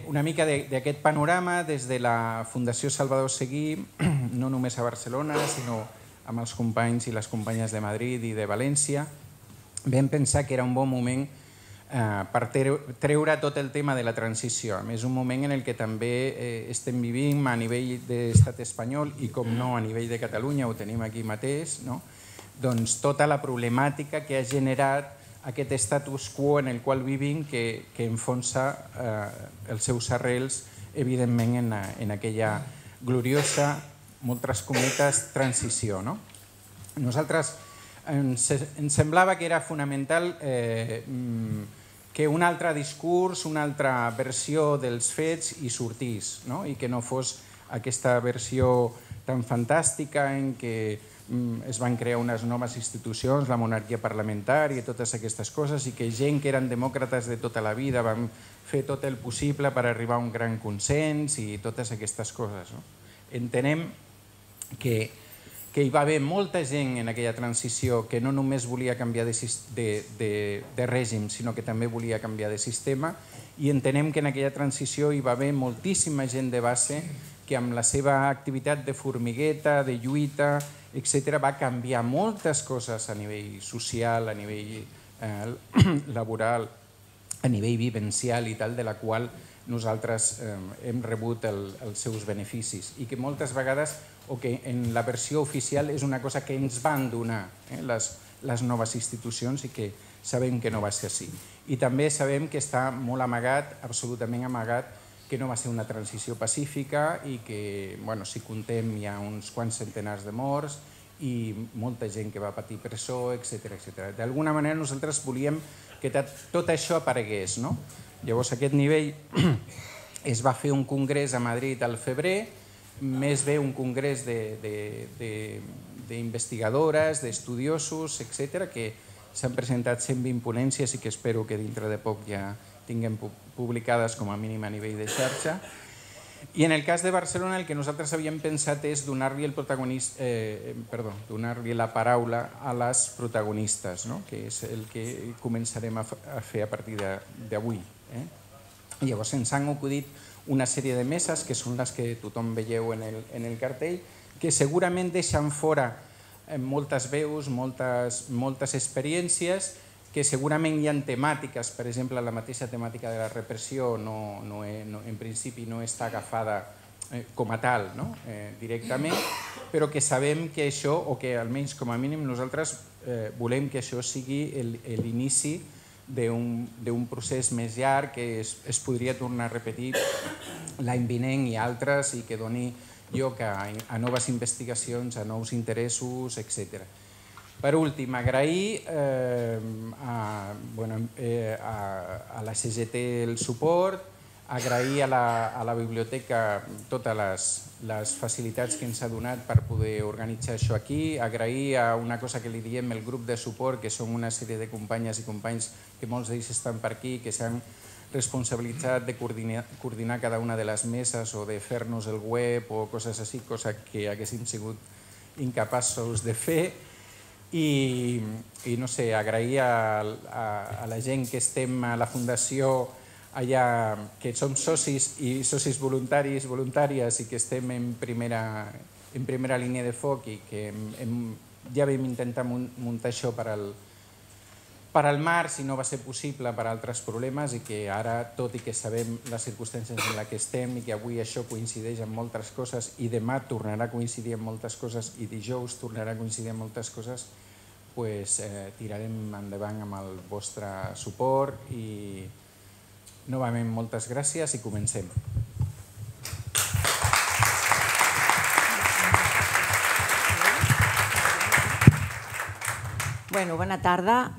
una mica d'aquest panorama des de la Fundació Salvador Seguí, no només a Barcelona, sinó amb els companys i les companyes de Madrid i de València, vam pensar que era un bon moment per treure tot el tema de la transició. A més, un moment en el que també estem vivint a nivell d'estat espanyol i, com no, a nivell de Catalunya, ho tenim aquí mateix, doncs tota la problemàtica que ha generat aquest status quo en el qual vivim que enfonsa els seus arrels, evidentment, en aquella gloriosa, moltes cometes, transició. Nosaltres ens semblava que era fonamental que un altre discurs, una altra versió dels fets hi sortís, i que no fos aquesta versió tan fantàstica en què es van crear unes noves institucions, la monarquia parlamentària i totes aquestes coses, i que gent que eren demòcrates de tota la vida van fer tot el possible per arribar a un gran consens i totes aquestes coses. Entenem que hi va haver molta gent en aquella transició que no només volia canviar de règim, sinó que també volia canviar de sistema, i entenem que en aquella transició hi va haver moltíssima gent de base que amb la seva activitat de formigueta, de lluita, etc., va canviar moltes coses a nivell social, a nivell laboral, a nivell vivencial i tal, de la qual nosaltres hem rebut els seus beneficis, i que moltes vegades, o que en la versió oficial és una cosa que ens van donar les noves institucions i que sabem que no va ser així. I també sabem que està molt amagat, absolutament amagat, que no va ser una transició pacífica i que, si comptem, hi ha uns quants centenars de morts i molta gent que va patir presó, etc. D'alguna manera nosaltres volíem que tot això aparegués. Llavors, a aquest nivell es va fer un congrés a Madrid al febrer, més bé un congrés d'investigadores, d'estudiosos, etc., que s'han presentat 120 ponències i que espero que dintre de poc ja tinguem publicades com a mínim a nivell de xarxa. I en el cas de Barcelona el que nosaltres havíem pensat és donar-li la paraula a les protagonistes, que és el que començarem a fer a partir d'avui. Llavors ens han acudit una sèrie de meses, que són les que tothom veieu en el cartell, que segurament deixen fora moltes veus, moltes experiències, que segurament hi ha temàtiques, per exemple, la mateixa temàtica de la repressió en principi no està agafada com a tal directament, però que sabem que això, o que almenys com a mínim nosaltres volem que això sigui l'inici d'un procés més llarg que es podria tornar a repetir l'any vinent i altres, i que doni lloc a noves investigacions, a nous interessos, etc. Per últim, agrair a la CGT el suport, agrair a la biblioteca totes les facilitats que ens ha donat per poder organitzar això aquí, agrair a una cosa que li diem el grup de suport, que són una sèrie de companyes i companys que molts d'ells estan per aquí, que s'han responsabilitzat de coordinar cada una de les meses o de fer-nos el web o coses així, cosa que haguéssim sigut incapaços de fer. I no sé, agrair a la gent que estem a la Fundació allà, que som socis i socis voluntaris, voluntàries, i que estem en primera línia de foc, i que ja vam intentar muntar això per al març i no va ser possible per altres problemes, i que ara, tot i que sabem les circumstàncies en què estem i que avui això coincideix en moltes coses i demà tornarà a coincidir en moltes coses i dijous tornarà a coincidir en moltes coses, tirarem endavant amb el vostre suport. I novament moltes gràcies i comencem. Bona tarda.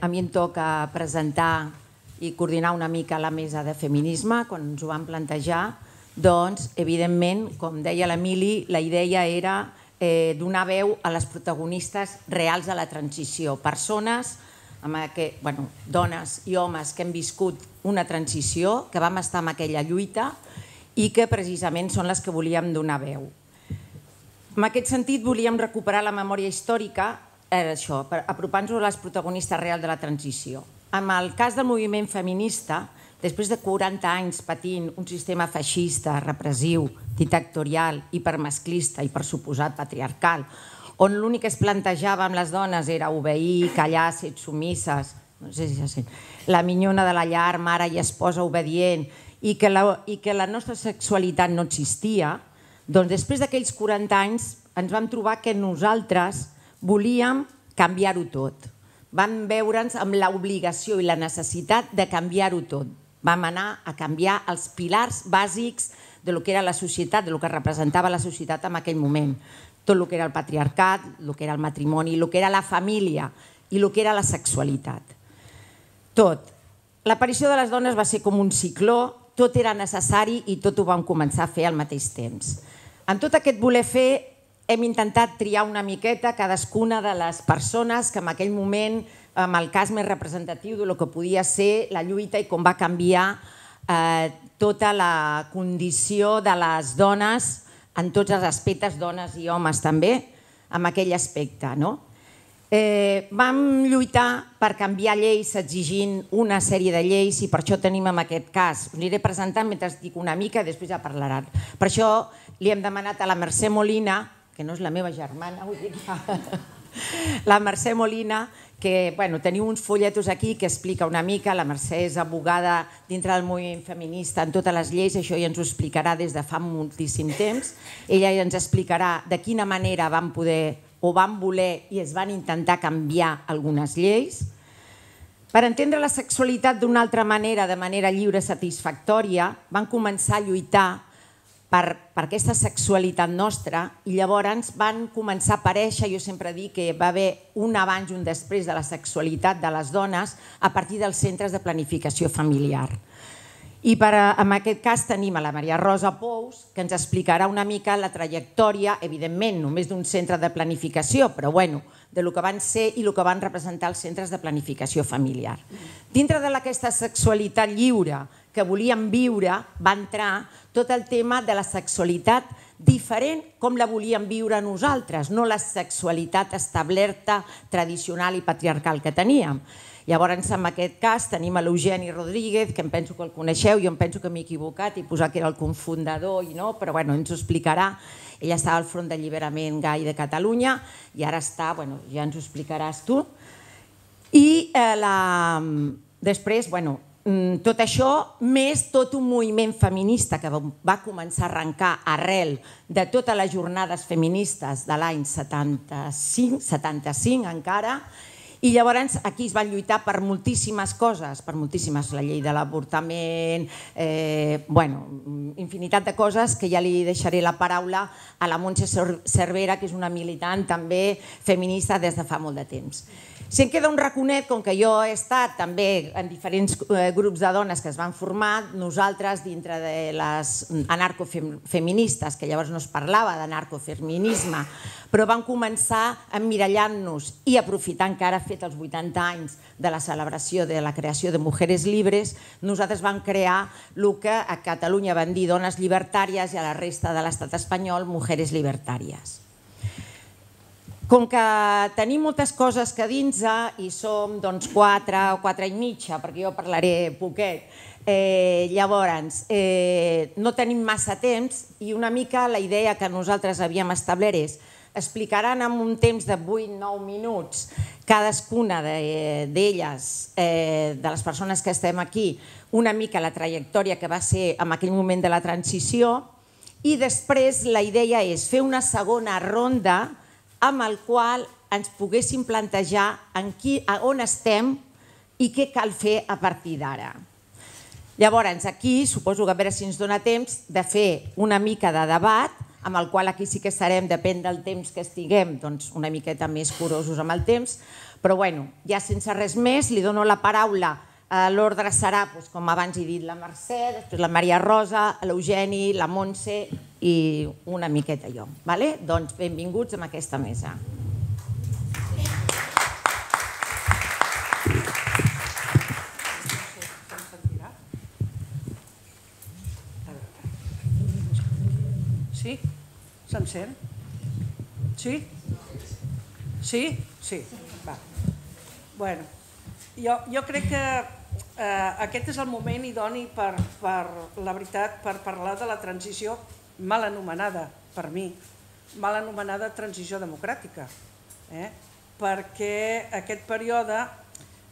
A mi em toca presentar i coordinar una mica la mesa de feminisme. Quan ens ho vam plantejar, doncs, evidentment, com deia l'Emili, la idea era donar veu a les protagonistes reals de la transició. Persones, dones i homes que hem viscut una transició, que vam estar en aquella lluita i que precisament són les que volíem donar veu. En aquest sentit, volíem recuperar la memòria històrica, apropant-nos a les protagonistes reals de la transició. En el cas del moviment feminista, després de 40 anys patint un sistema feixista, repressiu, dictatorial, hipermasclista i, per suposat, patriarcal, on l'únic que es plantejava amb les dones era obeir, callar, ser submises, no sé si se sent, la minyona de la llar, mare i esposa obedient, i que la nostra sexualitat no existia, doncs després d'aquells 40 anys ens vam trobar que nosaltres volíem canviar-ho tot. Vam veure'ns amb l'obligació i la necessitat de canviar-ho tot. Vam anar a canviar els pilars bàsics del que era la societat, del que representava la societat en aquell moment. Tot el que era el patriarcat, el que era el matrimoni, el que era la família i el que era la sexualitat. Tot. L'aparició de les dones va ser com un cicló, tot era necessari i tot ho vam començar a fer al mateix temps. En tot aquest voler fer hem intentat triar una miqueta cadascuna de les persones que en aquell moment, amb el cas més representatiu del que podia ser la lluita i com va canviar tota la condició de les dones en tots els aspectes, dones i homes també, en aquell aspecte. Vam lluitar per canviar lleis exigint una sèrie de lleis i per això tenim en aquest cas, us aniré presentant mentre dic una mica i després ja parlaran. Per això li hem demanat a la Mercè Molina, que no és la meva germana, la Mercè Molina, que teniu uns folletos aquí que explica una mica, la Mercè és abogada dintre del moviment feminista en totes les lleis, això ja ens ho explicarà des de fa moltíssim temps, ella ja ens explicarà de quina manera vam poder o van voler i es van intentar canviar algunes lleis. Per entendre la sexualitat d'una altra manera, de manera lliure i satisfactòria, van començar a lluitar per aquesta sexualitat nostra i llavors van començar a aparèixer, jo sempre dic que va haver un abans i un després de la sexualitat de les dones a partir dels centres de planificació familiar. I en aquest cas tenim a la Maria Rosa Pous, que ens explicarà una mica la trajectòria, evidentment, només d'un centre de planificació, però del que van ser i el que van representar els centres de planificació familiar. Dintre d'aquesta sexualitat lliure que volíem viure, va entrar tot el tema de la sexualitat diferent com la volíem viure nosaltres, no la sexualitat establerta, tradicional i patriarcal que teníem. Llavors, en aquest cas, tenim l'Eugeni Rodríguez, que em penso que el coneixeu, jo em penso que m'he equivocat i posar que era el cofundador, però ens ho explicarà. Ella estava al Front d'Alliberament Gai de Catalunya i ara està, ja ens ho explicaràs tu. I després, tot això, més tot un moviment feminista que va començar a arrencar arrel de totes les jornades feministes de l'any 75 encara, i llavors aquí es van lluitar per moltíssimes coses, per moltíssimes, la llei de l'avortament, infinitat de coses que ja li deixaré la paraula a la Montse Cervera, que és una militant també feminista des de fa molt de temps. Si em queda un raconet, com que jo he estat també en diferents grups de dones que es van formar, nosaltres dintre de les anarcofeministes, que llavors no es parlava d'anarcofeminisme, però vam començar emmirallant-nos i aprofitant que ara ha fet els 80 anys de la celebració de la creació de Mujeres Libres, nosaltres vam crear el que a Catalunya van dir dones llibertàries i a la resta de l'estat espanyol Mujeres Libertàries. Com que tenim moltes coses que dins i som 4 o 4 i mitja, perquè jo parlaré poquet, llavors no tenim massa temps i una mica la idea que nosaltres havíem establert és explicaran en un temps de 8-9 minuts cadascuna d'elles, de les persones que estem aquí, una mica la trajectòria que va ser en aquell moment de la transició i després la idea és fer una segona ronda amb el qual ens poguéssim plantejar on estem i què cal fer a partir d'ara. Llavors, aquí suposo que a veure si ens dona temps de fer una mica de debat, amb el qual aquí sí que serem, depèn del temps que estiguem, una miqueta més curosos amb el temps, però ja sense res més, li dono la paraula. L'ordre serà, com abans he dit, la Mercè, després la Maria Rosa, l'Eugeni, la Montse i una miqueta jo. Doncs benvinguts a aquesta mesa. Sí? Se'm sent? Sí? Sí? Sí. Va. Bueno, jo crec que aquest és el moment idoni per la veritat, per parlar de la transició mal anomenada, per mi, mal anomenada transició democràtica, perquè aquest període,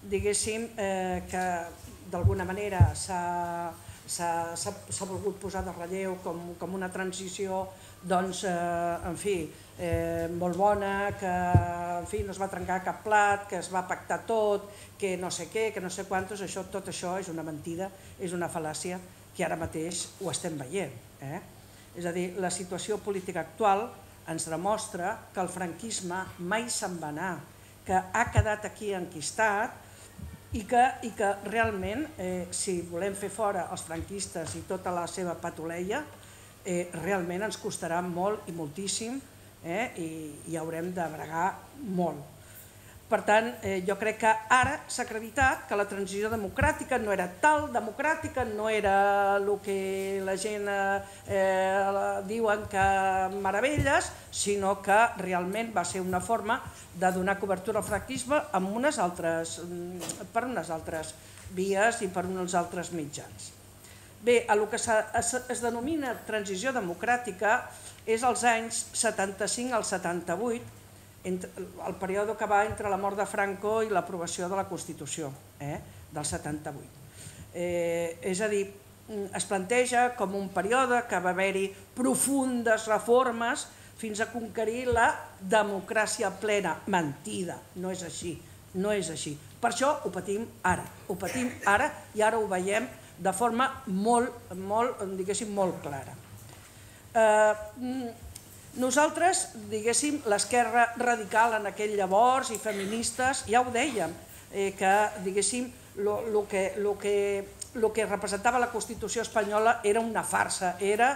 diguéssim, que d'alguna manera s'ha volgut posar de relleu com una transició, doncs, en fi, molt bona, que no es va trencar cap plat, que es va pactar tot, que no sé què, que no sé quantos, tot això és una mentida, és una fal·làcia que ara mateix ho estem veient. És a dir, la situació política actual ens demostra que el franquisme mai se'n va anar, que ha quedat aquí enquistat i que realment, si volem fer fora els franquistes i tota la seva patuleia, realment ens costarà molt i moltíssim i haurem de bregar molt. Per tant, jo crec que ara s'ha acreditat que la transició democràtica no era tal democràtica, no era el que la gent diuen que meravelles, sinó que realment va ser una forma de donar cobertura al franquisme per unes altres vies i per uns altres mitjans. Bé, el que es denomina transició democràtica és als anys 75 al 78, el període que va entre la mort de Franco i l'aprovació de la Constitució del 78. És a dir, es planteja com un període que va haver-hi profundes reformes fins a conquerir la democràcia plena. Mentida, no és així, no és així. Per això ho patim ara i ara ho veiem de forma molt, diguéssim, molt clara. Nosaltres, diguéssim, l'esquerra radical en aquell llavors i feministes, ja ho dèiem, que, diguéssim, el que representava la Constitució espanyola era una farsa, era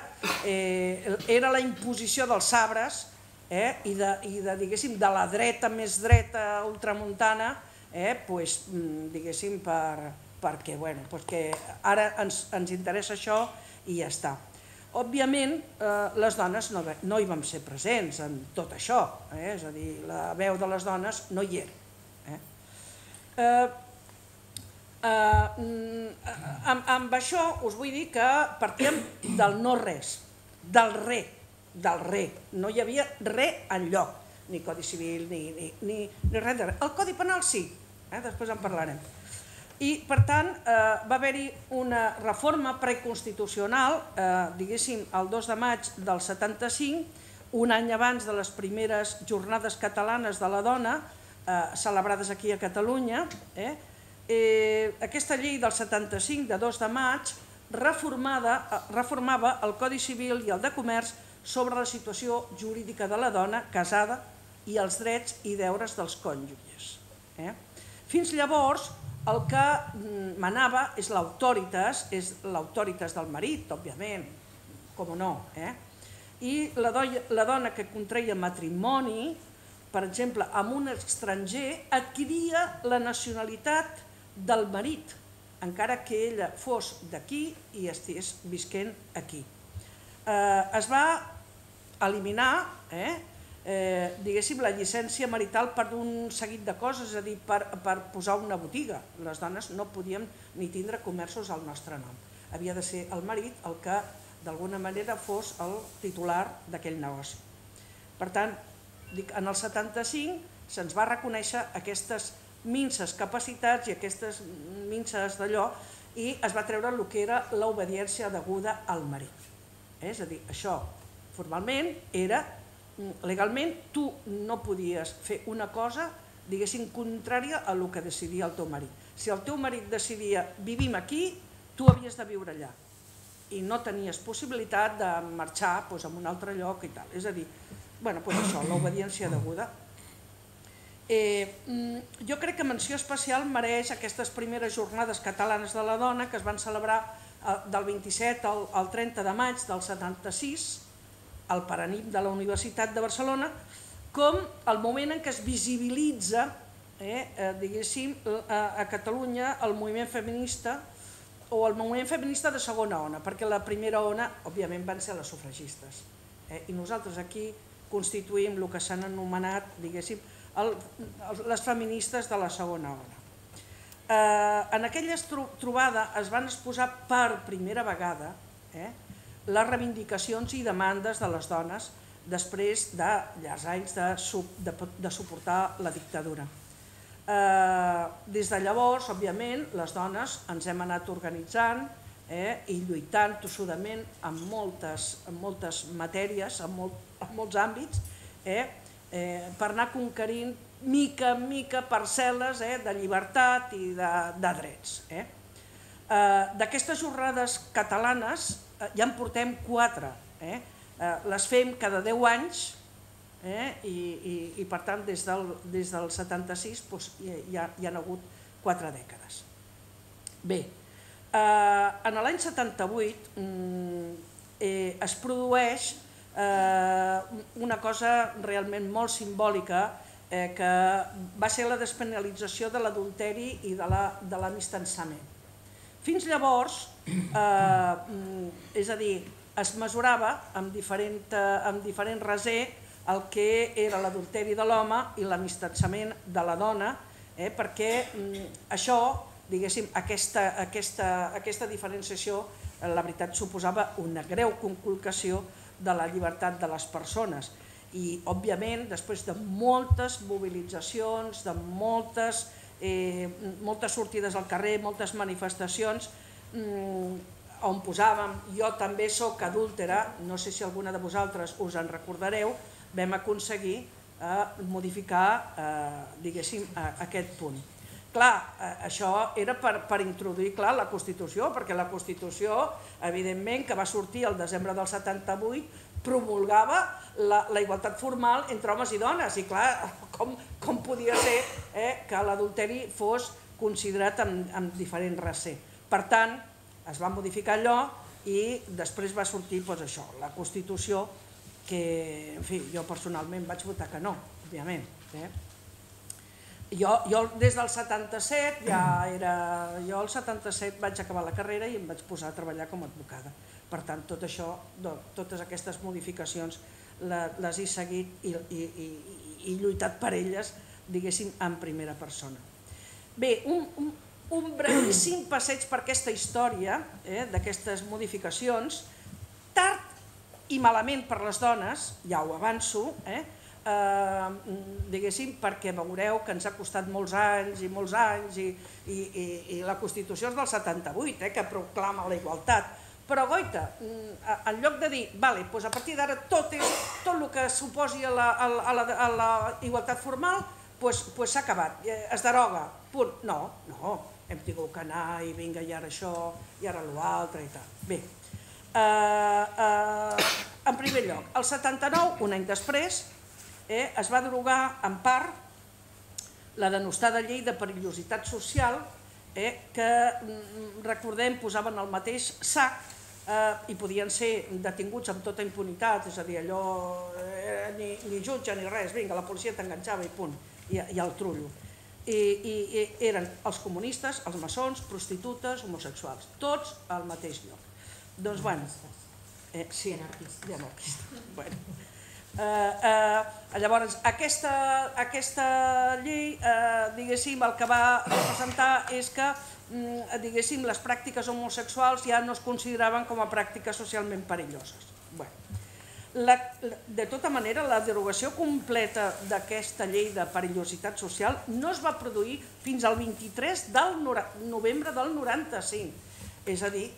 la imposició dels sabres i diguéssim, de la dreta més dreta ultramuntana, diguéssim, perquè ara ens interessa això i ja està. Òbviament, les dones no hi vam ser presents en tot això, és a dir, la veu de les dones no hi era. Amb això us vull dir que partíem del no res, del res, no hi havia res enlloc, ni Codi Civil, ni res de res. El Codi Penal sí, després en parlarem. I, per tant, va haver-hi una reforma preconstitucional, diguéssim, el 2 de maig del 75, un any abans de les primeres jornades catalanes de la dona, celebrades aquí a Catalunya. Aquesta llei del 75, de 2 de maig, reformava el Codi Civil i el de Comerç sobre la situació jurídica de la dona casada i els drets i deures dels cònjuges. Fins llavors, el que manava és l'autoritas del marit, òbviament, com no. I la dona que contreia matrimoni, per exemple, amb un estranger, adquiria la nacionalitat del marit, encara que ella fos d'aquí i estigués visquent aquí. Es va eliminar, diguéssim, la llicència marital per un seguit de coses, és a dir, per posar una botiga. Les dones no podíem ni tindre comerços al nostre nom. Havia de ser el marit el que, d'alguna manera, fos el titular d'aquell negoci. Per tant, en el 75 se'ns va reconèixer aquestes minces capacitats i aquestes minces d'allò i es va treure el que era l'obediència deguda al marit. És a dir, això formalment era legalment tu no podies fer una cosa, diguéssim, contrària a el que decidia el teu marit. Si el teu marit decidia vivim aquí, tu havies de viure allà i no tenies possibilitat de marxar a un altre lloc i tal. És a dir, això, l'obediència deguda. Jo crec que menció especial mereix aquestes primeres jornades catalanes de la dona que es van celebrar del 27 al 30 de maig del 76 al Paranip de la Universitat de Barcelona, com el moment en què es visibilitza, diguéssim, a Catalunya el moviment feminista o el moviment feminista de segona ona, perquè la primera ona, òbviament, van ser les sufragistes. I nosaltres aquí constituïm el que s'han anomenat, diguéssim, les feministes de la segona ona. En aquella trobada es van exposar per primera vegada les reivindicacions i demandes de les dones després de llargs anys de suportar la dictadura. Des de llavors, òbviament, les dones ens hem anat organitzant i lluitant tossudament en moltes matèries, en molts àmbits, per anar conquerint mica en mica parcel·les de llibertat i de drets. D'aquestes jornades catalanes ja en portem 4. Les fem cada 10 anys i per tant des del 76 hi ha hagut 4 dècades. Bé, en l'any 78 es produeix una cosa realment molt simbòlica que va ser la despenalització de l'adulteri i de l'amistançament. Fins llavors, és a dir, es mesurava amb diferent raser el que era l'adulteri de l'home i l'amistançament de la dona, perquè això, diguéssim, aquesta diferenciació, la veritat, suposava una greu conculcació de la llibertat de les persones. I, òbviament, després de moltes mobilitzacions, de moltes sortides al carrer, moltes manifestacions, on posàvem "jo també soc adúltera", no sé si alguna de vosaltres us en recordareu, vam aconseguir modificar, diguéssim, aquest punt. Clar, això era per introduir la Constitució, perquè la Constitució, evidentment, que va sortir el desembre del 78, promulgava la igualtat formal entre homes i dones. I clar, com podia ser que l'adulteri fos considerat amb diferent raser. Per tant, es va modificar allò i després va sortir això, la Constitució, que, en fi, jo personalment vaig votar que no, òbviament. Jo des del 77, jo al 77 vaig acabar la carrera i em vaig posar a treballar com a advocada. Per tant, tot això, totes aquestes modificacions les he seguit i lluitat per elles, diguéssim, en primera persona. Bé, un brevíssim passeig per aquesta història d'aquestes modificacions, tard i malament per les dones, ja ho avanço, diguéssim, perquè veureu que ens ha costat molts anys i molts anys i la Constitució és del 78, que proclama la igualtat. Però, goita, en lloc de dir, doncs a partir d'ara tot el que suposi a la igualtat formal s'ha acabat, es deroga, punt. No, hem tingut que anar i vinga, i ara això, i ara l'altre i tal. Bé, en primer lloc, el 79, un any després, es va derogar en part la denostada llei de perillositat social que, recordem, posaven al mateix sac i podien ser detinguts amb tota impunitat, és a dir, allò ni jutge ni res, vinga, la policia t'enganxava i punt, i el trullo. I eren els comunistes, els maçons, prostitutes, homosexuals, tots al mateix lloc. Doncs, bueno, sí, anarquistes. Llavors, aquesta llei, diguéssim, el que va representar és que, diguéssim, les pràctiques homosexuals ja no es consideraven com a pràctiques socialment perilloses. De tota manera, la derogació completa d'aquesta llei de perillositat social no es va produir fins al 23 de novembre del 95, és a dir,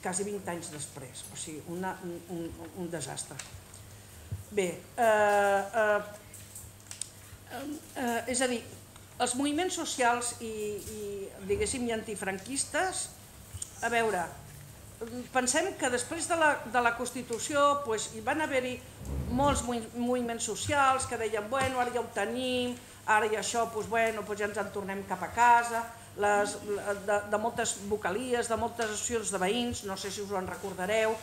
quasi 20 anys després, o sigui, un desastre. Bé, és a dir, els moviments socials i, diguéssim, i antifranquistes, a veure, pensem que després de la Constitució hi van haver-hi molts moviments socials que deien, bueno, ara ja ho tenim, ara i això, ja ens en tornem cap a casa, de moltes vocalies, de moltes associacions de veïns, no sé si us en recordareu,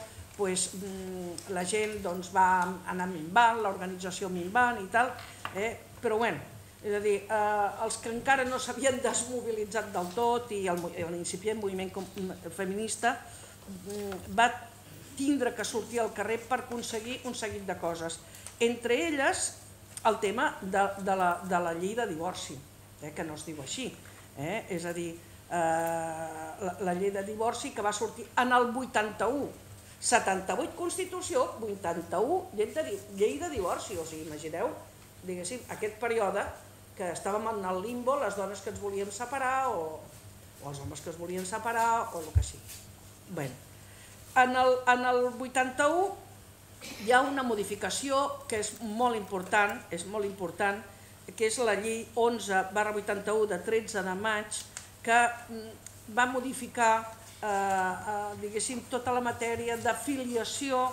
la gent va anar minvant, l'organització minvant i tal, però bé, és a dir, els que encara no s'havien desmobilitzat del tot i l'incipient moviment feminista va tindre que sortir al carrer per aconseguir un seguit de coses, entre elles el tema de la llei de divorci, que no es diu així, és a dir, la llei de divorci que va sortir en el 81. 78 Constitució, 81 llei de divorci. O sigui, imagineu, diguéssim, aquest període que estàvem en el limbo, les dones que ens volíem separar o els homes que es volien separar o el que sigui. Bé, en el 81 hi ha una modificació que és molt important, que és la llei 11/81 de 13 de maig, que va modificar, diguéssim, tota la matèria de filiació,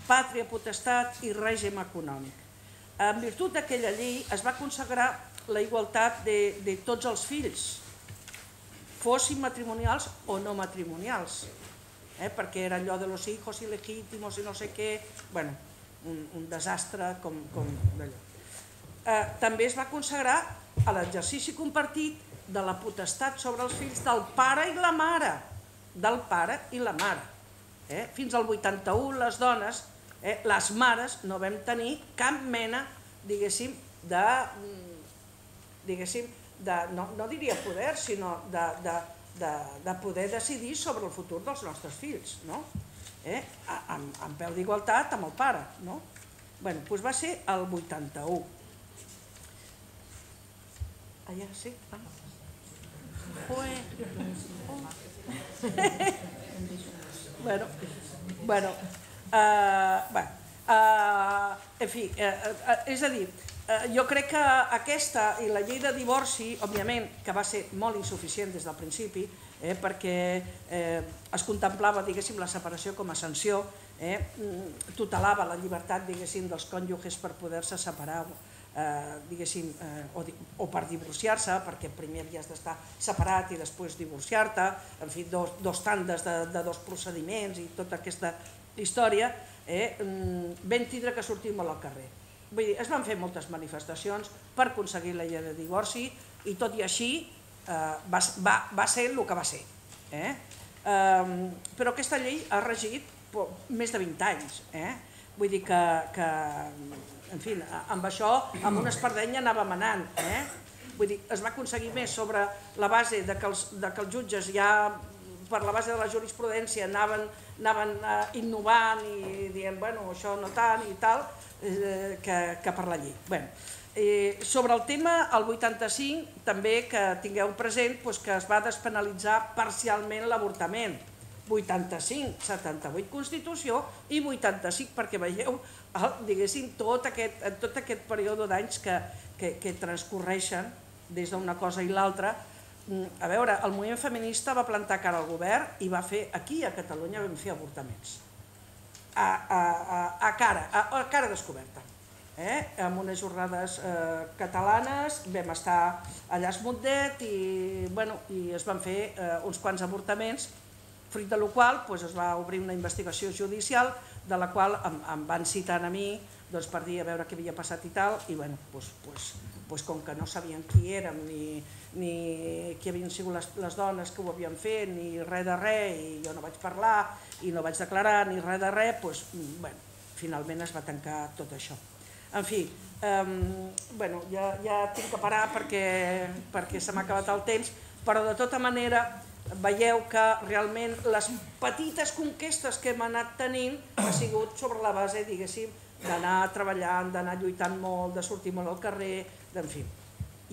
pàtria, potestat i règim econòmic. En virtut d'aquella llei es va consagrar la igualtat de tots els fills, fossin matrimonials o no matrimonials, perquè era allò de los hijos ilegítimos i no sé què, bueno, un desastre com d'allò. També es va consagrar l'exercici compartit de la potestat sobre els fills del pare i la mare, Fins al 81 les dones, les mares, no vam tenir cap mena, diguéssim, no diria poder, sinó de poder decidir sobre el futur dels nostres fills, amb peu d'igualtat amb el pare. Doncs va ser el 81. Allà, sí? En fi, és a dir, jo crec que aquesta i la llei de divorci, òbviament, que va ser molt insuficient des del principi, perquè es contemplava, diguéssim, la separació com a sanció, tutelava la llibertat, diguéssim, dels cònjuges per poder-se separar, diguéssim, o per divorciar-se, perquè primer havies d'estar separat i després divorciar-te, en fi, dos tandes de dos procediments i tota aquesta història, vam tindre que sortir molt al carrer. Vull dir, es van fer moltes manifestacions per aconseguir la llei de divorci i tot i així va ser el que va ser. Però aquesta llei ha regit més de 20 anys. Vull dir que, en fi, amb això, amb una espardenya anàvem anant. Vull dir, es va aconseguir més sobre la base que els jutges ja, per la base de la jurisprudència, anaven innovant i dient, bueno, això no tant i tal, que per la llei. Sobre el tema, el 85, també que tingueu present que es va despenalitzar parcialment l'avortament. 85, 78 Constitució i 85, perquè veieu, diguéssim, tot aquest període d'anys que transcorreixen des d'una cosa i l'altra. A veure, el moviment feminista va plantar cara al govern i va fer, aquí a Catalunya vam fer avortaments. A cara descoberta. Amb unes jornades catalanes vam estar allà a Esmundet i es van fer uns quants avortaments, fruit de la qual es va obrir una investigació judicial de la qual em van citar a mi per dir a veure què havia passat i tal, i com que no sabien qui érem ni qui havien sigut les dones que ho havien fet ni res de res, i jo no vaig parlar i no vaig declarar ni res de res, finalment es va tancar tot això. En fi, ja tinc que parar perquè se m'ha acabat el temps, però de tota manera veieu que realment les petites conquestes que hem anat tenint ha sigut sobre la base, diguéssim, d'anar treballant, d'anar lluitant molt, de sortir molt al carrer, en fi,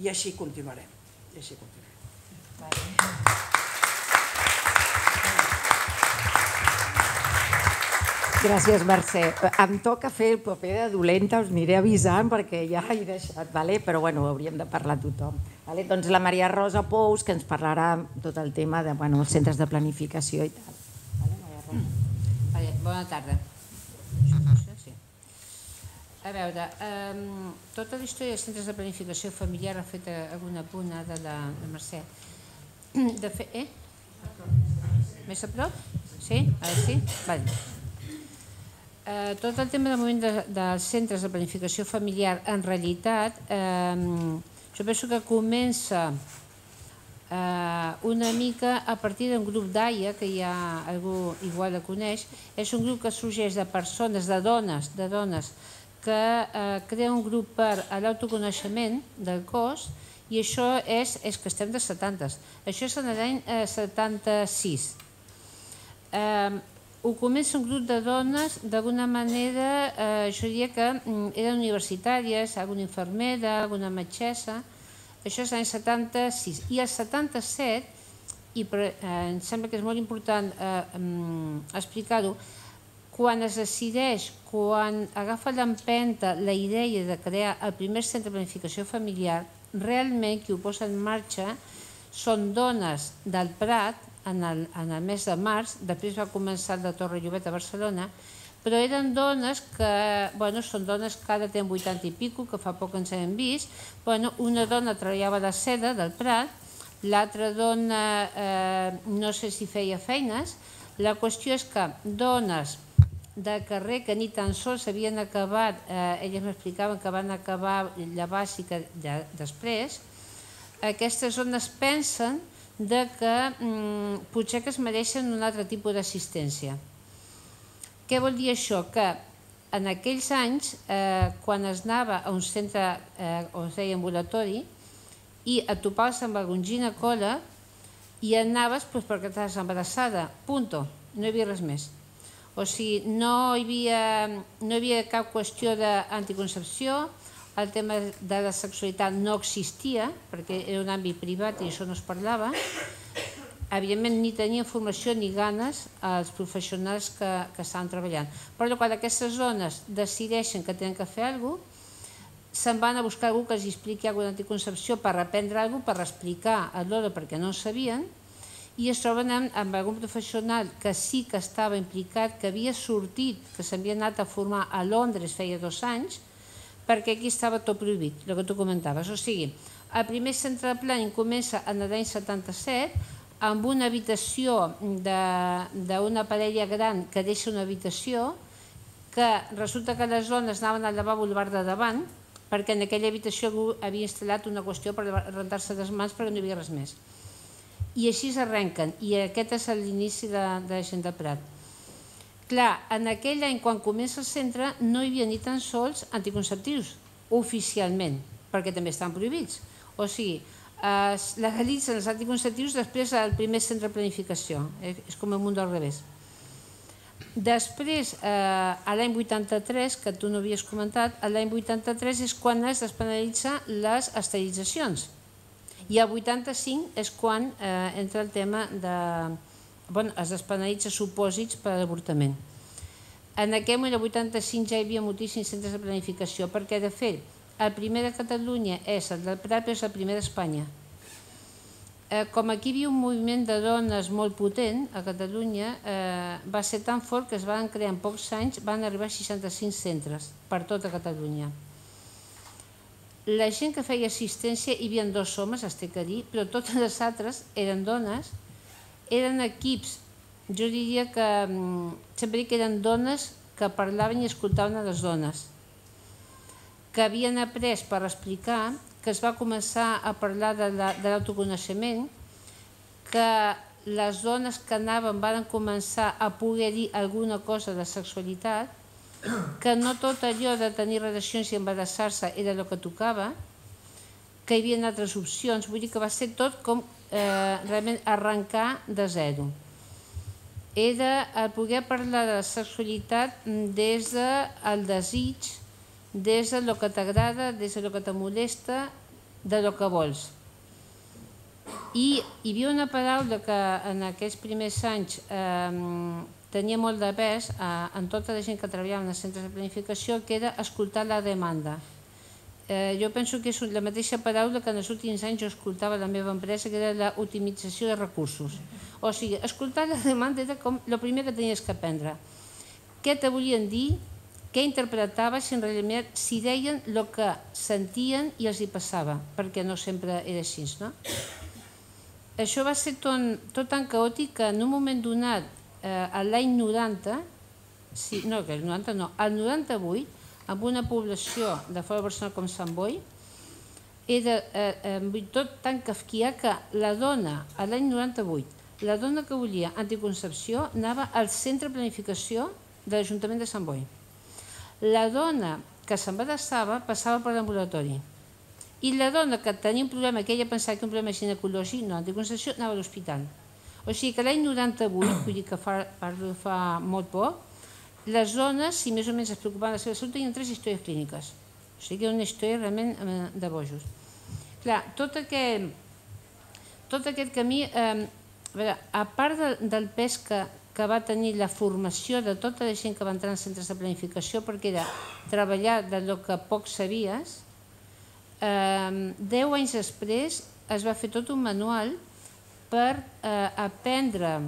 i així continuarem. Gràcies, Mercè. Em toca fer el paper de dolenta, us aniré avisant perquè ja he deixat, però ho hauríem de parlar tothom. Doncs la Maria Rosa Pous, que ens parlarà tot el tema dels centres de planificació i tal. Bona tarda. A veure, tota la història dels centres de planificació familiar ha fet alguna punt de la Mercè. Més a prop? Sí? Ara sí? Tot el tema del moment dels centres de planificació familiar, en realitat, jo penso que comença una mica a partir d'un grup d'AIA, que ja algú igual la coneix. És un grup que sorgeix de persones, de dones, que crea un grup per a l'autoconeixement del cos I això és que estem de 70s. Això és en l'any 76. Ho comença un grup de dones, d'alguna manera, jo diria que eren universitàries, alguna infermera, alguna metgessa. Això és l'any 76. I el 77, i em sembla que és molt important explicar-ho, quan es decideix, quan agafa l'empenta la idea de crear el primer centre de planificació familiar, realment qui ho posa en marxa són dones del Prat, en el mes de març, després va començar el de Torre Llobet a Barcelona, però eren dones que, són dones que ara tenen 80 i pico, que fa poc ens hem vist. Una dona treballava de seda del Prat, l'altra dona no sé si feia feines. La qüestió és que dones de carrer que ni tan sols havien acabat, elles m'explicaven que van acabar la bàsica després, aquestes dones pensen que potser que es mereixen un altre tipus d'assistència. Què vol dir això? Que en aquells anys, quan es anava a un centre, on es deia ambulatori, i et topaves amb algun ginecòleg i anaves perquè estaves embarassada, punto, no hi havia res més. O sigui, no hi havia cap qüestió d'anticoncepció, el tema de la sexualitat no existia, perquè era un àmbit privat i això no es parlava. Evidentment, ni tenien formació ni ganes els professionals que estaven treballant. Però quan aquestes dones decideixen que tenen que fer alguna cosa, se'n van a buscar algú que els expliqui alguna anticoncepció per aprendre alguna cosa, per explicar a l'hora perquè no ho sabien, i es troben amb algun professional que sí que estava implicat, que havia sortit, que s'havia anat a formar a Londres feia 2 anys, perquè aquí estava tot prohibit, el que tu comentaves. O sigui, el primer centre de planning comença en l'any 77 amb una habitació d'una parella gran que deixa una habitació, que resulta que les dones anaven al lavabo al bar de davant, perquè en aquella habitació algú havia instal·lat una qüestió per rentar-se les mans perquè no hi havia res més. I així s'arrenquen, i aquest és l'inici de la gent de Prat. Clar, en aquell any, quan comença el centre, no hi havia ni tan sols anticonceptius, oficialment, perquè també estan prohibits. O sigui, es legalitzen els anticonceptius després del primer centre de planificació. És com el món del revés. Després, a l'any 83, que tu no havies comentat, l'any 83 és quan es despenalitza les esterilitzacions. I el 85 és quan entra el tema de... es despenalitza supòsits per a l'avortament. En aquell moment, el 85, ja hi havia moltíssims centres de planificació, perquè, de fet, el primer de Catalunya és el del Prat, però és el primer d'Espanya. Com aquí hi havia un moviment de dones molt potent a Catalunya, va ser tan fort que es van crear en pocs anys, van arribar a 65 centres per tota Catalunya. La gent que feia assistència, hi havia 2 homes, es té que dir, però totes les altres eren dones. Eren equips, jo diria que sempre dic que eren dones que parlaven i escoltaven a les dones, que havien après per explicar, que es va començar a parlar de l'autoconeixement, que les dones que anaven van començar a poder dir alguna cosa de sexualitat, que no tot allò de tenir relacions i embarassar-se era el que tocava, que hi havia altres opcions, vull dir que va ser tot com realment arrencar de zero. Era el poder parlar de la sexualitat des del desig, des del que t'agrada, des del que te molesta, del que vols. I hi havia una paraula que en aquests primers anys tenia molt de pes en tota la gent que treballava en els centres de planificació, que era escoltar la demanda. Jo penso que és la mateixa paraula que en els últims anys jo escoltava a la meva empresa, que era la optimització de recursos. O sigui, escoltar la demanda era com el primer que tenies que aprendre. Què te volien dir, què interpretaves, si deien el que sentien i els hi passava, perquè no sempre era així, no? Això va ser tot tan caòtic que en un moment donat, a l'any 90, no, que el 90 no, al 98, amb una població de fora de Barcelona com Sant Boi, era tot tan kafkià que la dona, a l'any 98, la dona que volia anticoncepció anava al centre de planificació de l'Ajuntament de Sant Boi. La dona que s'embarassava passava per l'ambulatori I la dona que tenia un problema, que ella pensava que un problema ginecològic, no, anticoncepció, anava a l'hospital. O sigui que l'any 98, vull dir que fa molt poc, les dones, si més o menys es preocupaven de la seva salut, tenien 3 històries clíniques. O sigui que era una història realment de bojos. Clar, tot aquest camí, a part del pes que va tenir la formació de tota la gent que va entrar en centres de planificació, perquè era treballar del que poc sabies, 10 anys després es va fer tot un manual per aprendre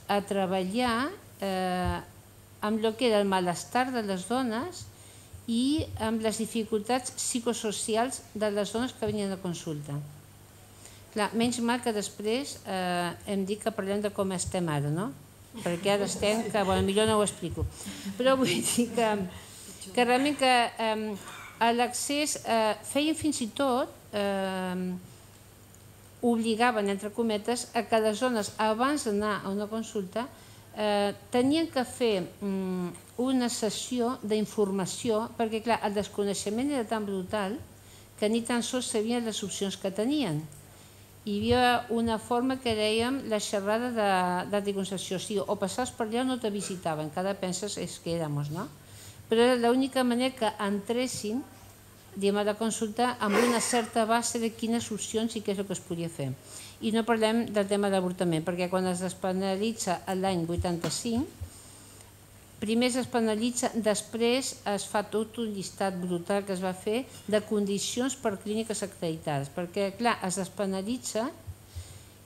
a treballar amb el que era el malestar de les dones i amb les dificultats psicosocials de les dones que venien a consulta. Clar, menys mal que després hem dit que parlem de com estem ara, no? Perquè ara estem, que millor no ho explico. Però vull dir que realment que l'accés feien fins i tot, obligaven, entre cometes, a que les dones, abans d'anar a una consulta, tenien que fer una sessió d'informació, perquè clar, el desconeixement era tan brutal que ni tan sols sabien les opcions que tenien. Hi havia una forma que dèiem la xerrada d'anticoncepció, o sigui, o passaves per allà o no te visitaven, cada penses és que érem, no? Però era l'única manera que entressin a la consulta amb una certa base de quines opcions i què és el que es podia fer. I no parlem del tema d'avortament, perquè quan es despenalitza l'any 85, primer es despenalitza, després es fa tot un llistat brutal que es va fer de condicions per clíniques acreditades, perquè, clar, es despenalitza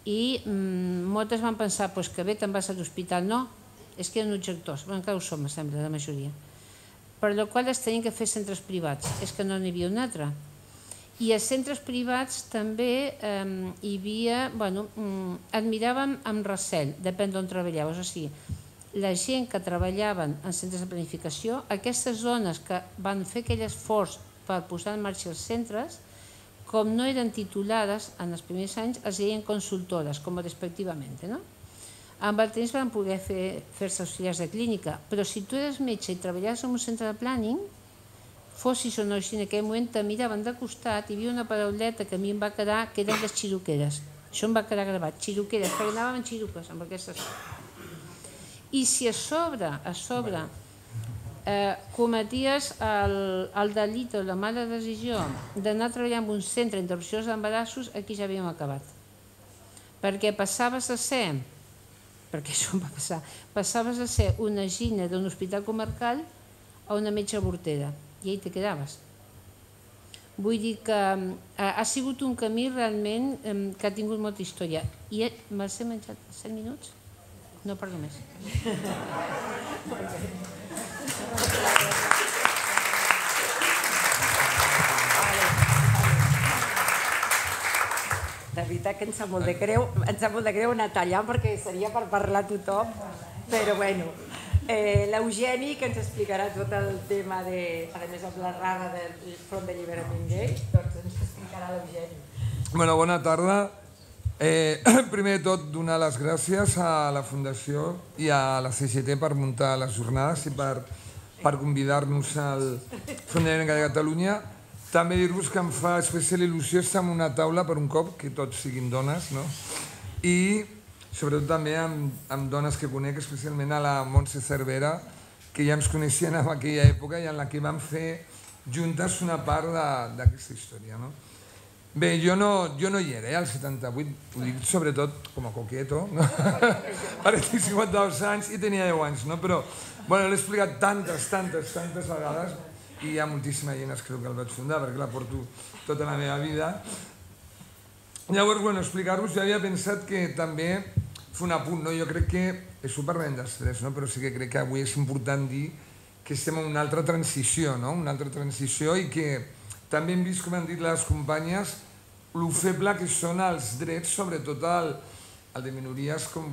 i moltes van pensar que bé, te'n vas a l'hospital. No, és que eren objectors, encara ho som, sembla, la majoria. Per la qual es tenien que fer centres privats, és que no n'hi havia un altre. I als centres privats també hi havia, et miràvem amb recel, depèn d'on treballaves, o sigui, la gent que treballaven en centres de planificació, aquestes dones que van fer aquell esforç per posar en marxa els centres, com no eren titulades en els primers anys, es deien consultores, com respectivament, no? Amb el temps van poder fer-se auxiliars de clínica, però si tu eres metge i treballaves en un centre de planning, fossis o no així, en aquell moment te miraven de costat, hi havia una parauleta que a mi em va quedar, que eren les xiruqueres. Això em va quedar gravat, xiruqueres, perquè anàvem en xiruques, amb aquestes. I si a sobre cometies el delit o la mala decisió d'anar a treballar en un centre d'interrupcions d'embarassos, aquí ja havíem acabat. Perquè passaves a ser, perquè això em va passar, passaves a ser una gina d'un hospital comarcal a una metge avortera, i ahí te quedaves. Vull dir que ha sigut un camí realment que ha tingut molta història. I me'ls he menjat 7 minuts? No parlo més. De veritat que ens sap molt de greu anar tallant perquè seria per parlar tothom, però bueno, l'Eugeni que ens explicarà tot el tema de, a més amb la raga del Front d'Alliberament Gai, doncs ens explicarà l'Eugeni. Bueno, bona tarda. Primer de tot, donar les gràcies a la Fundació i a la CGT per muntar les jornades i per convidar-nos al Front d'Alliberament Gai de Catalunya. També dir-vos que em fa especial il·lusió estar en una taula per un cop, que tots siguin dones, no? I sobretot també amb dones que conec, especialment a la Montse Cervera, que ja ens coneixien en aquella època i en la que vam fer juntes una part d'aquesta història, no? Bé, jo no hi era, al 78, ho dic sobretot com a coqueto, no? Ara tinc 52 anys i tenia 10 anys, no? Però l'he explicat tantes vegades i hi ha moltíssima gent, crec que el vaig fundar, perquè la porto tota la meva vida. Llavors, explicar-vos, jo havia pensat que també fer un apunt, no? Jo crec que, això parlem després, no? Però sí que crec que avui és important dir que estem en una altra transició, no? Una altra transició i que també hem vist, com han dit les companyes, lo feble que són els drets, sobretot el de minories, com,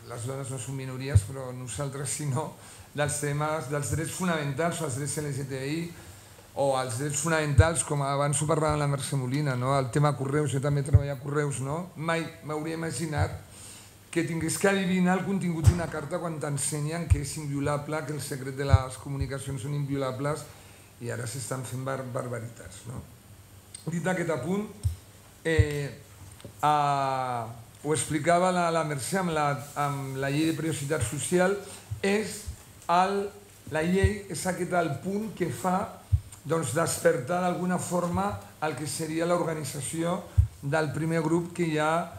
les dones no són minories, però nosaltres sí, no, dels temes, dels drets fonamentals, els drets LGTBI, o els drets fonamentals, com abans ho parlava la Mercè Molina, el tema Correus, jo també treballo a Correus, mai m'hauria imaginat que tingués que adivinar el contingut d'una carta quan t'ensenyen que és inviolable, que el secret de les comunicacions són inviolables i ara s'estan fent barbaritats. dit aquest apunt, ho explicava la Mercè amb la llei de periodicitat social, la llei és aquest el punt que fa despertar d'alguna forma el que seria l'organització del primer grup que hi ha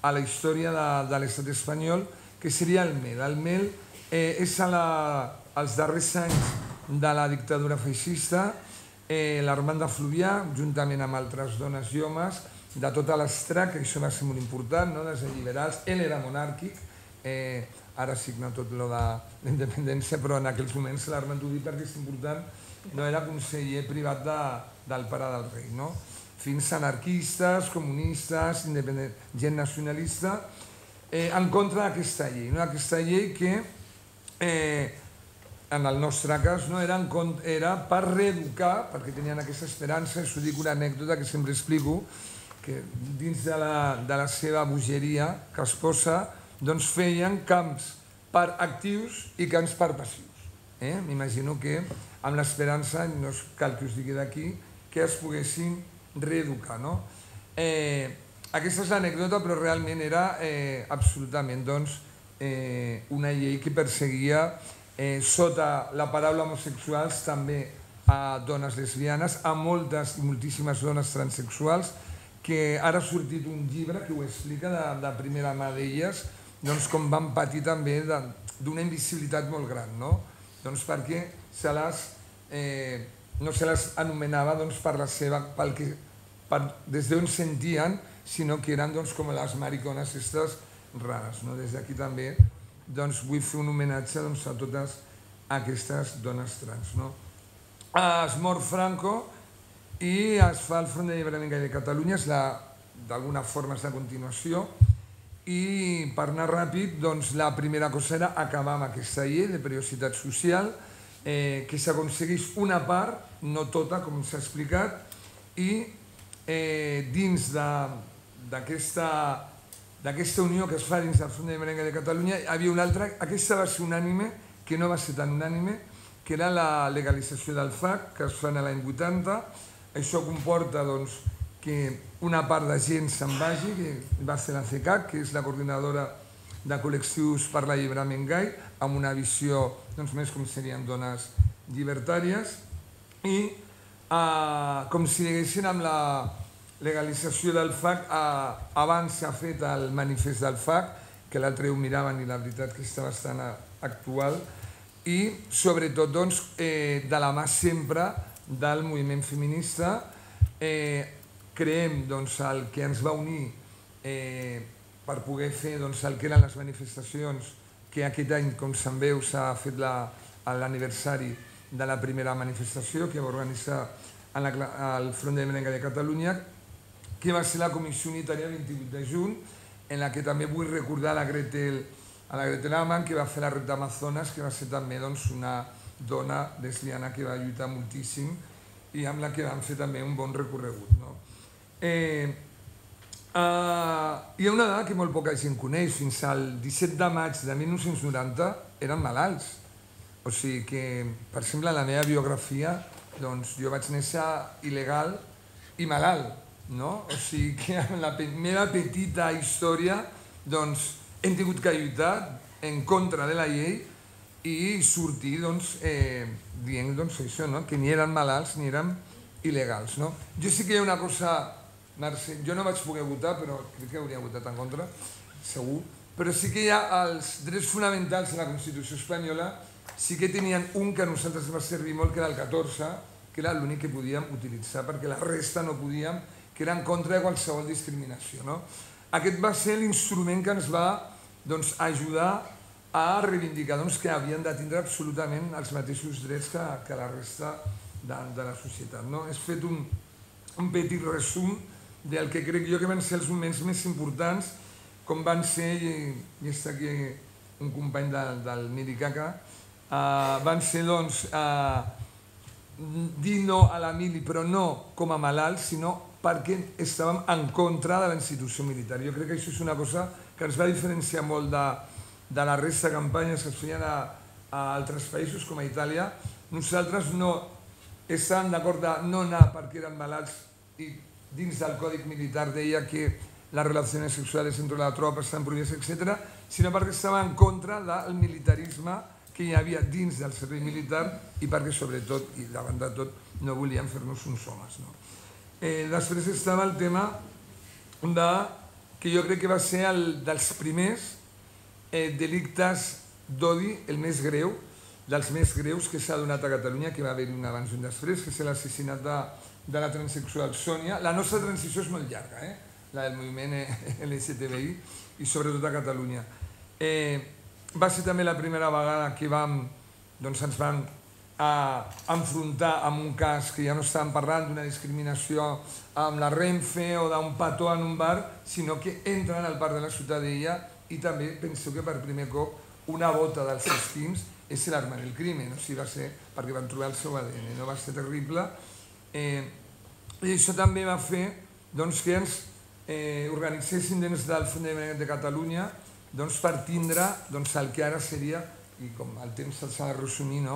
a la història de l'estat espanyol, que seria el MEL. El MEL és als darrers anys de la dictadura feixista, l'Armanda Fluvià, juntament amb altres dones i homes, de tota l'estrac, que això va ser molt important, des de liberals. Ell era monàrquic, ara signa tot lo de la independència, però en aquells moments l'Armand ho diu perquè és important, no era conseller privat del pare del rei, fins anarquistes, comunistes, gent nacionalista, en contra d'aquesta llei. Aquesta llei que, en el nostre cas, era per reeducar, perquè tenien aquesta esperança, us ho dic una anècdota que sempre explico, que dins de la seva bogeria que es posa, feien camps per actius i camps per passius. M'imagino que amb l'esperança, no cal que us digui d'aquí, que es poguessin reeducar. Aquesta és l'anècdota, però realment era absolutament una llei que perseguia sota la paraula homosexuals també a dones lesbianes, a moltes i moltíssimes dones transsexuals, que ara ha sortit un llibre que ho explica de primera mà d'elles, com van patir també d'una invisibilitat molt gran, perquè no se les anomenava per la seva, des d'on sentien, sinó que eren com les maricones aquestes rares. Des d'aquí també vull fer un homenatge a totes aquestes dones trans. Es mor Franco i es fa el Front d'Alliberament Gai de Catalunya, d'alguna forma és la continuació, i per anar ràpid, la primera cosa era acabar amb aquesta llei de periodicitat social, que s'aconseguís una part, no tota, com s'ha explicat, i dins d'aquesta unió que es fa dins del Front d'Alliberament Gai de Catalunya hi havia una altra, aquesta va ser unànime, que no va ser tan unànime, que era la legalització del FAC, que es fa l'any 80. Això comporta que una part de gent se'n vagi, que va ser la CECAC, que és la coordinadora de col·lectius per l'alliberament gai, amb una visió més com serien dones llibertàries, i com si diguessin amb la legalització del FAC, abans s'ha fet el manifest del FAC, que l'altre ho miraven i la veritat que està bastant actual, i sobretot de la mà sempre del moviment feminista. Creem el que ens va unir per poder fer el que eren les manifestacions, que aquest any, com se'n veu, s'ha fet l'aniversari de la primera manifestació que va organitzar el Front d'Alliberament Gai de Catalunya, que va ser la Comissió Unitària el 28 de juny, en la que també vull recordar a la Gretel Amann, que va fer la Red d'Amazones, que va ser també una dona lesbiana que va lluitar moltíssim i amb la que vam fer també un bon recorregut. Hi ha una dada que molt poca gent coneix. Fins al 17 de maig de 1990 eren malalts. O sigui que, per exemple, en la meva biografia jo vaig néixer il·legal i malalt. O sigui que en la meva petita història hem tingut que lluitar en contra de la llei i sortir dient això, que ni eren malalts ni eren il·legals. Jo sí que hi ha una cosa, Mercè, jo no vaig poder votar, però crec que hauria votat en contra, segur, però sí que hi ha els drets fonamentals de la Constitució espanyola, sí que tenien un que a nosaltres va servir molt, que era el 14, que era l'únic que podíem utilitzar, perquè la resta no podíem, que era en contra de qualsevol discriminació. Aquest va ser l'instrument que ens va ajudar a reivindicar que havien de tindre absolutament els mateixos drets que la resta de la societat. He fet un petit resum del que crec jo que van ser els moments més importants, com van ser, i està aquí un company del Miricaca, van ser dir no a la mili, però no com a malalts, sinó perquè estàvem en contra de la institució militar. Jo crec que això és una cosa que ens va diferenciar molt de la resta de campanyes que es feien a altres països, com a Itàlia. Nosaltres no estàvem d'acord de no anar perquè eren malalts i dins del Còdic Militar deia que las relaciones sexuales entre la tropa estan prohibides, etc., sinó perquè estava en contra del militarisme que hi havia dins del servei militar i perquè, sobretot, i davant de tot, no volien fer-nos uns homes. Després estava el tema que jo crec que va ser dels primers delictes d'odi, el més greu, dels més greus que s'ha donat a Catalunya, que va haver-hi un abans i un després, que és l'assassinat de la transsexual Sònia. La nostra transició és molt llarga, la del moviment LGTBI, i sobretot a Catalunya. Va ser també la primera vegada que ens vam enfrontar amb un cas que ja no estàvem parlant d'una discriminació amb la Renfe o d'un petó en un bar, sinó que entren al parc de la Ciutadella i també penseu que per primer cop una bota dels esquims és l'arma del crimen, o sigui, va ser perquè van trobar el seu ADN, no va ser terrible. I això també va fer que ens organitzessin dins del Fons de Catalunya per tindre el que ara seria, i com el temps s'ha de resumir,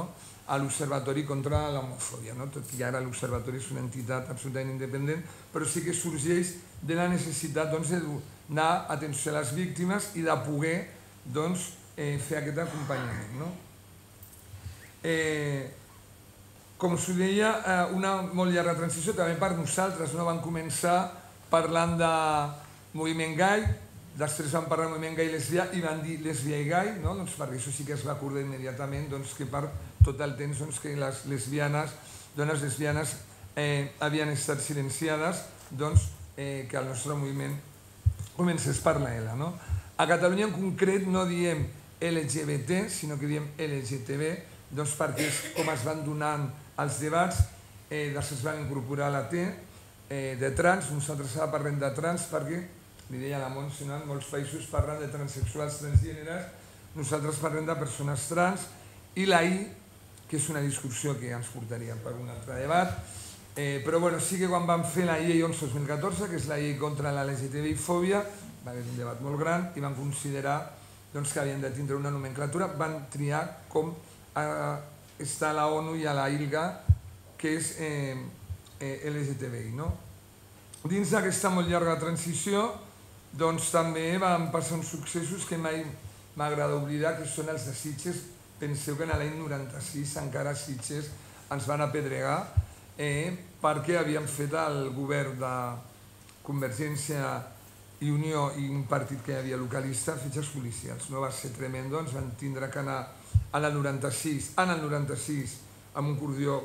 l'Observatori contra l'Homofòbia. Tot i ara l'Observatori és una entitat absolutament independent, però sí que sorgeix de la necessitat de donar atenció a les víctimes i de poder fer aquest acompanyament. Com us deia, una molt llarga transició també per nosaltres. Vam començar parlant de moviment gai, després vam parlar de moviment gai i lesbià i van dir lesbià i gai, perquè això sí que es va acordar immediatament que per tot el temps que les dones lesbianes havien estat silenciades, que el nostre moviment comencés per la L. A Catalunya en concret no diem LGBT, sinó que diem LGTB, perquè és com es van donant els debats. Després van incorporar la T de trans, nosaltres ara parlem de trans perquè, li deia la Montse, en molts països parlen de transsexuals, transgèneres, nosaltres parlem de persones trans, i la I, que és una discussió que ens portaria per un altre debat, però sí que quan vam fer la llei 11-2014, que és la llei contra la LGTBI-fòbia, va haver un debat molt gran i van considerar que havien de tindre una nomenclatura, van triar com està a la ONU i a la ILGA, que és LGTBI. Dins d'aquesta molt llarga transició també van passar uns successos que mai m'agrada oblidar, que són els de Sitges. Penseu que l'any 96 encara a Sitges ens van apedregar perquè havíem fet el govern de Convergència i Unió i un partit que hi havia localista fitxes policials. Va ser tremendo, ens van tindre que anar en el 96 amb un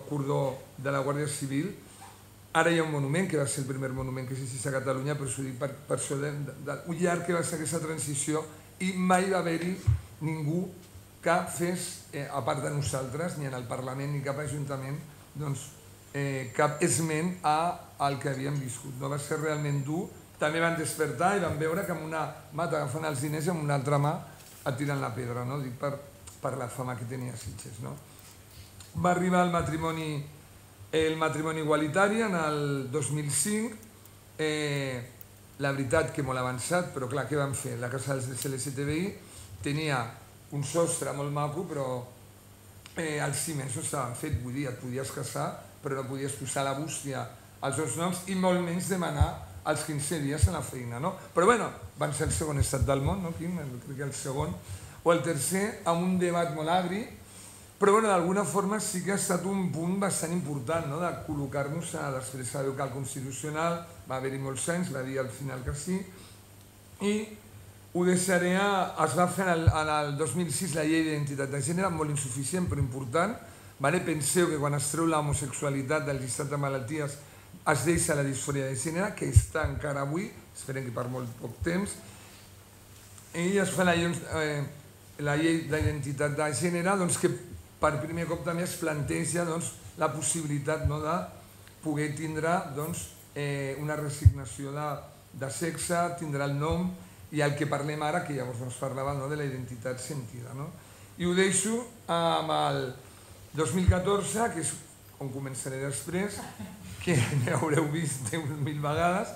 cordó de la Guàrdia Civil. Ara hi ha un monument, que va ser el primer monument que existís a Catalunya, però us ho dic per això del llarg que va ser aquesta transició, i mai va haver-hi ningú que fes, a part de nosaltres, ni en el Parlament ni cap ajuntament, cap esment al que havíem viscut. Va ser realment dur. També van despertar i van veure que amb una mà t'agafen els diners i amb una altra mà et tiren la pedra, dic per la fama que tenia Sitges. Va arribar el matrimoni igualitari en el 2005, la veritat que molt avançat, però clar, què van fer? La Casa dels LGTBI tenia un sostre molt maco, però els ciments no estaven fets, vull dir, et podies casar, però no podies posar la bústia als dos noms i molt menys demanar els 15 dies a la feina. Però bueno, van ser el segon estat del món, Quim? Crec que el segon. O el tercer, amb un debat molt agri, però d'alguna forma sí que ha estat un punt bastant important de col·locar-nos després a l'Eucal Constitucional, va haver-hi molts anys, va dir al final que sí, i ho deixaré, es va fer en el 2006 la llei d'identitat de gènere, molt insuficient però important. Penseu que quan es treu l'homosexualitat del llistat de malalties es deixa la disfòria de gènere, que està encara avui, esperem que per molt poc temps, i es fa la llei d'identitat de gènere, que per primer cop també es planteja la possibilitat de poder tindre una resignació de sexe, tindre el nom i el que parlem ara, que llavors ens parlava de la identitat sentida. I ho deixo amb el 2014, que és on començaré després, que n'haureu vist 10.000 vegades,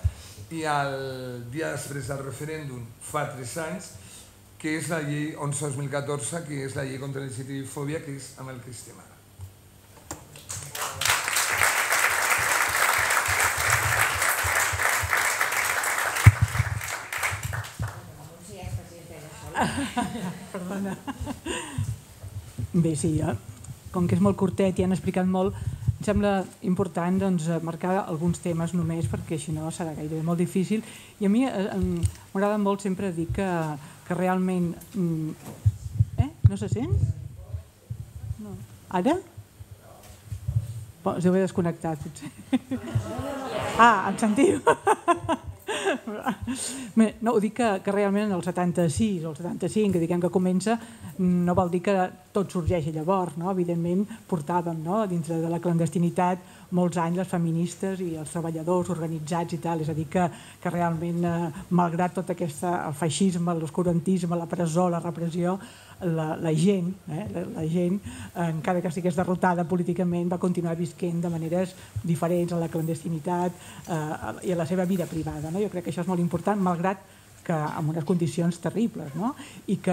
i el dia després del referèndum, fa 3 anys, que és la llei 11-2014, que és la llei contra la LGTBI-fòbia, que és amb el que estem ara. Perdona. Bé, sí, com que és molt curtet i han explicat molt, em sembla important marcar alguns temes només, perquè si no serà gairebé molt difícil. I a mi m'agrada molt sempre dir que realment... No se sent? No. Ara? Us heu desconnectat, potser. Em sentiu? No, ho dic que realment en el 76 o el 75, que diguem que comença, no vol dir que tot sorgeix llavors, no? Evidentment portàvem, no, dintre de la clandestinitat molts anys les feministes i els treballadors organitzats i tal, és a dir que realment malgrat tot aquest el feixisme, l'oscurantisme, la presó, la repressió, la gent, encara que estigués derrotada políticament, va continuar visquent de maneres diferents a la clandestinitat i a la seva vida privada. Jo crec que això és molt important, malgrat que en unes condicions terribles, i que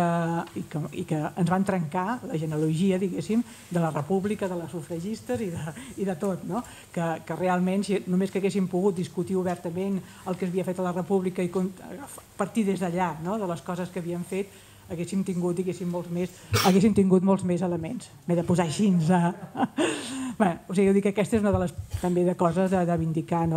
ens van trencar la genealogia, diguéssim, de la república, de les sufragistes i de tot, que realment, si només que haguéssim pogut discutir obertament el que s'havia fet a la república i partir des d'allà, de les coses que havíem fet, haguéssim tingut molts més elements. M'he de posar així. O sigui, que aquesta és una de les també de coses de vindicar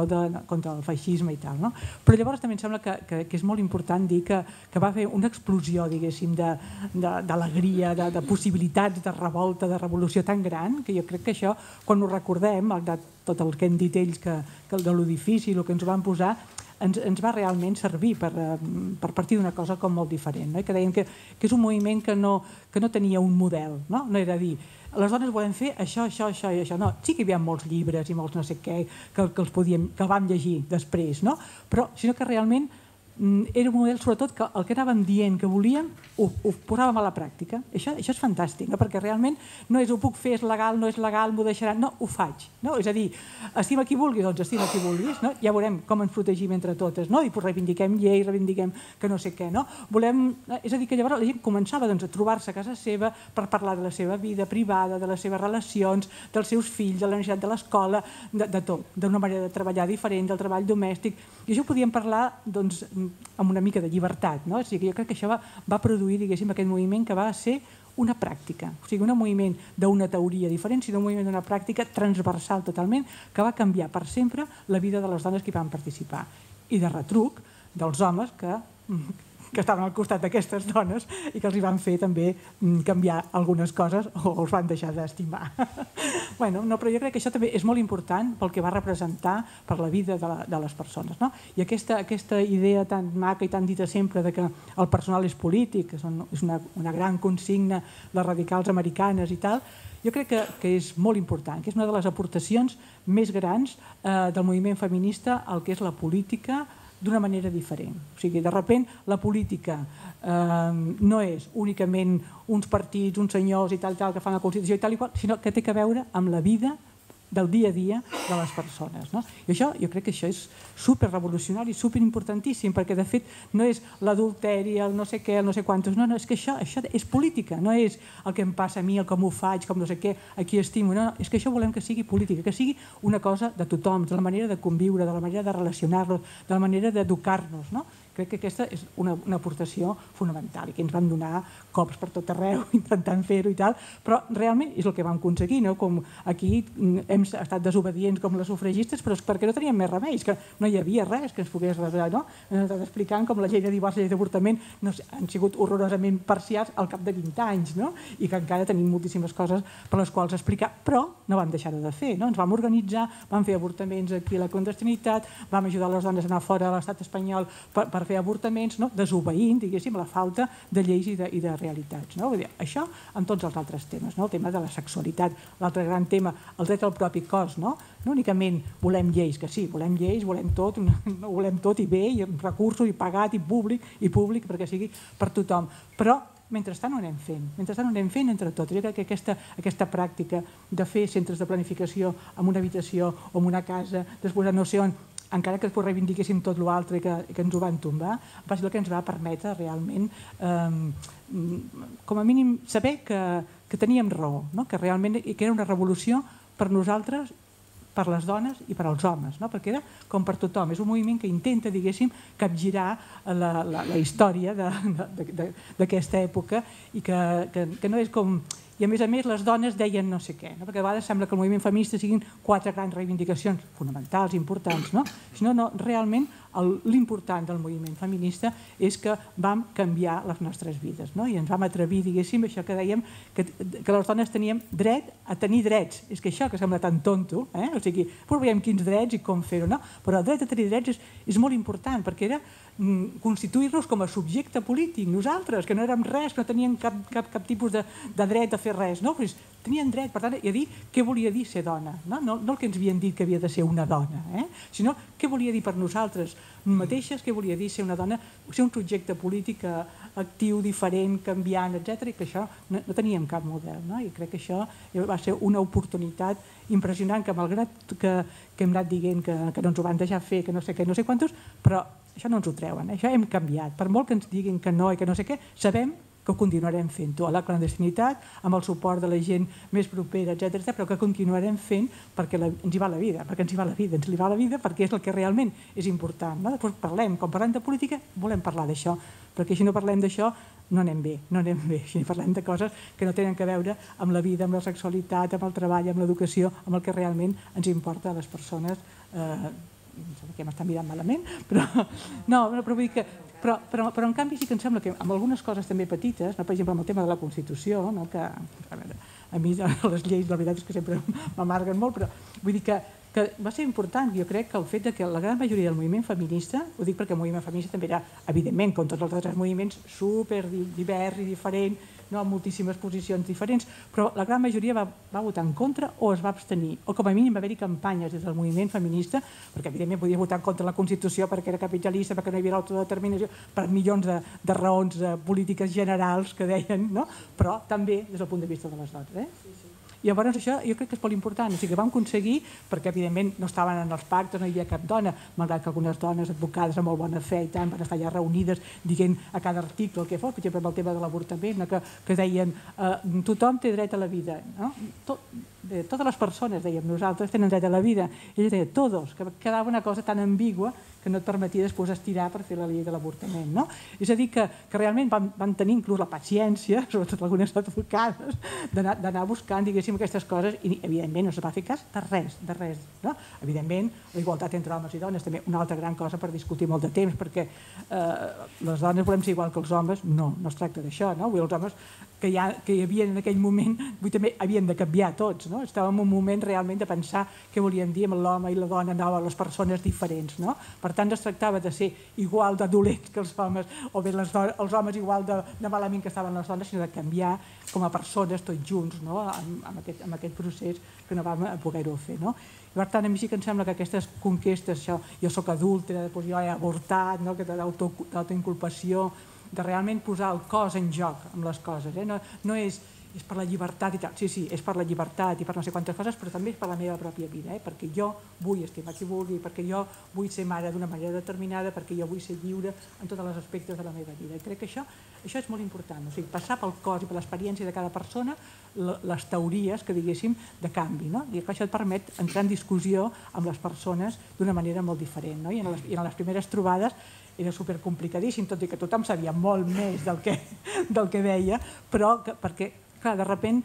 contra el feixisme i tal. Però llavors també em sembla que és molt important dir que va fer una explosió, diguéssim, d'alegria, de possibilitats, de revolta, de revolució tan gran, que jo crec que això, quan ho recordem, malgrat tot el que hem dit ells, que de lo difícil, el que ens ho van posar, ens va realment servir per partir d'una cosa com molt diferent, que deien que és un moviment que no tenia un model, no era dir les dones volem fer això, això, això i això. No, sí que hi havia molts llibres i molts no sé què que vam llegir després, però sinó que realment era un model, sobretot, que el que anàvem dient que volíem ho posàvem a la pràctica. Això és fantàstic, perquè realment no és ho puc fer, és legal, no és legal, m'ho deixaran, no, ho faig. És a dir, estima qui vulgui, doncs estima qui vulguis, ja veurem com ens protegim entre totes, i reivindiquem lleis, reivindiquem que no sé què. És a dir, que llavors la gent començava a trobar-se a casa seva per parlar de la seva vida privada, de les seves relacions, dels seus fills, de la necessitat de l'escola, de tot, d'una manera de treballar diferent, del treball domèstic, i això ho podíem parlar, doncs, amb una mica de llibertat. O sigui, jo crec que això va produir, diguéssim, aquest moviment que va ser una pràctica, o sigui, un moviment d'una teoria diferent, sinó un moviment d'una pràctica transversal totalment, que va canviar per sempre la vida de les dones que hi van participar. I de retruc, dels homes que estaven al costat d'aquestes dones i que els hi van fer també canviar algunes coses o els van deixar d'estimar. Però jo crec que això també és molt important pel que va representar per la vida de les persones. I aquesta idea tan maca i tan dita sempre que el personal és polític, que és una gran consigna de radicals americanes i tal, jo crec que és molt important, que és una de les aportacions més grans del moviment feminista al que és la política d'una manera diferent. O sigui, de sobte, la política no és únicament uns partits, uns senyors i tal que fan la Constitució i tal i qual, sinó que té a veure amb la vida del dia a dia de les persones. I això, jo crec que això és superrevolucionari, superimportantíssim, perquè de fet no és l'adulteri, el no sé què, el no sé quantos, no, és que això és política, no és el que em passa a mi, el com ho faig, com no sé què, a qui estimo, no, és que això volem que sigui política, que sigui una cosa de tothom, de la manera de conviure, de la manera de relacionar-nos, de la manera d'educar-nos, no? Crec que aquesta és una aportació fonamental i que ens van donar cops per tot arreu intentant fer-ho i tal, però realment és el que vam aconseguir, com aquí hem estat desobedients com les sufragistes, però és perquè no teníem més remei, que no hi havia res que ens pogués revelar, no? Ens estat explicant com la llei de divorci i la llei d'avortament han sigut horrorosament parcials al cap de 20 anys, no? I que encara tenim moltíssimes coses per les quals explicar, però no vam deixar-ho de fer, no? Ens vam organitzar, vam fer avortaments aquí a la clandestinitat, vam ajudar les dones a anar fora de l'estat espanyol per fer avortaments, desobeint, diguéssim, la falta de lleis i de realitats. Això en tots els altres temes, el tema de la sexualitat, l'altre gran tema, el dret al propi cos, no únicament volem lleis, que sí, volem lleis, volem tot i bé, i amb recursos, i pagat, i públic, perquè sigui per tothom, però mentrestant ho anem fent entre tots. Jo crec que aquesta pràctica de fer centres de planificació en una habitació o en una casa, després no sé on, encara que després reivindiquéssim tot l'altre i que ens ho van tombar, va ser el que ens va permetre realment, com a mínim, saber que teníem raó, que realment era una revolució per nosaltres per les dones i per als homes, perquè era com per tothom. És un moviment que intenta, diguéssim, capgirar la història d'aquesta època i que no és com... I a més, les dones deien no sé què, perquè a vegades sembla que el moviment feminista siguin 4 grans reivindicacions fonamentals, importants, sinó realment l'important del moviment feminista és que vam canviar les nostres vides i ens vam atrevir, diguéssim, això que dèiem, que les dones teníem dret a tenir drets. És que això que sembla tan tonto, o sigui, però veiem quins drets i com fer-ho, però el dret a tenir drets és molt important, perquè era constituir-nos com a subjecte polític, nosaltres, que no érem res, que no teníem cap tipus de dret a fer res, tenien dret, per tant, a dir què volia dir ser dona, no el que ens havien dit que havia de ser una dona, sinó què volia dir per nosaltres mateixes, què volia dir ser una dona, ser un subjecte polític actiu, diferent, canviant, etc. I que això no teníem cap model, i crec que això va ser una oportunitat impressionant que malgrat que hem anat dient que no ens ho van deixar fer, que no sé què, no sé quantos, però això no ens ho treuen, això hem canviat. Per molt que ens diguin que no i que no sé què, sabem que ho continuarem fent-ho a la clandestinitat, amb el suport de la gent més propera, etc., però que continuarem fent perquè ens hi va la vida, ens li va la vida perquè és el que realment és important. Després parlem, quan parlem de política, volem parlar d'això, perquè si no parlem d'això no anem bé, si parlem de coses que no tenen a veure amb la vida, amb la sexualitat, amb el treball, amb l'educació, amb el que realment ens importa a les persones. No sé què m'està mirant malament, però vull dir que però en canvi sí que em sembla que amb algunes coses també petites, per exemple amb el tema de la Constitució, que a mi les lleis la veritat és que sempre m'amarguen molt, però vull dir que va ser important, jo crec, que el fet que la gran majoria del moviment feminista, ho dic perquè el moviment feminista també era, evidentment, com tots els altres moviments, super divers i diferent, amb moltíssimes posicions diferents, però la gran majoria va votar en contra o es va abstenir, o com a mínim va haver-hi campanyes des del moviment feminista, perquè evidentment podia votar en contra de la Constitució perquè era capitalista, perquè no hi havia l'autodeterminació, per milions de raons polítiques generals que deien, però també des del punt de vista de les dones. I llavors això jo crec que és molt important, o sigui que vam aconseguir, perquè evidentment no estaven en els pactes, no hi havia cap dona, malgrat que algunes dones advocades amb molt bona fe i tant van estar allà reunides dient a cada article el que fos, per exemple amb el tema de l'avortament, que deien tothom té dret a la vida, totes les persones, dèiem nosaltres, tenen dret a la vida, ella deia todos, que quedava una cosa tan ambigua que no et permetia després estirar per fer la llei de l'avortament. És a dir, que realment van tenir inclús la paciència, sobretot algunes advocades, d'anar buscant, diguéssim, aquestes coses i, evidentment, no se va fer cas de res. Evidentment, la igualtat entre homes i dones, també una altra gran cosa per discutir molt de temps, perquè les dones volem ser igual que els homes, no es tracta d'això, els homes que hi havia en aquell moment també havien de canviar tots, estàvem en un moment realment de pensar què volien dir amb l'home i la dona, les persones diferents. Per tant, es tractava de ser igual de dolents que els homes o bé els homes igual de malament que estaven les dones, sinó de canviar com a persones tots junts amb aquest procés que no vam poder-ho fer. I per tant, a mi sí que em sembla que aquestes conquestes, això, jo soc adúltera, jo he avortat, d'autoinculpació, de realment posar el cos en joc amb les coses. No és per la llibertat i tal, sí, és per la llibertat i per no sé quantes coses, però també és per la meva pròpia vida, perquè jo vull estimar qui vulgui, perquè jo vull ser mare d'una manera determinada, perquè jo vull ser lliure en tots els aspectes de la meva vida. I crec que això és molt important, o sigui, passar pel cos i per l'experiència de cada persona les teories, que diguéssim, de canvi, i això et permet entrar en discussió amb les persones d'una manera molt diferent. I en les primeres trobades era supercomplicadíssim, tot i que tothom sabia molt més del que deia, però perquè, clar, de sobte,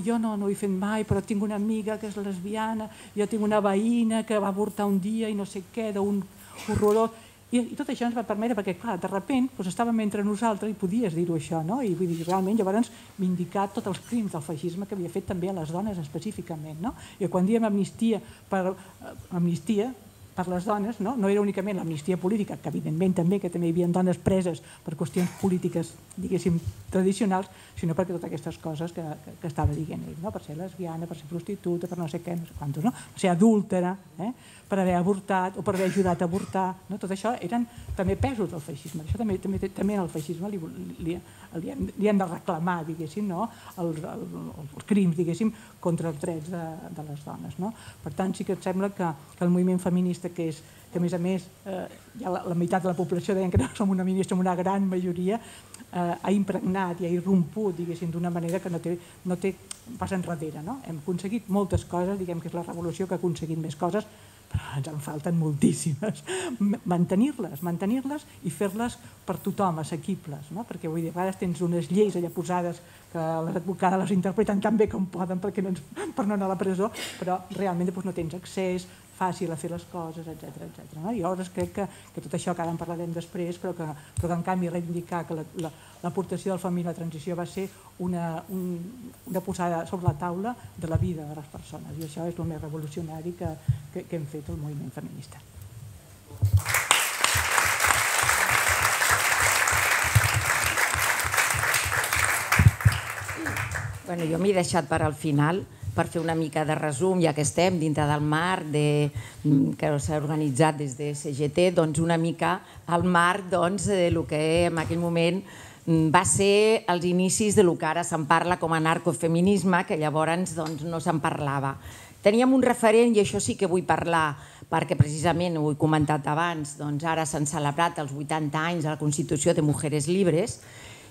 jo no ho he fet mai, però tinc una amiga que és lesbiana, jo tinc una veïna que va avortar un dia i no sé què, d'un horrorós. I tot això ens va permetre, perquè, clar, de sobte estàvem entre nosaltres i podies dir-ho això, i vull dir, realment, llavors vindicar tots els crims del feixisme que havia fet també a les dones específicament. I quan diem amnistia per les dones, no era únicament l'amnistia política, que evidentment també que també hi havia dones preses per qüestions polítiques, diguéssim, tradicionals, sinó perquè totes aquestes coses que estava dient ell, per ser lesbiana, per ser prostituta, per no sé què, no sé quantos, per ser adúltera, per haver avortat o per haver ajudat a avortar, tot això eren també pesos del feixisme. Això també en el feixisme li hem de reclamar, diguéssim, els crims, diguéssim, contra els drets de les dones. Per tant, sí que et sembla que el moviment feminista, que a més a més ja la meitat de la població deien que no som una minoria, som una gran majoria, ha impregnat i ha irromput, diguéssim, d'una manera que no té pas enrere. Hem aconseguit moltes coses, diguem que és la revolució que ha aconseguit més coses, però ens en falten moltíssimes. Mantenir-les i fer-les per tothom, assequibles, perquè vull dir, a vegades tens unes lleis allà posades que les advocades les interpreten tan bé com poden per no anar a la presó, però realment no tens accés fàcil a fer les coses, etc. I llavors crec que tot això, que ara en parlarem després, però que en canvi reivindicar que l'aportació del feminisme a la transició va ser una posada sobre la taula de la vida de les persones, i això és el més revolucionari que hem fet el moviment feminista. Jo m'he deixat per al final per fer una mica de resum, ja que estem dintre del marc que s'ha organitzat des de CGT, una mica al marc del que en aquell moment va ser els inicis del que ara se'n parla com a narcofeminisme, que llavors no se'n parlava. Teníem un referent, i això sí que vull parlar, perquè precisament ho he comentat abans, ara s'han celebrat els 80 anys de la Constitució de Mujeres Libres,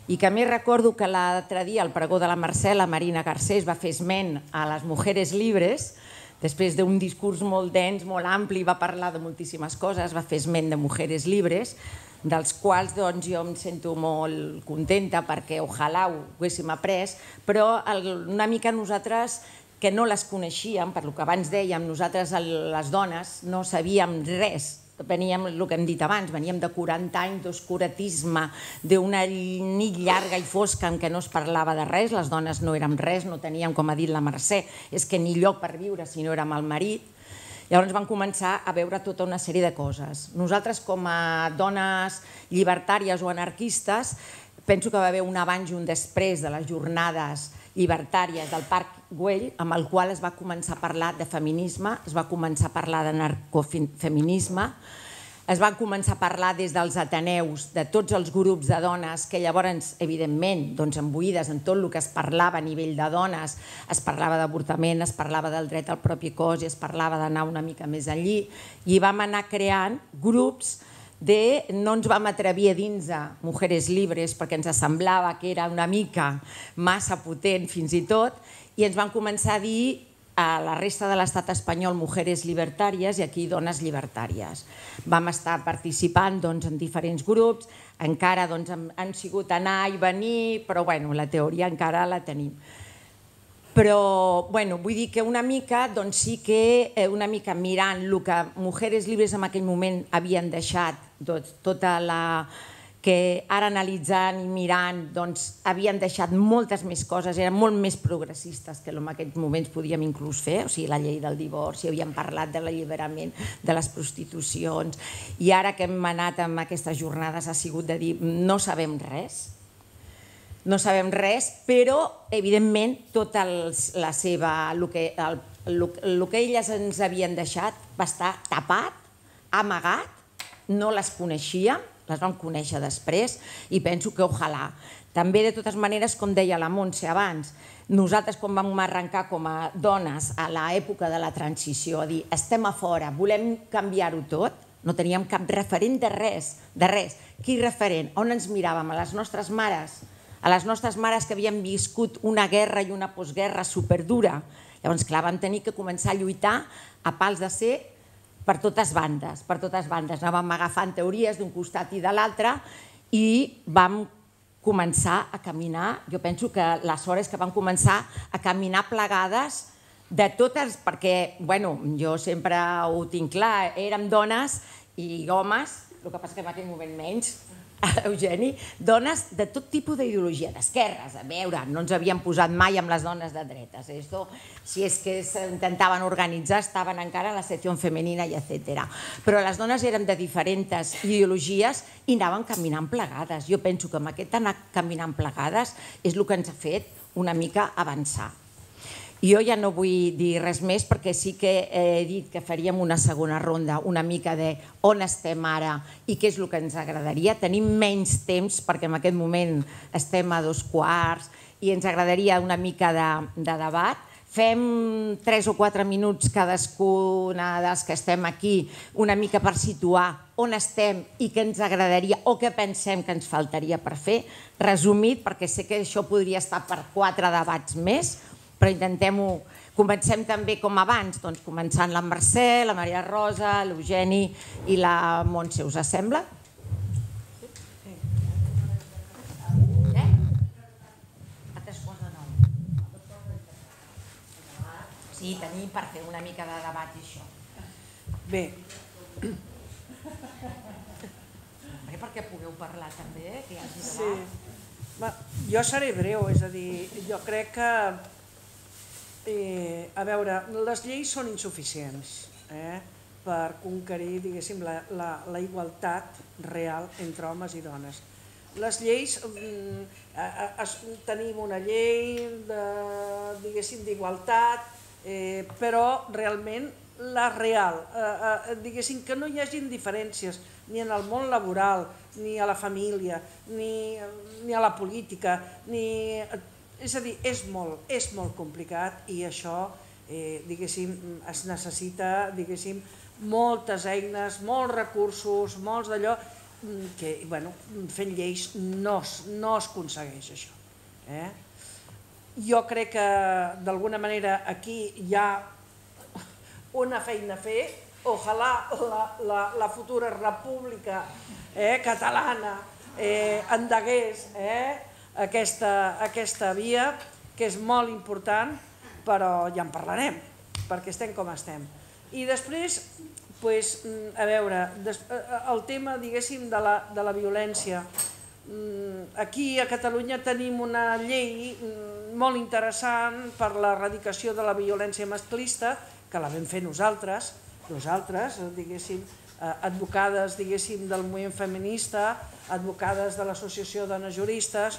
i que a més recordo que l'altre dia al pregó de la Mercè, la Marina Garcés va fer esment a les Mujeres Libres, després d'un discurs molt dens, molt ampli, va parlar de moltíssimes coses, va fer esment de Mujeres Libres, dels quals jo em sento molt contenta perquè ojalà ho haguéssim après, però una mica nosaltres que no les coneixíem, per el que abans dèiem, nosaltres les dones no sabíem res, veníem, el que hem dit abans, veníem de 40 anys d'oscuratisme, d'una nit llarga i fosca en què no es parlava de res, les dones no érem res, no teníem, com ha dit la Mercè, és que ni lloc per viure si no érem el marit. Llavors van començar a veure tota una sèrie de coses. Nosaltres, com a dones llibertàries o anarquistes, penso que va haver un abans i un després de les jornades llibertàries del Parc Güell, amb el qual es va començar a parlar de feminisme, es va començar a parlar de narcofeminisme, es va començar a parlar des dels ateneus de tots els grups de dones que llavors, evidentment, embuïdes en tot el que es parlava a nivell de dones, es parlava d'avortament, es parlava del dret al propi cos i es parlava d'anar una mica més enllí, i vam anar creant grups no ens vam atrevir a dins de Mujeres Libres perquè ens semblava que era una mica massa potent fins i tot, i ens van començar a dir a la resta de l'estat espanyol Mujeres Libertàries i aquí Dones Llibertàries. Vam estar participant en diferents grups, encara han sigut anar i venir, però la teoria encara la tenim. Però vull dir que una mica sí que una mica mirant el que Mujeres Libres en aquell moment havien deixat, tota la que ara analitzant i mirant havien deixat moltes més coses, eren molt més progressistes que en aquests moments podíem inclús fer, o sigui, la llei del divorci, havíem parlat de l'alliberament de les prostitucions, i ara que hem anat amb aquestes jornades ha sigut de dir no sabem res, però evidentment tot la seva, el que elles ens havien deixat va estar tapat, amagat, no les coneixíem, les vam conèixer després i penso que ojalà. També, de totes maneres, com deia la Montse abans, nosaltres quan vam arrencar com a dones a l'època de la transició, a dir estem a fora, volem canviar-ho tot, no teníem cap referent de res, de res. Quin referent? On ens miràvem? A les nostres mares? A les nostres mares que havien viscut una guerra i una postguerra superdura. Llavors, clar, vam tenir que començar a lluitar a pals de ser per totes bandes, per totes bandes. Anàvem agafant teories d'un costat i de l'altre i vam començar a caminar. Jo penso que les hores que vam començar a caminar plegades de totes, perquè, jo sempre ho tinc clar, érem dones i homes, el que passa que en aquell moment menys, Eugeni, dones de tot tipus d'ideologia, d'esquerres, a veure, no ens havíem posat mai amb les dones de dretes, si és que s'intentaven organitzar estaven encara a la secció femenina i etc. Però les dones érem de diferents ideologies i anàvem caminant plegades. Jo penso que amb aquest anar caminant plegades és el que ens ha fet una mica avançar. Jo ja no vull dir res més perquè sí que he dit que faríem una segona ronda una mica de on estem ara i què és el que ens agradaria. Tenim menys temps perquè en aquest moment estem a 2:15 i ens agradaria una mica de debat. Fem 3 o 4 minuts cadascuna dels que estem aquí una mica per situar on estem i què ens agradaria o què pensem que ens faltaria per fer. Resumit, perquè sé que això podria estar per 4 debats més, però intentem-ho. Comencem també com abans, doncs començant la Mercè, la Maria Rosa, l'Eugeni i la Montse, us sembla? Sí, tenim per fer una mica de debat i això. Bé. Perquè pugueu parlar també, que hi hagi debat. Sí. Jo seré breu, és a dir, jo crec que, a veure, les lleis són insuficients per conquerir, diguéssim, la igualtat real entre homes i dones. Les lleis, tenim una llei d'igualtat, però realment la real, diguéssim que no hi hagin diferències ni en el món laboral, ni a la família, ni a la política, és a dir, és molt complicat i això, diguéssim, es necessita, diguéssim, moltes eines, molts recursos, molts d'allò, que, bueno, fent lleis no es aconsegueix això. Jo crec que d'alguna manera aquí hi ha una feina a fer. Ojalà la futura república catalana endegués aquesta via, que és molt important, però ja en parlarem, perquè estem com estem. I després, a veure, el tema, diguéssim, de la violència. Aquí a Catalunya tenim una llei molt interessant per l'erradicació de la violència masclista, que la vam fer nosaltres, diguéssim, advocades, diguéssim, del moviment feminista, advocades de l'Associació de Dones Juristes,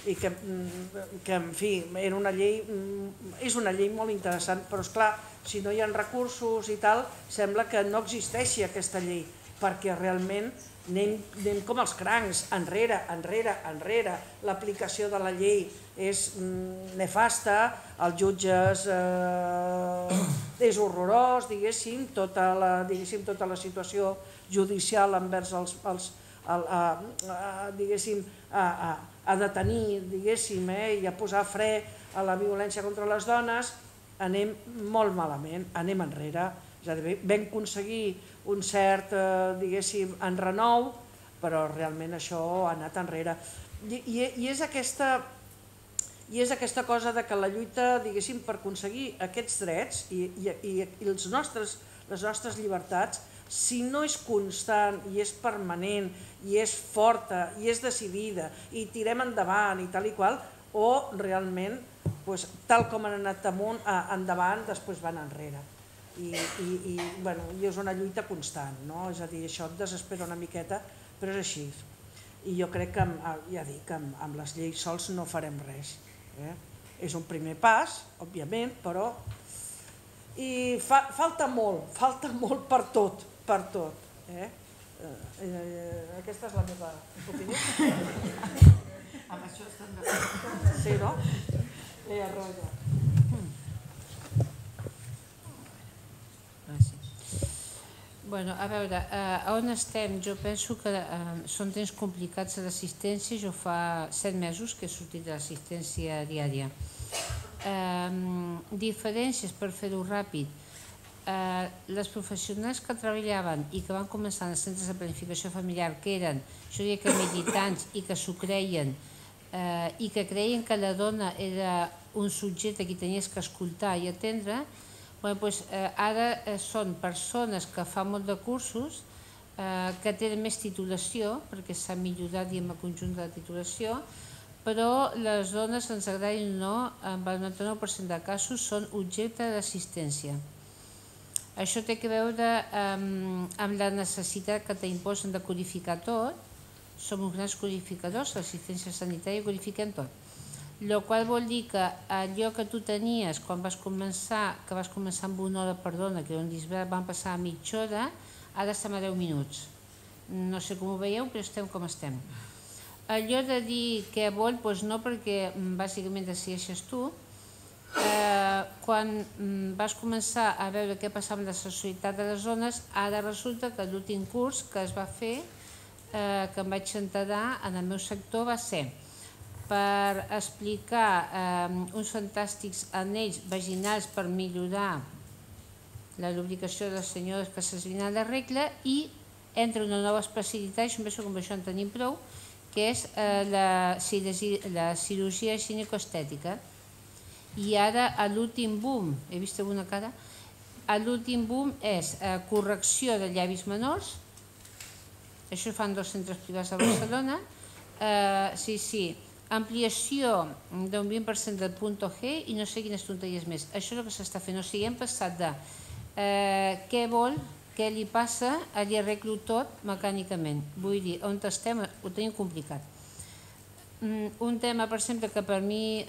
i que, en fi, és una llei molt interessant, però esclar, si no hi ha recursos i tal, sembla que no existeixi aquesta llei, perquè realment anem com els crancs, enrere, l'aplicació de la llei és nefasta, els jutges és horrorós, diguéssim, tota la situació judicial envers a detenir, diguéssim, i a posar fre a la violència contra les dones, anem molt malament, anem enrere. És a dir, vam aconseguir un cert, diguéssim, enrenou, però realment això ha anat enrere. I és aquesta cosa que la lluita, diguéssim, per aconseguir aquests drets i les nostres llibertats, si no és constant i és permanent i és forta i és decidida i tirem endavant i tal i qual, o realment, tal com han anat endavant, després van enrere. I és una lluita constant, és a dir, això et desespera una miqueta, però és així. I jo crec que, ja dic, amb les lleis sols no farem res. És un primer pas, òbviament, però falta molt per tot. Aquesta és la meva opinió. Amb això estem d'acord. Sí, no? Roja. Bueno, a veure, on estem? Jo penso que són temps complicats de l'assistència. Jo fa 7 mesos que he sortit de l'assistència diària. Diferències, per fer-ho ràpid. Les professionals que treballaven i que van començar en els centres de planificació familiar, que eren, jo diria que militants i que s'ho creien, i que creien que la dona era un subjecte que tenies que escoltar i atendre, ara són persones que fan molt de cursos, que tenen més titulació, perquè s'ha millorat el conjunt de la titulació, però les dones, ens agradin o no, en el 99% de casos són objecte d'assistència. Això té a veure amb la necessitat que t'imposen de codificar tot. Som uns grans codificadors, l'assistència sanitària codifiquem tot. el qual vol dir que allò que tu tenies quan vas començar, que vas començar amb 1 hora, perdona, que van passar a mitja hora, ara estem a 10 minuts. No sé com ho veieu, però estem com estem. Allò de dir què vol, doncs no, perquè bàsicament decideixes tu. Quan vas començar a veure què passava amb la sexualitat de les dones, ara resulta que l'últim curs que es va fer, que em vaig enterar en el meu sector, va ser per explicar uns fantàstics anells vaginals per millorar la lubricació de les senyores que s'esvinen la regla, i entra una nova especialitat, i penso que amb això en tenim prou, que és la cirurgia ginecoestètica. I ara l'últim boom, he vist alguna cara, l'últim boom és correcció de llavis menors, això fan 2 centres privats a Barcelona, ampliació d'un 20% del punto G i no sé quines tonteries més. Això és el que s'està fent, o sigui, hem passat de què vol, què li passa, allà arreglo tot mecànicament. Vull dir, on estem ho tenim complicat. Un tema, per exemple, que per mi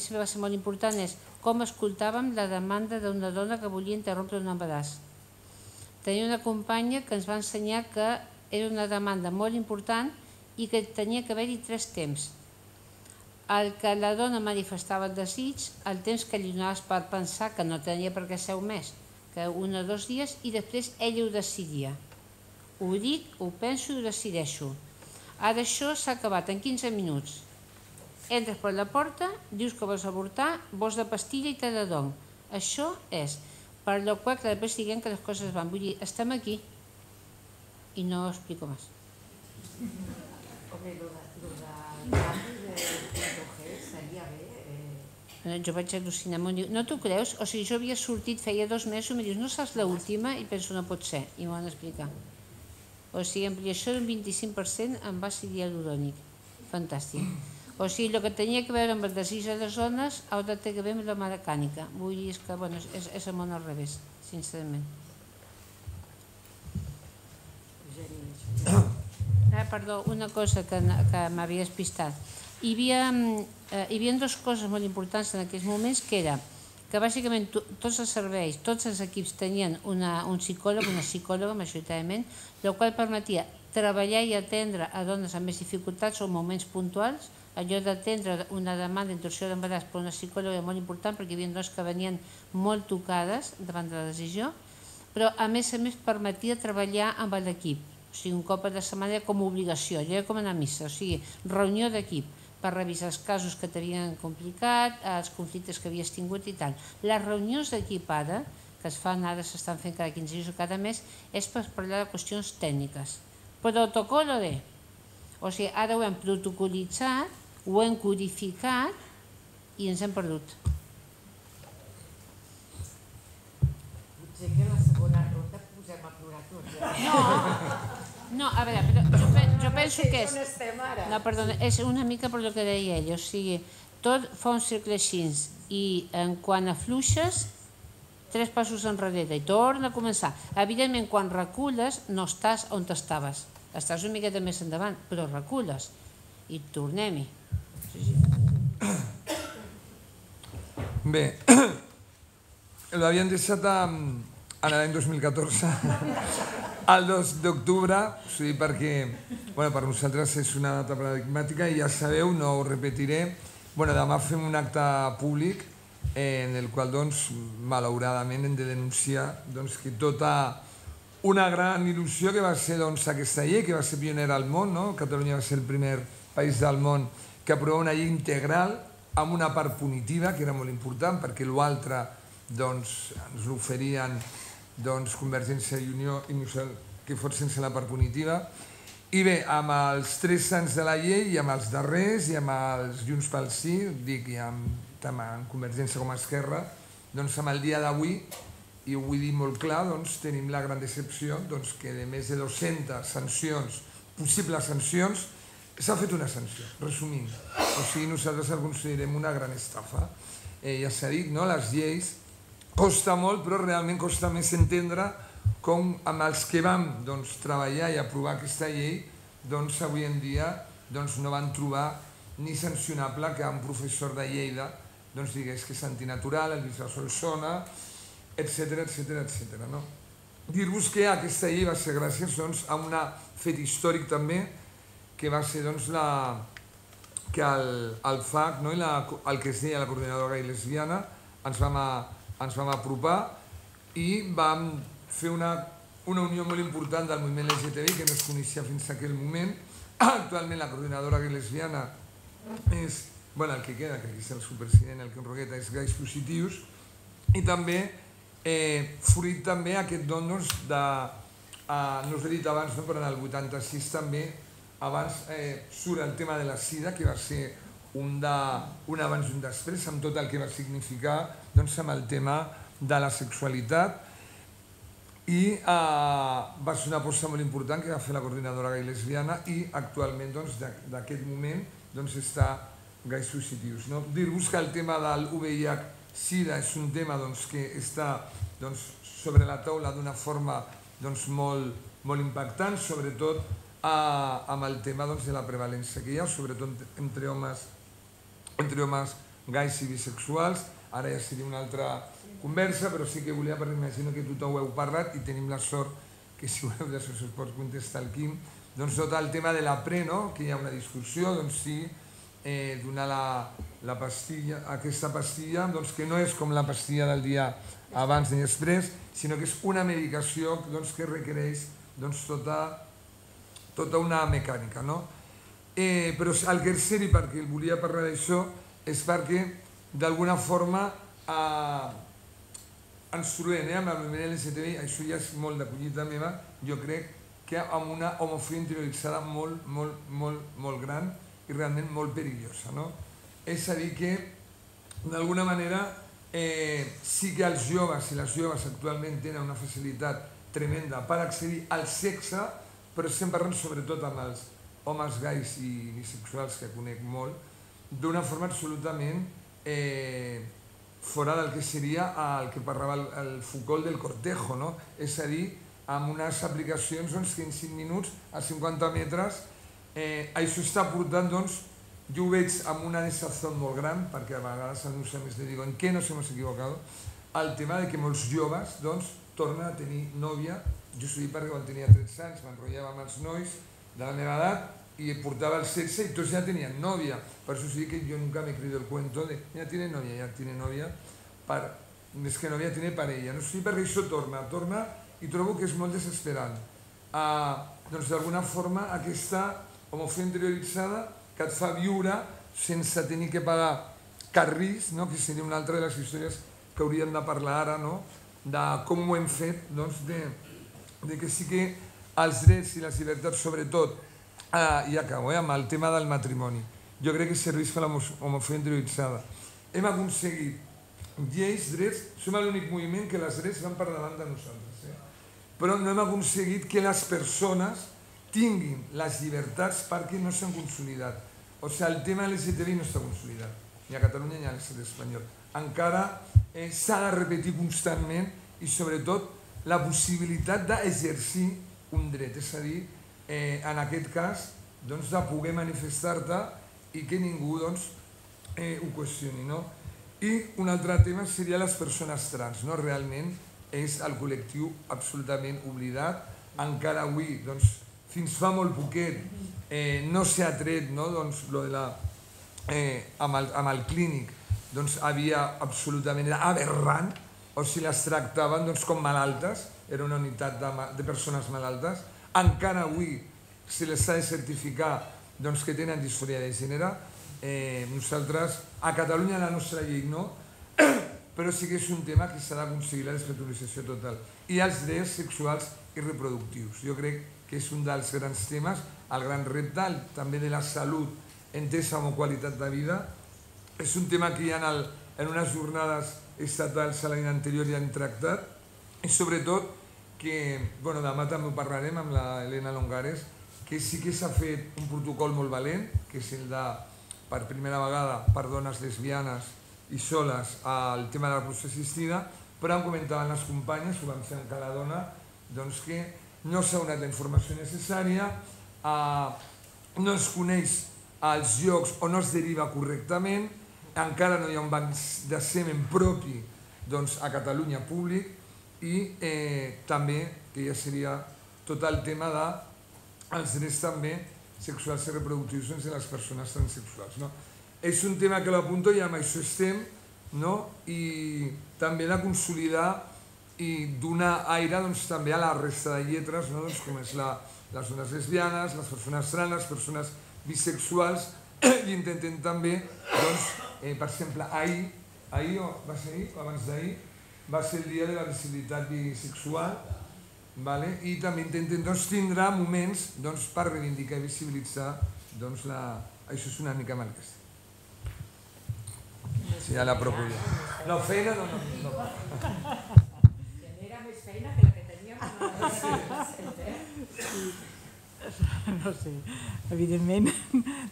sempre va ser molt important és com escoltàvem la demanda d'una dona que volia interrompre un embaràs. Tenia una companya que ens va ensenyar que era una demanda molt important i que tenia que haver-hi 3 temps. El que la dona manifestava el desig, el temps que li donaves per pensar, que no tenia per què ser un mes, que 1 o 2 dies, i després ella ho decidia. Ho dic, ho penso i ho decideixo. Ara això s'ha acabat en 15 minuts. Entres per la porta, dius que vols avortar, vols de pastilla i te la dono. Això és. Per lo qual que després diguem que les coses van. Vull dir, estem aquí i no ho explico més. Home, el canvi de punto G seria bé. Jo vaig al·lucinar. No t'ho creus? O sigui, jo havia sortit, feia 2 mesos, i em dius, no saps l'última? I penso, no pot ser. I m'ho van explicar. O sigui, ampliació d'un 25% amb àcid hialurònic. Fantàstic. O sigui, el que tenia que veure amb el desig de les zones ara té que veure amb la mecànica. Vull dir que és el món al revés, sincerament. Perdó, una cosa que m'havia despistat. Hi havia 2 coses molt importants en aquells moments, que era que bàsicament tots els serveis, tots els equips tenien un psicòleg, una psicòloga majoritàriament, el qual permetia treballar i atendre a dones amb més dificultats o moments puntuals. Allò d'atendre una demanda d'interrupció d'embaràs per una psicòloga era molt important perquè hi havia dones que venien molt tocades davant de la decisió, però a més permetia treballar amb l'equip. O sigui, un cop a la setmana com a obligació, allò era com anar a missa, o sigui, reunió d'equip per revisar els casos que t'havien complicat, els conflictes que havies tingut i tal. Les reunions d'equip ara, que es fan ara, s'estan fent cada 15 dies o cada mes, és per parlar de qüestions tècniques. Protocolo de... O sigui, ara ho hem protocolitzat, ho hem codificat i ens hem perdut. Potser que la segona ronda posem a plorar tots. No, a veure, però jo penso que és... On estem ara? No, perdona, és una mica per el que deia ell, o sigui, tot fa un cercle així i quan afluixes, 3 passos enrere i torna a començar. Evidentment, quan recules, no estàs on estaves, estàs una miqueta més endavant, però recules i tornem-hi. Bé, l'havien deixat en l'any 2014, el 2 d'octubre, perquè per nosaltres és una data paradigmàtica i ja sabeu, no ho repetiré, demà fem un acte públic en el qual, malauradament, hem de denunciar que tota una gran il·lusió que va ser aquesta llei, que va ser pionera al món, Catalunya va ser el primer país del món que aprovava una llei integral amb una part punitiva, que era molt important, perquè l'altre ens l'oferien Convergència i Unió i que fos sense la part punitiva. I bé, amb els 3 anys de la llei i amb els darrers i amb els Junts pel Sí, dic, i tant amb Convergència com a Esquerra, amb el dia d'avui, i ho vull dir molt clar, tenim la gran decepció que de més de 200 sancions, possibles sancions, s'ha fet una sanció, resumint. O sigui, nosaltres el considerem una gran estafa. Ja s'ha dit, les lleis costa molt, però realment costa més entendre com amb els que vam treballar i aprovar aquesta llei, avui en dia no van trobar ni sancionable que un professor de Lleida digués que és antinatural, el bisbe Solsona, etc. Dir-vos que aquesta llei va ser gràcies a un fet històric també, que va ser que el FAC, el que es deia la Coordinadora Gai Lesbiana, ens vam apropar i vam fer una unió molt important del moviment LGTBI que no es coneixia fins a aquell moment. Actualment la Coordinadora Gai Lesbiana és, el que queda, que aquí és el subpresident, el Quim Roqueta, és Gais Positius, i també fruit també aquest don no us he dit abans, però en el 86 també abans surt el tema de la sida, que va ser un abans i un després, amb tot el que va significar amb el tema de la sexualitat, i va ser una aposta molt important que va fer la Coordinadora Gai Lesbiana, i actualment d'aquest moment està Gais Positius. Dir-vos que el tema del VIH-Sida és un tema que està sobre la taula d'una forma molt impactant, sobretot amb el tema de la prevalència que hi ha, sobretot entre homes gais i bisexuals. Ara ja seria una altra conversa, però sí que volia, perquè imagino que tothom ho heu parlat i tenim la sort que si voleu després us pot contestar el Quim, tot el tema de la pre, que hi ha una discussió, si donar aquesta pastilla, que no és com la pastilla del dia abans ni després, sinó que és una medicació que requereix tota una mecànica. Però el que és seri, perquè volia parlar d'això, és perquè d'alguna forma ens trobem amb el moviment LGTBI, això ja és molt de collita meva, jo crec que amb una homofòbia interioritzada molt gran i realment molt perillosa. És a dir que, d'alguna manera, sí que els joves i les joves actualment tenen una facilitat tremenda per accedir al sexe, però estem parlant sobretot amb els homes gais i bisexuals, que conec molt, d'una forma absolutament fora del que seria el que parlava el Foucault del cortejo, és a dir, amb unes aplicacions que en 5 minuts a 50 metres això està portant, jo ho veig amb una desazón molt gran, perquè a vegades a nosaltres les digo en què nos hemos equivocado, el tema de que molts joves tornen a tenir nòvia. Jo s'ho dic perquè quan tenia 13 anys m'enrotllava amb els nois de la meva edat i portava els 16 i tots ja tenien nòvia. Per això sí que jo nunca me he creído el cuento de ja tiene nòvia, més que nòvia tiene parella. No sé perquè això torna i trobo que és molt desesperant. D'alguna forma aquesta homofòbia interioritzada que et fa viure sense tenir que pagar cap risc, que seria una altra de les històries que hauríem de parlar ara, de com ho hem fet, de que sí que els drets i les llibertats, sobretot, i acabo, amb el tema del matrimoni, jo crec que serveix per la homofòbia interioritzada. Hem aconseguit lleis, drets, som l'únic moviment que les drets van per davant de nosaltres, però no hem aconseguit que les persones tinguin les llibertats perquè no s'han consolidat. O sigui, el tema LGTBI no està consolidat, ni a Catalunya ni a l'estat espanyol. Encara s'ha de repetir constantment i sobretot la possibilitat d'exercir un dret, és a dir, en aquest cas, de poder manifestar-te i que ningú ho qüestioni. I un altre tema seria les persones trans. Realment és el col·lectiu absolutament oblidat. Encara avui, fins fa molt poquet, no s'ha tret, amb el clínic, havia absolutament aberrant, o si les tractaven com malaltes, era una unitat de persones malaltes. Encara avui se les ha de certificar que tenen disfòria de gènere. Nosaltres, a Catalunya la nostra llei no, però sí que és un tema que s'ha d'aconseguir la despenalització total. I els drets sexuals i reproductius. Jo crec que és un dels grans temes, el gran repte, també de la salut entesa com a qualitat de vida. És un tema que ja en unes jornades estatals a l'any anterior ja hem tractat, i sobretot que, demà també ho parlarem amb la Helena Longares, que sí que s'ha fet un protocol molt valent, que és el de, per primera vegada, per dones lesbianes i soles, el tema de la reproducció assistida, però em comentaven les companyes, ho vam fer amb cada dona, que no s'ha donat la informació necessària, no es coneix als llocs on no es deriva correctament, encara no hi ha un banc de semen propi a Catalunya públic i també, que ja seria tot el tema dels drets també sexuals i reproductius de les persones transsexuals. És un tema que l'apunto i amb això estem, i també de consolidar i donar aire també a la resta de lletres, com és les dones lesbianes, les persones trans, les persones bisexuals, i intentem també, per exemple, ahir o va ser ahir o abans d'ahir, va ser el dia de la visibilitat bisexual, i també intentem tindre moments per reivindicar i visibilitzar, això és una mica mal que estic. Sí, a la propia. No, feina no. Genera més feina que la que teníem. No sé, evidentment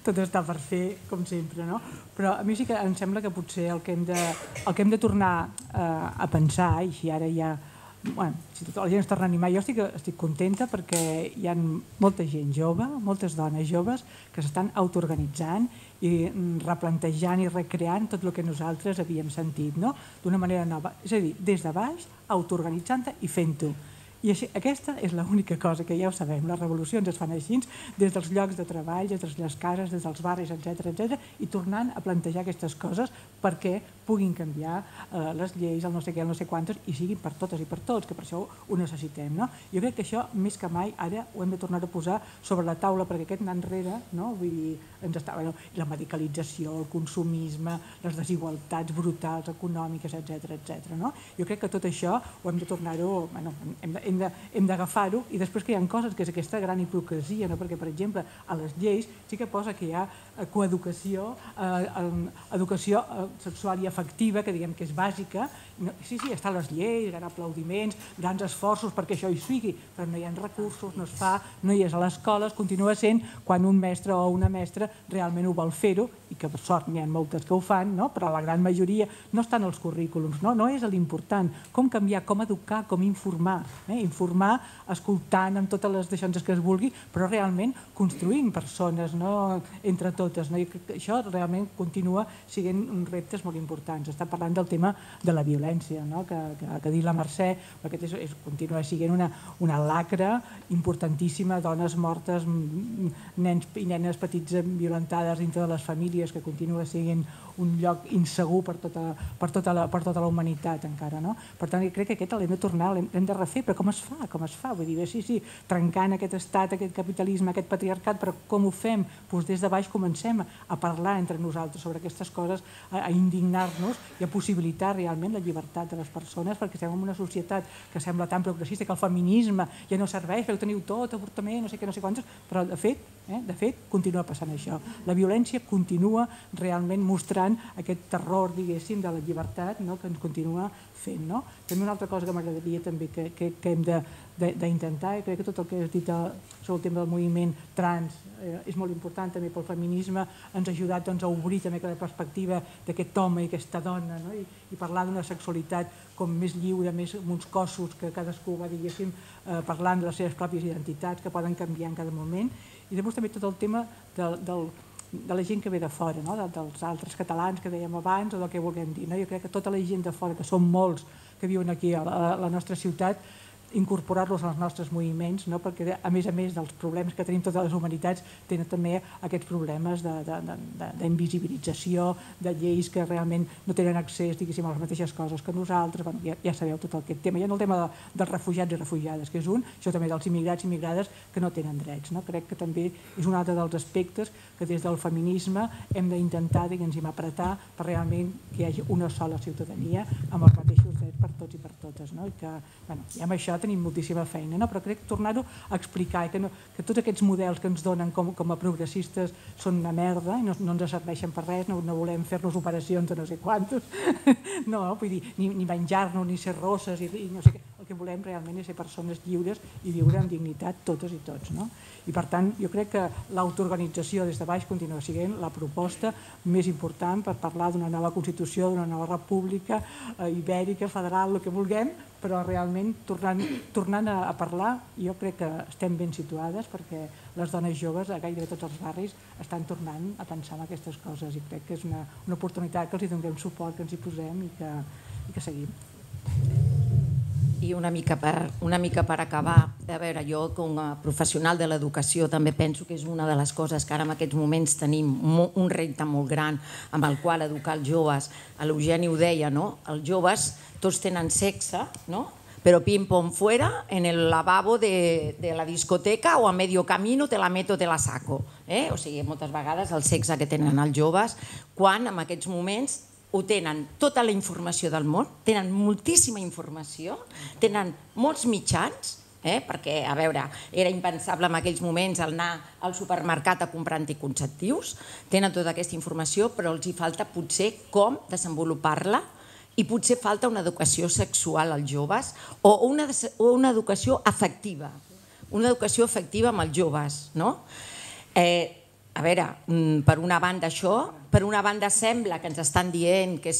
tot està per fer, com sempre, no? Però a mi sí que em sembla que potser el que hem de tornar a pensar, i si ara ja... si tota la gent es torna a animar, jo estic contenta perquè hi ha molta gent jove, moltes dones joves que s'estan autoorganitzant i replantejant i recreant tot el que nosaltres havíem sentit, d'una manera nova. És a dir, des de baix, autoorganitzant-te i fent-ho. I aquesta és l'única cosa que ja ho sabem, les revolucions es fan així, des dels llocs de treball, des de les cases, des dels barris, etc., i tornant a plantejar aquestes coses perquè puguin canviar les lleis, el no sé què, el no sé quantes, i siguin per totes i per tots, que per això ho necessitem. Jo crec que això, més que mai, ara ho hem de tornar a posar sobre la taula, perquè aquest anar enrere, la medicalització, el consumisme, les desigualtats brutals, econòmiques, etc. Jo crec que tot això ho hem de tornar-ho, hem d'agafar-ho, i després que hi ha coses que és aquesta gran hipocresia, perquè, per exemple, a les lleis sí que posa que hi ha coeducació, educació sexual i afectiva, que diguem que és bàsica. Sí, està a les lleis, grans aplaudiments, grans esforços perquè això hi sigui, però no hi ha recursos, no es fa, no hi és a l'escola, es continua sent quan un mestre o una mestra realment ho vol fer-ho, i que per sort n'hi ha moltes que ho fan, però la gran majoria no estan als currículums, no és l'important. Com canviar, com educar, com informar. Informar, escoltant amb totes les deixonses que es vulgui, però realment construint persones entre totes. Això realment continua sent uns reptes molt importants. Està parlant del tema de la violència, que ha dit la Mercè, perquè continua sent una lacra importantíssima, dones mortes, nens i nenes petits violentades dintre de les famílies, que continua sent un lloc insegur per tota la humanitat encara. Per tant, crec que aquest l'hem de tornar, l'hem de refer, però com es fa? Vull dir, sí, trencant aquest estat, aquest capitalisme, aquest patriarcat, però com ho fem? Doncs des de baix comencem a parlar entre nosaltres sobre aquestes coses, a indignar-nos i a possibilitar realment la llibertat de les persones, perquè estem en una societat que sembla tan progressista, que el feminisme ja no serveix, perquè ho teniu tot, avortament, no sé què, no sé quantos, però de fet continua passant això. La violència continua realment mostrant aquest terror, diguéssim, de la llibertat que ens continua fent. També una altra cosa que m'agradaria també que hem d'intentar, i crec que tot el que has dit sobre el tema del moviment trans és molt important també pel feminisme, ens ha ajudat a obrir també la perspectiva d'aquest home i aquesta dona, i parlar d'una sexualitat com més lliure, més amb uns cossos que cadascú va, diguéssim, parlant de les seves pròpies identitats, que poden canviar en cada moment, i després també tot el tema de la gent que ve de fora, dels altres catalans que dèiem abans, o del que vulguem dir. Jo crec que tota la gent de fora, que són molts que viuen aquí a la nostra ciutat, incorporar-los als nostres moviments, perquè a més dels problemes que tenim totes les humanitats, tenen també aquests problemes d'invisibilització, de lleis que realment no tenen accés, diguéssim, a les mateixes coses que nosaltres. Ja sabeu tot aquest tema. Hi ha el tema dels refugiats i refugiades, que és un, això també dels immigrats i immigrades que no tenen drets. Crec que també és un altre dels aspectes que des del feminisme hem d'intentar, diguéssim, apretar per realment que hi hagi una sola ciutadania amb els mateixos drets per tots i per totes. I amb això tenim moltíssima feina, però crec que tornar-ho a explicar que tots aquests models que ens donen com a progressistes són una merda i no ens serveixen per res, no volem fer-nos operacions de no sé quantos, vull dir, ni menjar-nos, ni ser rosses, i no sé què. El que volem realment és ser persones lliures i viure amb dignitat totes i tots. I per tant, jo crec que l'autoorganització des de baix continua sent la proposta més important per parlar d'una nova Constitució, d'una nova república ibèrica, federal, el que vulguem, però realment tornant a parlar, jo crec que estem ben situades perquè les dones joves a gairebé tots els barris estan tornant a pensar en aquestes coses i crec que és una oportunitat que els hi donem suport, que ens hi posem i que seguim. I una mica per acabar, a veure, jo com a professional de l'educació també penso que és una de les coses que ara en aquests moments tenim un repte molt gran amb el qual educar els joves. L'Eugeni ho deia, no? Els joves tots tenen sexe, no? Però pim-pom fuera, en el lavabo de la discoteca o a medio camino te la meto, te la saco. O sigui, moltes vegades el sexe que tenen els joves, quan en aquests moments ho tenen tota la informació del món, tenen moltíssima informació, tenen molts mitjans, perquè, a veure, era impensable en aquells moments anar al supermercat a comprar anticonceptius, tenen tota aquesta informació, però els hi falta potser com desenvolupar-la i potser falta una educació sexual als joves o una educació afectiva amb els joves, no? A veure, per una banda això, per una banda sembla que ens estan dient que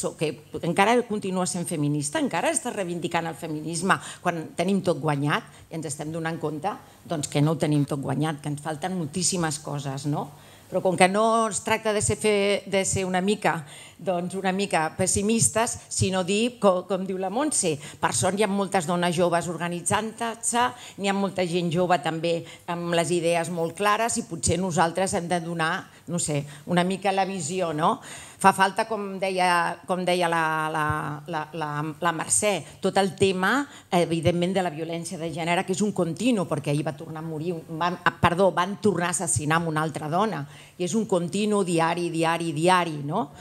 encara continua sent feminista, encara està reivindicant el feminisme quan tenim tot guanyat i ens estem donant compte que no ho tenim tot guanyat, que ens falten moltíssimes coses, no? Però com que no es tracta de ser una mica pessimistes, sinó dir, com diu la Montse, per sort hi ha moltes dones joves organitzant-se, n'hi ha molta gent jove també amb les idees molt clares i potser nosaltres hem de donar, no sé, una mica la visió, no? Fa falta, com deia la Mercè, tot el tema, evidentment, de la violència de gènere, que és un continu, perquè ahir van tornar a assassinar amb una altra dona, i és un continu diari, no?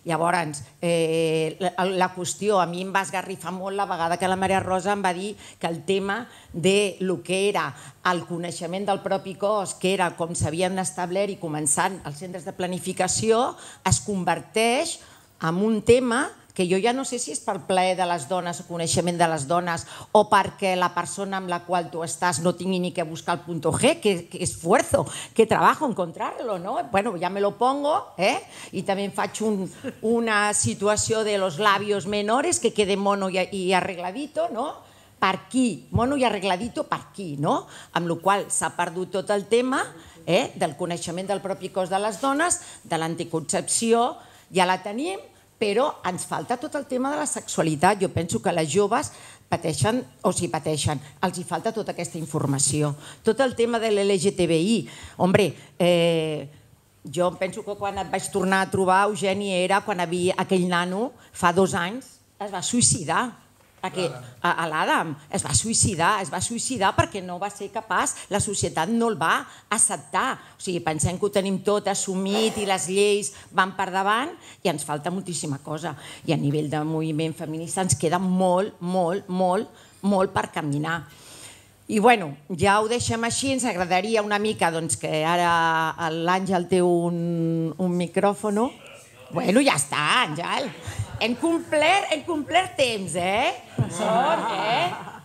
Llavors, la qüestió, a mi em va esgarrifar molt la vegada que la Maria Rosa em va dir que el tema de lo que era el coneixement del propi cos, que era com s'havien establert i començant els centres de planificació, es converteix en un tema que jo ja no sé si és pel plaer de les dones o coneixement de les dones o perquè la persona amb la qual tu estàs no tingui ni que buscar el punto G, que esfuerzo, que trabajo encontrarlo, ¿no? Bueno, ya me lo pongo, y también faig una situació de los labios menores que quede mono y arregladito, ¿no? Per aquí, mono i arregladito per aquí, no? Amb la qual s'ha perdut tot el tema del coneixement del propi cos de les dones, de l'anticoncepció, ja la tenim, però ens falta tot el tema de la sexualitat. Jo penso que les joves pateixen, els hi falta tota aquesta informació. Tot el tema de l'LGTBI, hombre, jo penso que quan et vaig tornar a trobar, Eugeni, era quan aquell nano, fa 2 anys, es va suïcidar. L'Adam es va suïcidar perquè no va ser capaç, la societat no el va acceptar. O sigui, pensem que ho tenim tot assumit i les lleis van per davant i ens falta moltíssima cosa. I a nivell de moviment feminista ens queda molt per caminar. I bueno, ja ho deixem així, ens agradaria una mica que ara l'Àngel té un micròfon. Bueno, ja està, Àngel. Hem complert temps,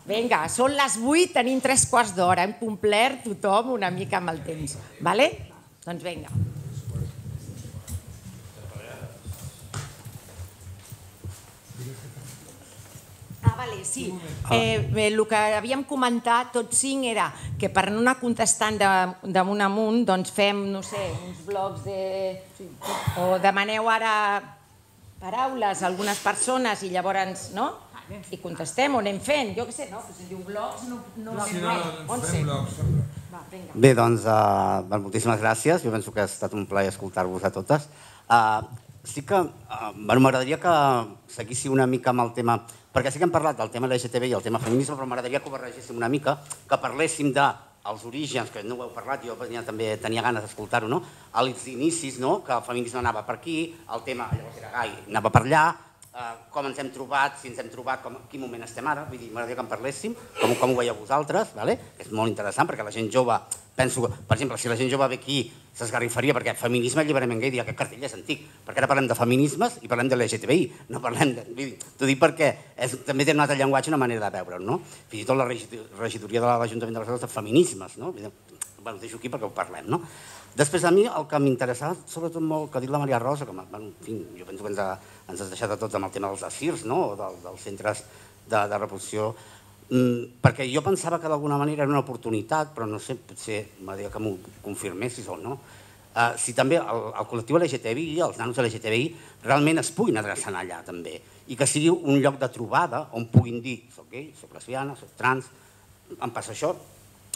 Vinga, són les 8, tenim 3/4 d'hora. Hem complert tothom una mica amb el temps. Doncs vinga. Vale, sí. El que havíem comentat tots 5 era que per no anar contestant d'amunt amunt doncs fem, no sé, uns blocs o demaneu ara paraules a algunes persones i llavors, no? I contestem o anem fent, jo què sé, no? Si diu blocs no anem fent. Bé, doncs, moltíssimes gràcies. Jo penso que ha estat un plaer escoltar-vos a totes. Sí que m'agradaria que seguíssiu una mica amb el tema, perquè sí que hem parlat del tema LGTBI i el tema feminisme, però m'agradaria que ho barregéssim una mica, que parléssim dels orígens, que no ho heu parlat, jo també tenia ganes d'escoltar-ho, no? Els inicis, que el feminisme anava per aquí, el tema llavors era gai, anava per allà, com ens hem trobat, si ens hem trobat, en quin moment estem ara, vull dir, m'agradaria que en parléssim, com ho veieu vosaltres, és molt interessant perquè la gent jove, penso, per exemple, si la gent jove ve aquí s'esgarrifaria perquè feminisme, alliberament gai, diria que cartell és antic, perquè ara parlem de feminismes i parlem de l'LGTBI, no parlem de... T'ho dic perquè també té un altre llenguatge, una manera de veure'l, no? Fins i tot la regidoria de l'Ajuntament de Barcelona de feminismes, no? Ho deixo aquí perquè ho parlem, no? Després, a mi, el que m'interessava, sobretot molt, que ha dit la Maria Rosa, que jo penso que ens has deixat a tots amb el tema dels ASIRs, no? O dels centres de reposició, perquè jo pensava que d'alguna manera era una oportunitat, però no sé, potser m'agradaria que m'ho confirmessis o no. Si també el col·lectiu LGTBI, els nanos LGTBI, realment es puguin adreçar allà també, i que sigui un lloc de trobada on puguin dir soc gay, soc lesbiana, soc trans, em passa això,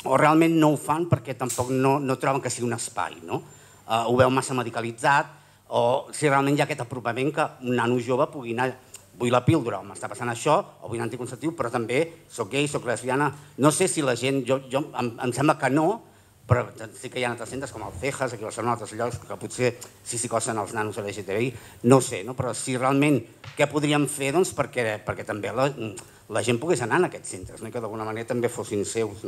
o realment no ho fan perquè tampoc no troben que sigui un espai, no? Ho veu massa medicalitzat, o si realment hi ha aquest apropament que un nano jove pugui anar, vull la píldora, o m'està passant això, o vull un anticonceptiu, però també soc gay, soc lesbiana. No sé si la gent, em sembla que no, però sí que hi ha altres centres com el CEJAS, aquí a Barcelona, altres llocs, que potser sí s'hi costen els nanos LGTBI, no sé, però si realment què podríem fer perquè també la gent pogués anar en aquests centres, que d'alguna manera també fossin seus.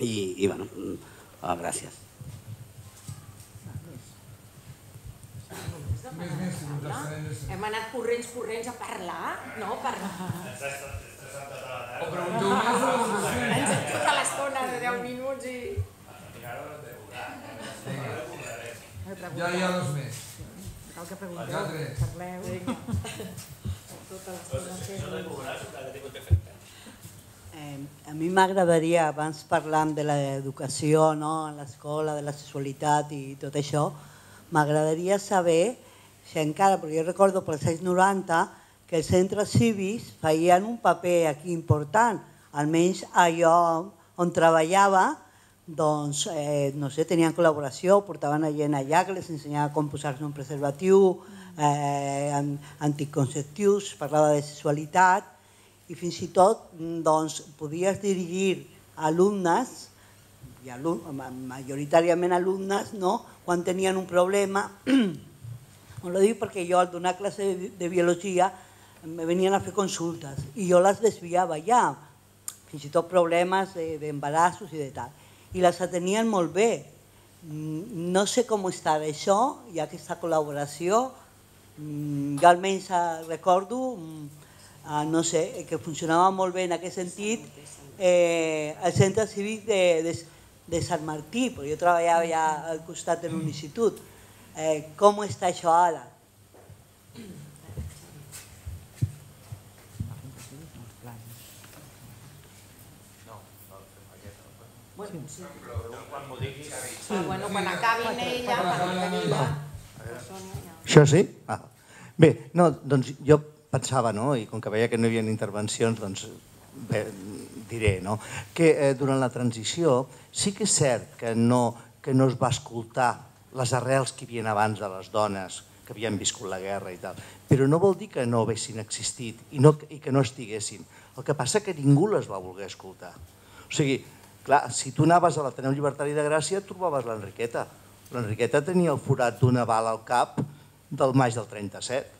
I, bueno, gràcies. Hem anat corrents a parlar, no? Ens hem tota l'estona de 10 minuts i... Ja hi ha dos més. Cal que pregunteu, parleu. A mi m'agradaria, abans parlant de l'educació a l'escola, de la sexualitat i tot això, m'agradaria saber si encara, perquè jo recordo pels anys 90 que els centres cívics feien un paper aquí important, almenys allò on treballava, doncs, no sé, tenien col·laboració, portaven a gent allà que les ensenyava com posar-se un preservatiu, anticonceptius, parlava de sexualitat, i fins i tot podies dirigir alumnes, majoritàriament alumnes, quan tenien un problema. Ho dic perquè jo al donar classe de biologia me venien a fer consultes i jo les desviava ja, fins i tot problemes d'embarassos i de tal. I les atenien molt bé. No sé com està això, hi ha aquesta col·laboració. Jo almenys recordo, no sé, que funcionava molt bé en aquest sentit el centre cívic de Sant Martí, però jo treballava ja al costat de un institut. Com està això ara? Quan acabin ella... Això sí? Bé, doncs jo pensava, i com que veia que no hi havia intervencions, doncs diré que durant la transició sí que és cert que no es va escoltar les arrels que hi havia abans de les dones que havien viscut la guerra i tal, però no vol dir que no haguessin existit i que no estiguessin. El que passa és que ningú les va voler escoltar. O sigui, clar, si tu anaves a l'Ateneu Llibertari de Gràcia trobaves l'Enriqueta. L'Enriqueta tenia el forat d'una bala al cap del maig del 37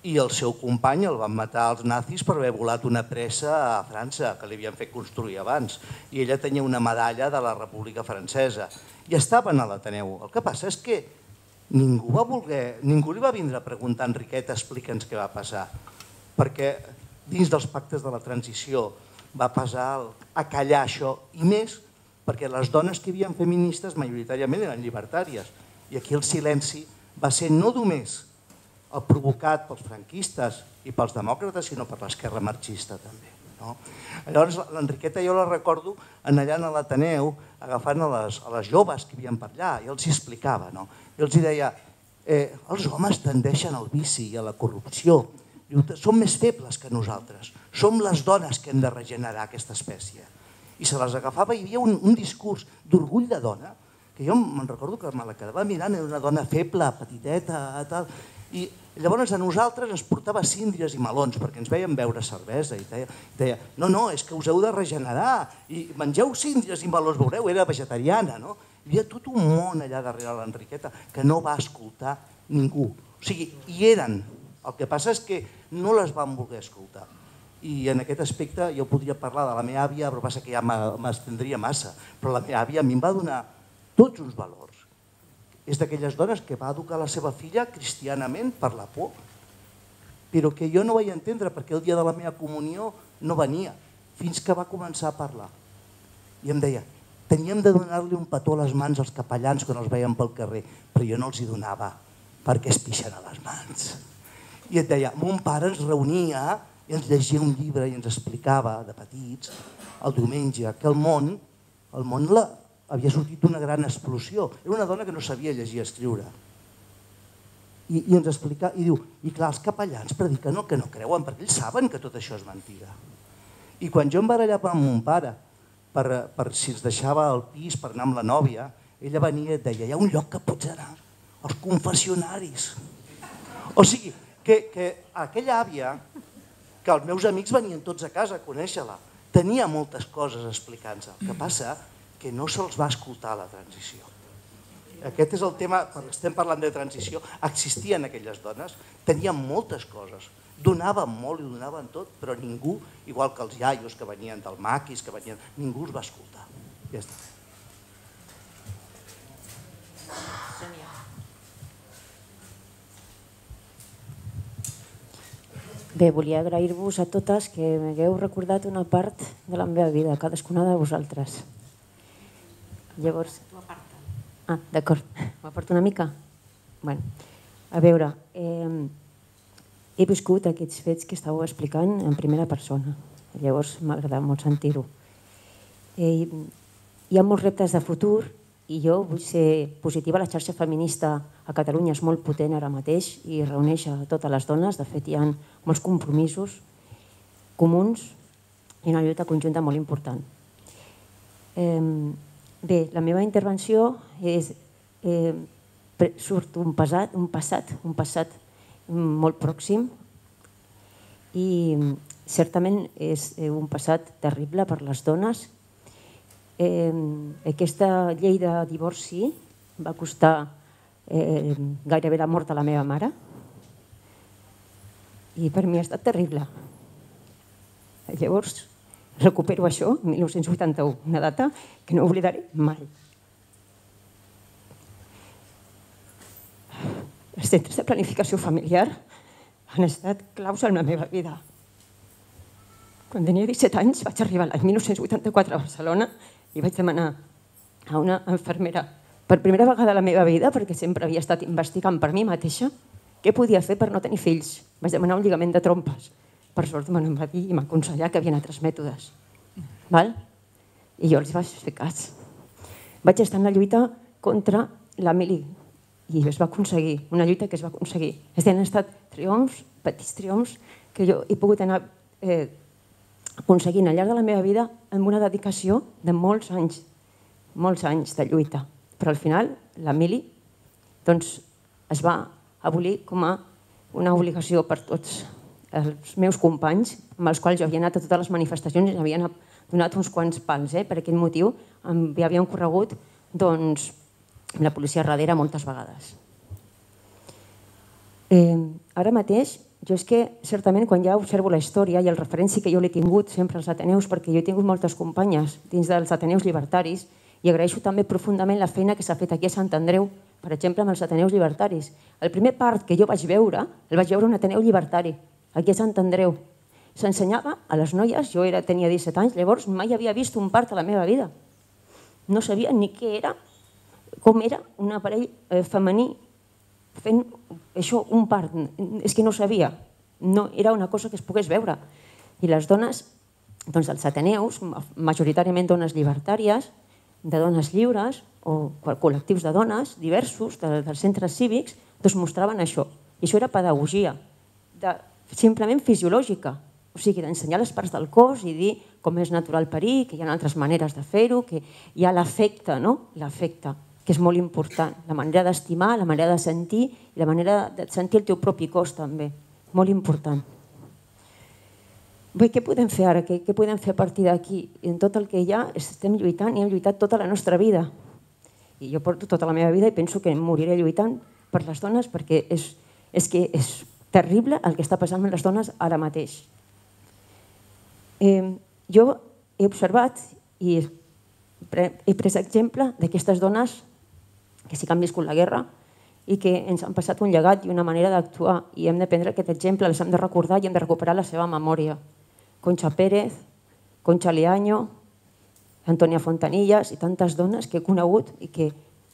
i el seu company el van matar els nazis per haver volat una pressa a França, que li havien fet construir abans, i ella tenia una medalla de la República Francesa. I estaven a l'Ateneu. El que passa és que ningú li va vindre a preguntar a Enriqueta, explica'ns què va passar, perquè dins dels pactes de la transició va passar a callar això, i més perquè les dones que hi havia feministes majoritàriament eren llibertàries, i aquí el silenci va ser no només el provocat pels franquistes i pels demòcrates, sinó per l'esquerra marxista també. Llavors l'Enriqueta jo la recordo allà a l'Ateneu agafant a les joves que hi havia per allà i els explicava, i els deia els homes tendeixen al vici i a la corrupció, són més febles que nosaltres, som les dones que hem de regenerar aquesta espècie. I se les agafava i hi havia un discurs d'orgull de dona que jo me'n recordo que me la quedava mirant, era una dona feble, petiteta, tal, i llavors a nosaltres ens portava síndries i melons perquè ens veien beure cervesa i deia, no, és que us heu de regenerar i mengeu síndries i melons, veureu, era vegetariana, no? Hi havia tot un món allà darrere l'Enriqueta que no va escoltar ningú. O sigui, hi eren, el que passa és que no les van voler escoltar. I en aquest aspecte jo podria parlar de la meva àvia, però passa que ja m'estendria massa, però la meva àvia a mi em va donar tots uns valors. És d'aquelles dones que va educar la seva filla cristianament per la por, però que jo no vaig entendre perquè el dia de la meva comunió no venia, fins que va començar a parlar. I em deia, teníem de donar-li un petó a les mans als capellans quan els veiem pel carrer, però jo no els hi donava perquè es pixen a les mans. I et deia, mon pare ens reunia i ens llegia un llibre i ens explicava, de petits, el diumenge, que el món havia sortit d'una gran explosió. Era una dona que no sabia llegir i escriure. I ens explica, i diu, i clar, els capellans prediquen el que no creuen, perquè ells saben que tot això és mentida. I quan jo em barallava amb mon pare per si ens deixava al pis per anar amb la nòvia, ella venia i et deia, hi ha un lloc que pots anar, els confessionaris. O sigui, que aquella àvia, que els meus amics venien tots a casa a conèixer-la, tenia moltes coses explicant-se. El que passa que no se'ls va escoltar a la transició. Aquest és el tema, estem parlant de transició, existien aquelles dones, tenien moltes coses, donaven molt i donaven tot, però ningú, igual que els iaios que venien del maquis, ningú els va escoltar. Ja està. Bé, volia agrair-vos a totes que m'hagueu recordat una part de la meva vida, cadascuna de vosaltres. Llavors... Ah, d'acord. M'aporto una mica? Bé, a veure, he viscut aquests fets que estàveu explicant en primera persona. Llavors m'ha agradat molt sentir-ho. Hi ha molts reptes de futur i jo vull ser positiva. La xarxa feminista a Catalunya és molt potent ara mateix i reuneix a totes les dones. De fet, hi ha molts compromisos comuns i una lluita conjunta molt important. Bé, la meva intervenció surt un passat molt pròxim i certament és un passat terrible per les dones. Aquesta llei de divorci va costar gairebé la mort a la meva mare i per mi ha estat terrible. Llavors recupero això, 1981, una data que no oblidaré mai. Els centres de planificació familiar han estat claus en la meva vida. Quan tenia 17 anys vaig arribar l'any 1984 a Barcelona i vaig demanar a una infermera, per primera vegada a la meva vida, perquè sempre havia estat investigant per mi mateixa, què podia fer per no tenir fills. Vaig demanar un lligament de trompes. Per sort em va dir i m'aconsellar que hi havia altres mètodes. I jo els vaig fer cas. Vaig estar en la lluita contra l'Emili i es va aconseguir, una lluita que es va aconseguir. Han estat triomfs, petits triomfs, que jo he pogut anar aconseguint al llarg de la meva vida amb una dedicació de molts anys de lluita. Però al final l'Emili es va abolir com a una obligació per tots els meus companys, amb els quals jo havia anat a totes les manifestacions i havia donat uns quants pals. Per aquest motiu havíem corregut amb la policia darrere moltes vegades. Ara mateix, jo és que certament quan ja observo la història i el referència que jo l'he tingut sempre als Ateneus, perquè jo he tingut moltes companyes dins dels Ateneus llibertaris i agraeixo també profundament la feina que s'ha fet aquí a Sant Andreu, per exemple, amb els Ateneus llibertaris. El primer part que jo vaig veure, el vaig veure un Ateneu llibertari, aquí a Sant Andreu. S'ensenyava a les noies, jo tenia 17 anys, llavors mai havia vist un part a la meva vida. No sabia ni què era, com era un aparell femení fent això, un part. És que no sabia, no era una cosa que es pogués veure. I les dones dels Ateneus, majoritàriament dones llibertàries, de dones lliures o col·lectius de dones diversos dels centres cívics, mostraven això. I això era pedagogia, simplement fisiològica, o sigui, d'ensenyar les parts del cos i dir com és natural parir, que hi ha altres maneres de fer-ho, que hi ha l'afecte, l'afecte, que és molt important, la manera d'estimar, la manera de sentir i la manera de sentir el teu propi cos també, molt important. Bé, què podem fer ara? Què podem fer a partir d'aquí? En tot el que hi ha estem lluitant i hem lluitat tota la nostra vida. I jo porto tota la meva vida i penso que em moriré lluitant per les dones perquè és que és terrible el que està passant amb les dones ara mateix. Jo he observat i he pres exemple d'aquestes dones que sí que han viscut la guerra i que ens han passat un llegat i una manera d'actuar i hem de prendre aquest exemple, les hem de recordar i hem de recuperar la seva memòria. Concha Pérez, Concha Liaño, Antònia Fontanillas i tantes dones que he conegut i que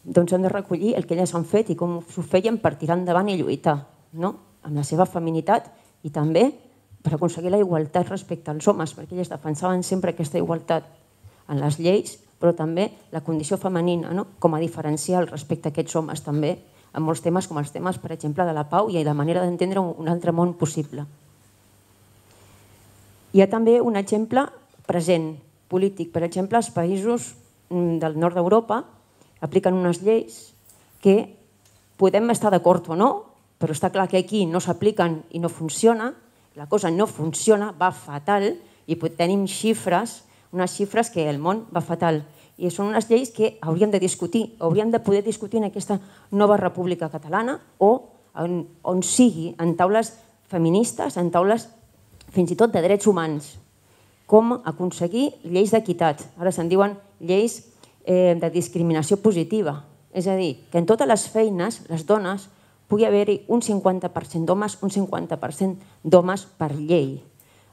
hem de recollir el que elles han fet i com s'ho feien per tirar endavant i lluitar, amb la seva feminitat i també per aconseguir la igualtat respecte als homes, perquè elles defensaven sempre aquesta igualtat en les lleis, però també la condició femenina, com a diferencial respecte a aquests homes també, en molts temes com els temes, per exemple, de la pau i de manera d'entendre un altre món possible. Hi ha també un exemple present, polític. Per exemple, els països del nord d'Europa apliquen unes lleis que podem estar d'acord o no, però està clar que aquí no s'apliquen i no funciona, la cosa no funciona, va fatal, i tenim xifres, unes xifres que el món va fatal. I són unes lleis que hauríem de discutir, hauríem de poder discutir en aquesta nova república catalana o on sigui, en taules feministes, en taules fins i tot de drets humans. Com aconseguir lleis d'equitat. Ara se'n diuen lleis de discriminació positiva. És a dir, que en totes les feines, les dones, pugui haver-hi un 50% d'homes, un 50% d'homes per llei.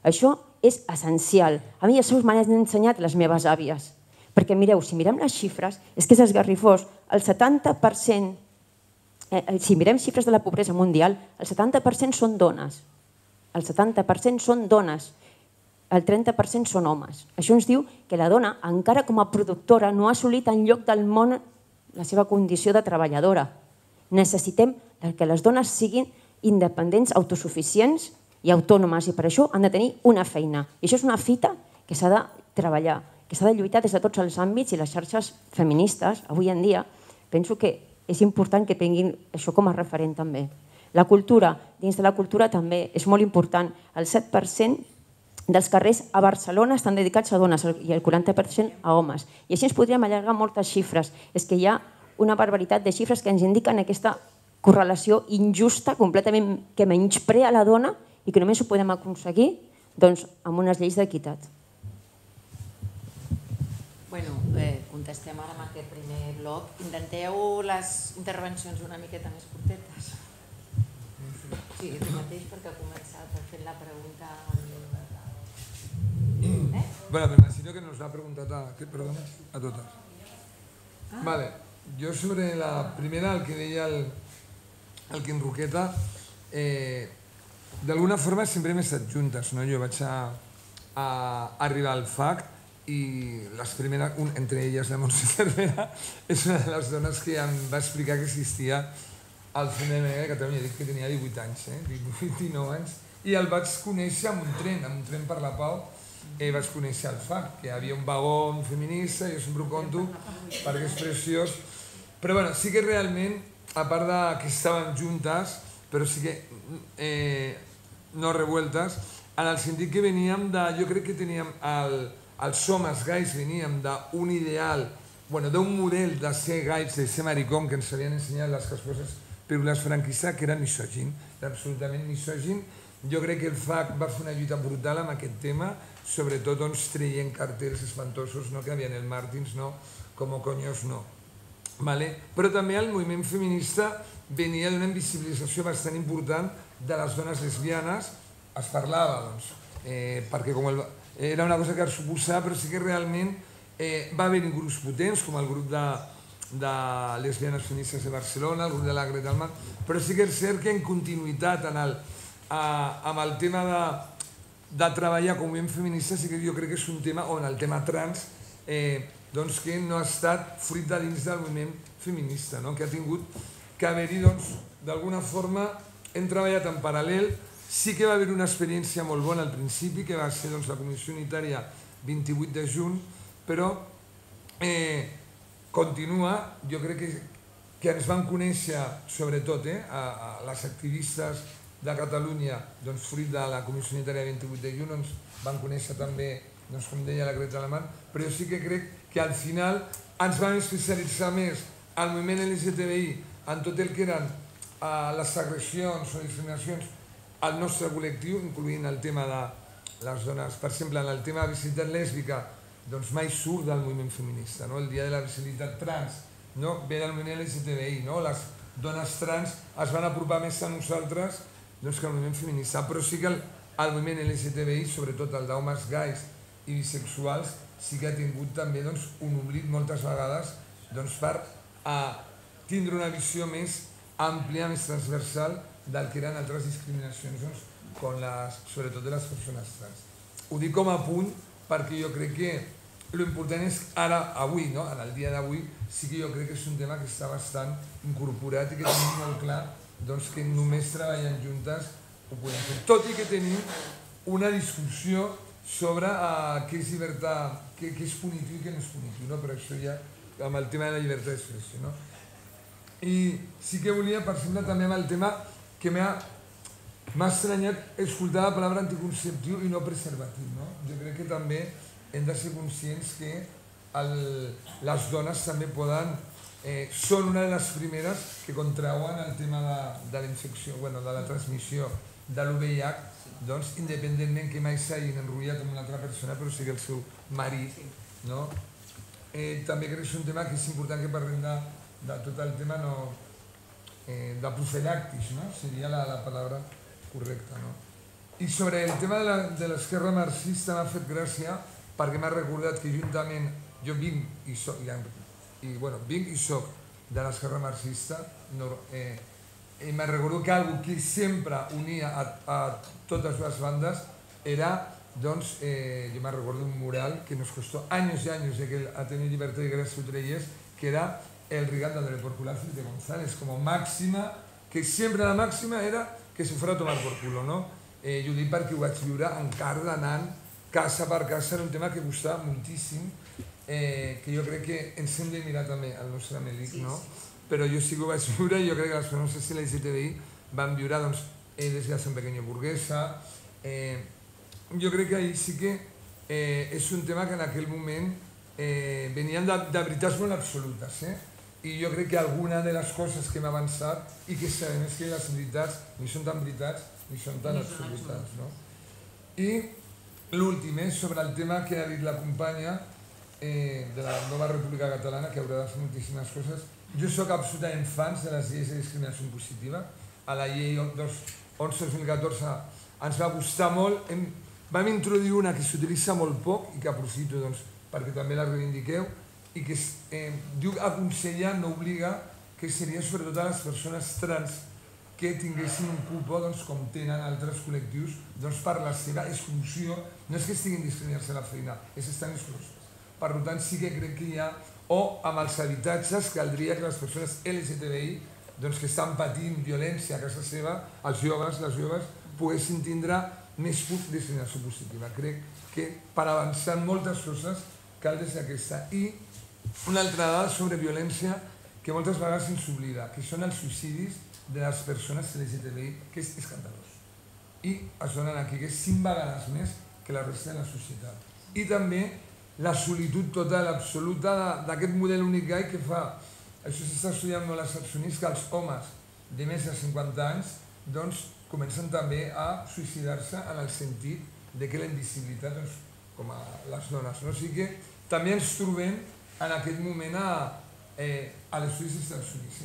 Això és essencial. A mi això m'han ensenyat les meves àvies. Perquè mireu, si mirem les xifres, és que és esgarrifós. El 70%, si mirem xifres de la pobresa mundial, el 70% són dones. El 70% són dones. El 30% són homes. Això ens diu que la dona, encara com a productora, no ha assolit enlloc del món la seva condició de treballadora. Necessitem que les dones siguin independents, autosuficients i autònomes, i per això han de tenir una feina. I això és una fita que s'ha de treballar, que s'ha de lluitar des de tots els àmbits, i les xarxes feministes, avui en dia, penso que és important que tinguin això com a referent també. La cultura, dins de la cultura també és molt important. El 7% dels carrers a Barcelona estan dedicats a dones i el 40% a homes. I així ens podríem allargar moltes xifres. És que hi ha una barbaritat de xifres que ens indiquen aquesta correlació injusta, completament, que menysprea la dona i que només ho podem aconseguir amb unes lleis d'equitat. Contestem ara amb aquest primer bloc. Intenteu les intervencions una miqueta més curtetes. Sí, tu mateix, perquè ha començat fent la pregunta. Bueno, me imagino que nos la ha preguntado a todas. Vale, yo sobre la primera, el que deia el Quim Roqueta, d'alguna forma sempre hem estat juntes, no? Jo vaig arribar al FAC i les primeres, entre elles la Montse Cervera, és una de les dones que em va explicar que existia al FMM de Catalunya. Dic que tenia 18 anys, 19 anys, i el vaig conèixer amb un tren per la Pau. Vaig conèixer el FAC, que hi havia un vagó feminista, jo sempre ho conto perquè és preciós, però bueno, sí que realment, a part que estaven juntes, però sí que no revueltes, en el sentit que veníem jo crec que teníem els homes gais veníem d'un ideal, d'un model de ser gais, de ser maricón, que ens havien ensenyat les coses pel·lícules franquistes, que era misògin, era absolutament misògin. Jo crec que el FAC va fer una lluita brutal amb aquest tema, sobretot traient cartells espantosos, no que havia el Martins, no, com coños no. Però també el moviment feminista venia d'una invisibilització bastant important de les dones lesbianes, es parlava, perquè era una cosa que es suposava, però sí que realment va haver-hi grups potents, com el grup de lesbianes feministes de Barcelona, el grup de la Greta Alman, però sí que és cert que en continuïtat amb el tema de treballar com a moviment feminista, sí que jo crec que és un tema on el tema trans que no ha estat fruit de dins del moviment feminista, que ha tingut que haver-hi, d'alguna forma, hem treballat en paral·lel. Sí que va haver una experiència molt bona al principi, que va ser la Comissió Unitària 28 de juny, però continua, jo crec que ens van conèixer, sobretot, les activistes de Catalunya, fruit de la Comissió Unitària 28 de juny, ens van conèixer també, com deia la Greta Alemany, però jo sí que crec que al final ens vam especialitzar més al moviment LGTBI en tot el que eren les agressions o discriminacions al nostre col·lectiu, incloent el tema de les dones. Per exemple, en el tema de visibilitat lèsbica, mai surt del moviment feminista. El dia de la visibilitat trans ve del moviment LGTBI. Les dones trans es van apropar més a nosaltres que el moviment feminista. Però sí que el moviment LGTBI, sobretot el d'homes gais i bisexuals, sí que ha tingut també un oblit moltes vegades per tindre una visió més àmplia, més transversal del que eren altres discriminacions sobretot de les persones trans. Ho dic com a punt perquè jo crec que l'important és ara, avui, en el dia d'avui, sí que jo crec que és un tema que està bastant incorporat i que tenim molt clar que només treballant juntes ho podem fer. Tot i que tenim una discussió sobre què és llibertat, què és punitiu i què no és punitiu, però això ja amb el tema de la llibertat d'expressió. I sí que volia, per exemple, també amb el tema que m'ha estranyat escoltar la paraula anticonceptiu i no preservatiu. Jo crec que també hem de ser conscients que les dones també són una de les primeres que contrauen el tema de la infecció, de la transmissió de l'UVIH, independentment que mai s'hagin enrotllat amb una altra persona, però sigui el seu marit. També crec que és un tema que és important que parlem de tot el tema de profilactis, seria la paraula correcta. I sobre el tema de l'esquerra marxista m'ha fet gràcia perquè m'ha recordat que juntament jo vinc i soc de l'esquerra marxista i me'n recordo que algo que sempre unia a totes les bandes era, jo me'n recordo un mural que nos costó años y años de que el Ateneo Libertad y Gracia Utreyes, que era el Rigando de Porculazos de González, como máxima, que sempre la màxima era que se fuera a tomar por culo, no? Jo dic perquè ho vaig viure encara anant casa per casa, era un tema que costava moltíssim, que jo crec que ens hem de mirar també al nostre Amèlic, no? Però jo sí que ho vaig viure i jo crec que les persones de la LGTBI van viure desgràcia pequeña burguesa. Jo crec que ahí sí que és un tema que en aquell moment venien de veritats molt absolutes, i jo crec que alguna de les coses que hem avançat i que sabem és que les veritats ni són tan veritats ni són tan absolutes. I l'últim és sobre el tema que ha dit la companya de la nova República Catalana, que haurà de fer moltíssimes coses. Jo soc absolutament fans de les lleis de discriminació positiva. A la llei 11-2014 ens va costar molt. Vam introduir una que s'utilitza molt poc i que aprofito perquè també la reivindiqueu, i que diu aconsellar, no obliga, que seria sobretot a les persones trans que tinguessin un cupo com tenen altres col·lectius per la seva exclusió. No és que estiguin discriminant-se a la feina, és que estan exclusos. Per tant, sí que crec que hi ha, o amb els habitatges, caldria que les persones LGTBI que estan patint violència a casa seva, els joves, les joves, poguessin tindre més discriminació positiva. Crec que per avançar en moltes coses cal des d'aquesta. I una altra dada sobre violència que moltes vegades se'ns oblida, que són els suïcidis de les persones LGTBI, que és escandalós. I es donen aquí, que és 5 vegades més que la resta de la societat. I també la solitud total, absoluta, d'aquest model únic gai que fa, això s'està estudiant molt als Estats Units, que els homes de més de 50 anys comencen també a suïcidar-se en el sentit que la invisibilitat com a les dones. O sigui que també ens trobem en aquest moment a l'estudi dels Estats Units,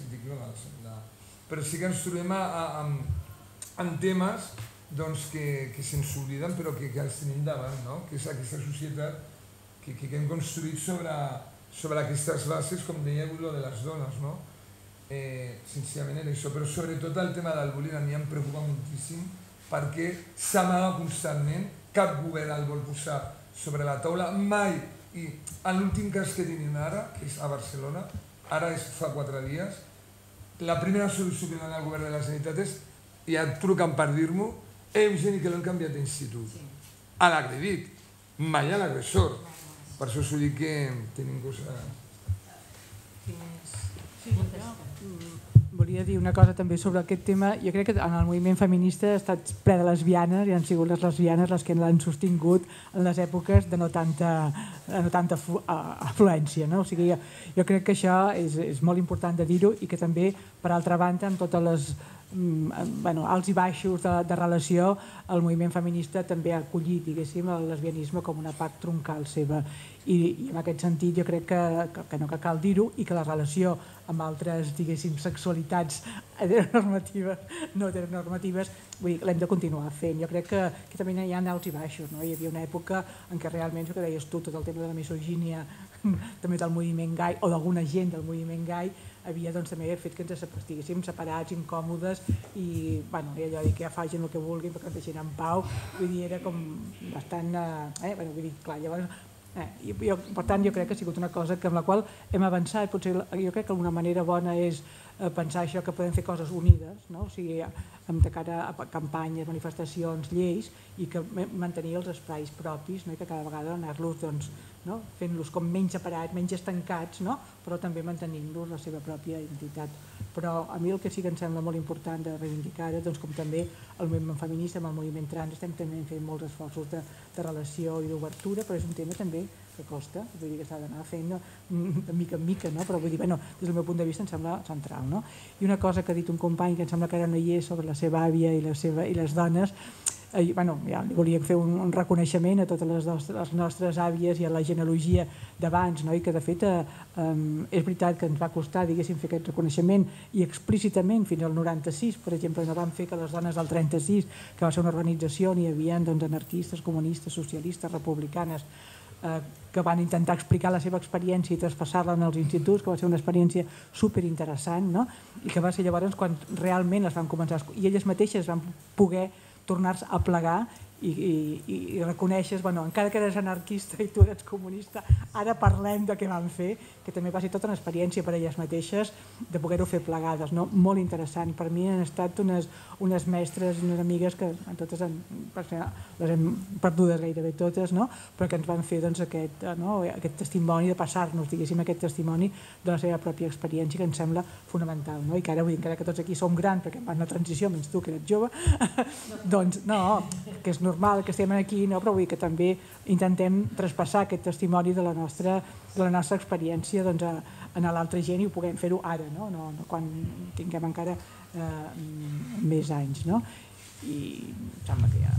però sí que ens trobem en temes que se'ns obliden però que els tenim davant, que és aquesta societat que hem construït sobre aquestes bases, com deia, de les dones. Senzillament era això, però sobretot el tema del bullying a mi em preocupa moltíssim perquè s'amaga constantment, cap govern el vol posar sobre la taula, mai. I en l'últim cas que tenim ara, que és a Barcelona, ara és fa 4 dies, la primera solució que dona el govern de la Generalitat és, i et truquen per dir-m'ho, Eugeni, que l'han canviat d'institut. A l'agredit, mai a l'agressor. Per això us dic que tenim coses... Volia dir una cosa també sobre aquest tema. Jo crec que en el moviment feminista ha estat ple de lesbianes i han sigut les lesbianes les que l'han sostingut en les èpoques de no tanta afluència. O sigui, jo crec que això és molt important de dir-ho i que també, per altra banda, amb totes les alts i baixos de relació, el moviment feminista també ha acollit, diguéssim, el lesbianisme com una part troncal seva. I en aquest sentit jo crec que no cal dir-ho i que la relació amb altres, diguéssim, sexualitats heteronormatives, no heteronormatives, vull dir, l'hem de continuar fent. Jo crec que també hi ha alts i baixos, no? Hi havia una època en què realment, el que deies tu, tot el tema de la misogínia, també del moviment gai, o d'alguna gent del moviment gai, havia també fet que ens estiguéssim separats, incòmodes, i allò que ja facin el que vulguin perquè ens deixin en pau, vull dir, era com bastant... Vull dir, clar, llavors... Per tant, jo crec que ha sigut una cosa amb la qual hem avançat. Potser jo crec que una manera bona és pensar això, que podem fer coses unides, o sigui, de cara a campanyes, manifestacions, lleis, i que mantenir els espais propis, i que cada vegada anar-los fent-los com menys separats, menys estancats, però també mantenint-los la seva pròpia identitat. Però a mi el que sí que em sembla molt important de reivindicar, com també el moviment feminista, amb el moviment trans, estem també fent molts esforços de relació i d'obertura, però és un tema també que costa, vull dir que s'ha d'anar fent de mica en mica, però vull dir, des del meu punt de vista em sembla central. I una cosa que ha dit un company, que em sembla que ara no hi és, sobre la seva àvia i les dones, ja li volia fer un reconeixement a totes les nostres àvies i a la genealogia d'abans, i que de fet és veritat que ens va costar, diguéssim, fer aquest reconeixement, i explícitament fins al 96, per exemple, no vam fer que les dones del 36, que va ser una organització on hi havia anarquistes, comunistes, socialistes, republicanes, que van intentar explicar la seva experiència i traspassar-la als instituts, que va ser una experiència superinteressant, i que va ser llavors quan realment les van començar, i elles mateixes van poder tornar-se a plegar i reconeixes, encara que eres anarquista i tu eres comunista, ara parlem de què van fer, que també va ser tota una experiència per elles mateixes de poder-ho fer plegades, molt interessant. Per mi han estat unes mestres i unes amigues que totes les hem perdudes gairebé totes, però que ens van fer aquest testimoni, de passar-nos, diguéssim, aquest testimoni de la seva pròpia experiència, que em sembla fonamental. I que ara, encara que tots aquí som grans, perquè van a transició, menys tu, que eres jove, doncs no, que és normal que estem aquí, però vull dir que també intentem traspassar aquest testimoni de la nostra experiència a l'altra gent, i ho puguem fer-ho ara, no quan tinguem encara més anys. I em sembla que ja...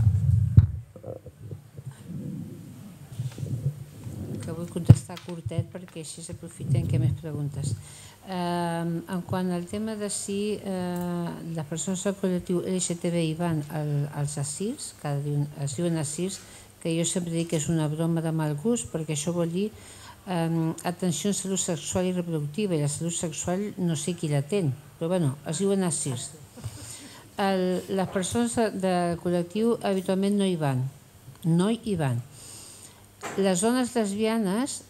Que vull contestar curtet perquè així s'aprofiten que més preguntes. En quant al tema de si les persones del col·lectiu LGTBI van als asils, que es diuen asils, que jo sempre dic que és una broma de mal gust, perquè això vol dir atenció en salut sexual i reproductiva, i la salut sexual no sé qui la té, però bueno, es diuen asils. Les persones del col·lectiu habitualment no hi van, Les dones lesbianes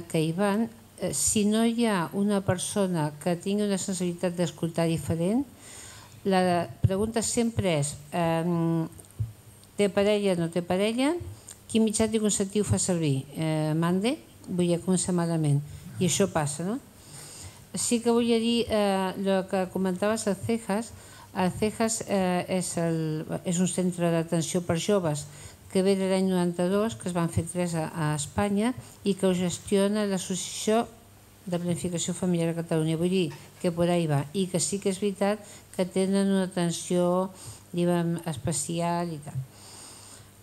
que hi van, si no hi ha una persona que tingui una sensibilitat d'escoltar diferent, la pregunta sempre és té parella o no té parella, quin mitjà anticonceptiu fa servir? Mande? Vull dir, començar malament. I això passa, no? Sí que volia dir el que comentaves a CEJAS. El CEJAS és un centre d'atenció per joves que ve de l'any 92, que es van fer 3 a Espanya, i que ho gestiona l'Associació de Planificació Familiar a Catalunya. Vull dir que per ahí va. I que sí que és veritat que tenen una atenció especial i tal,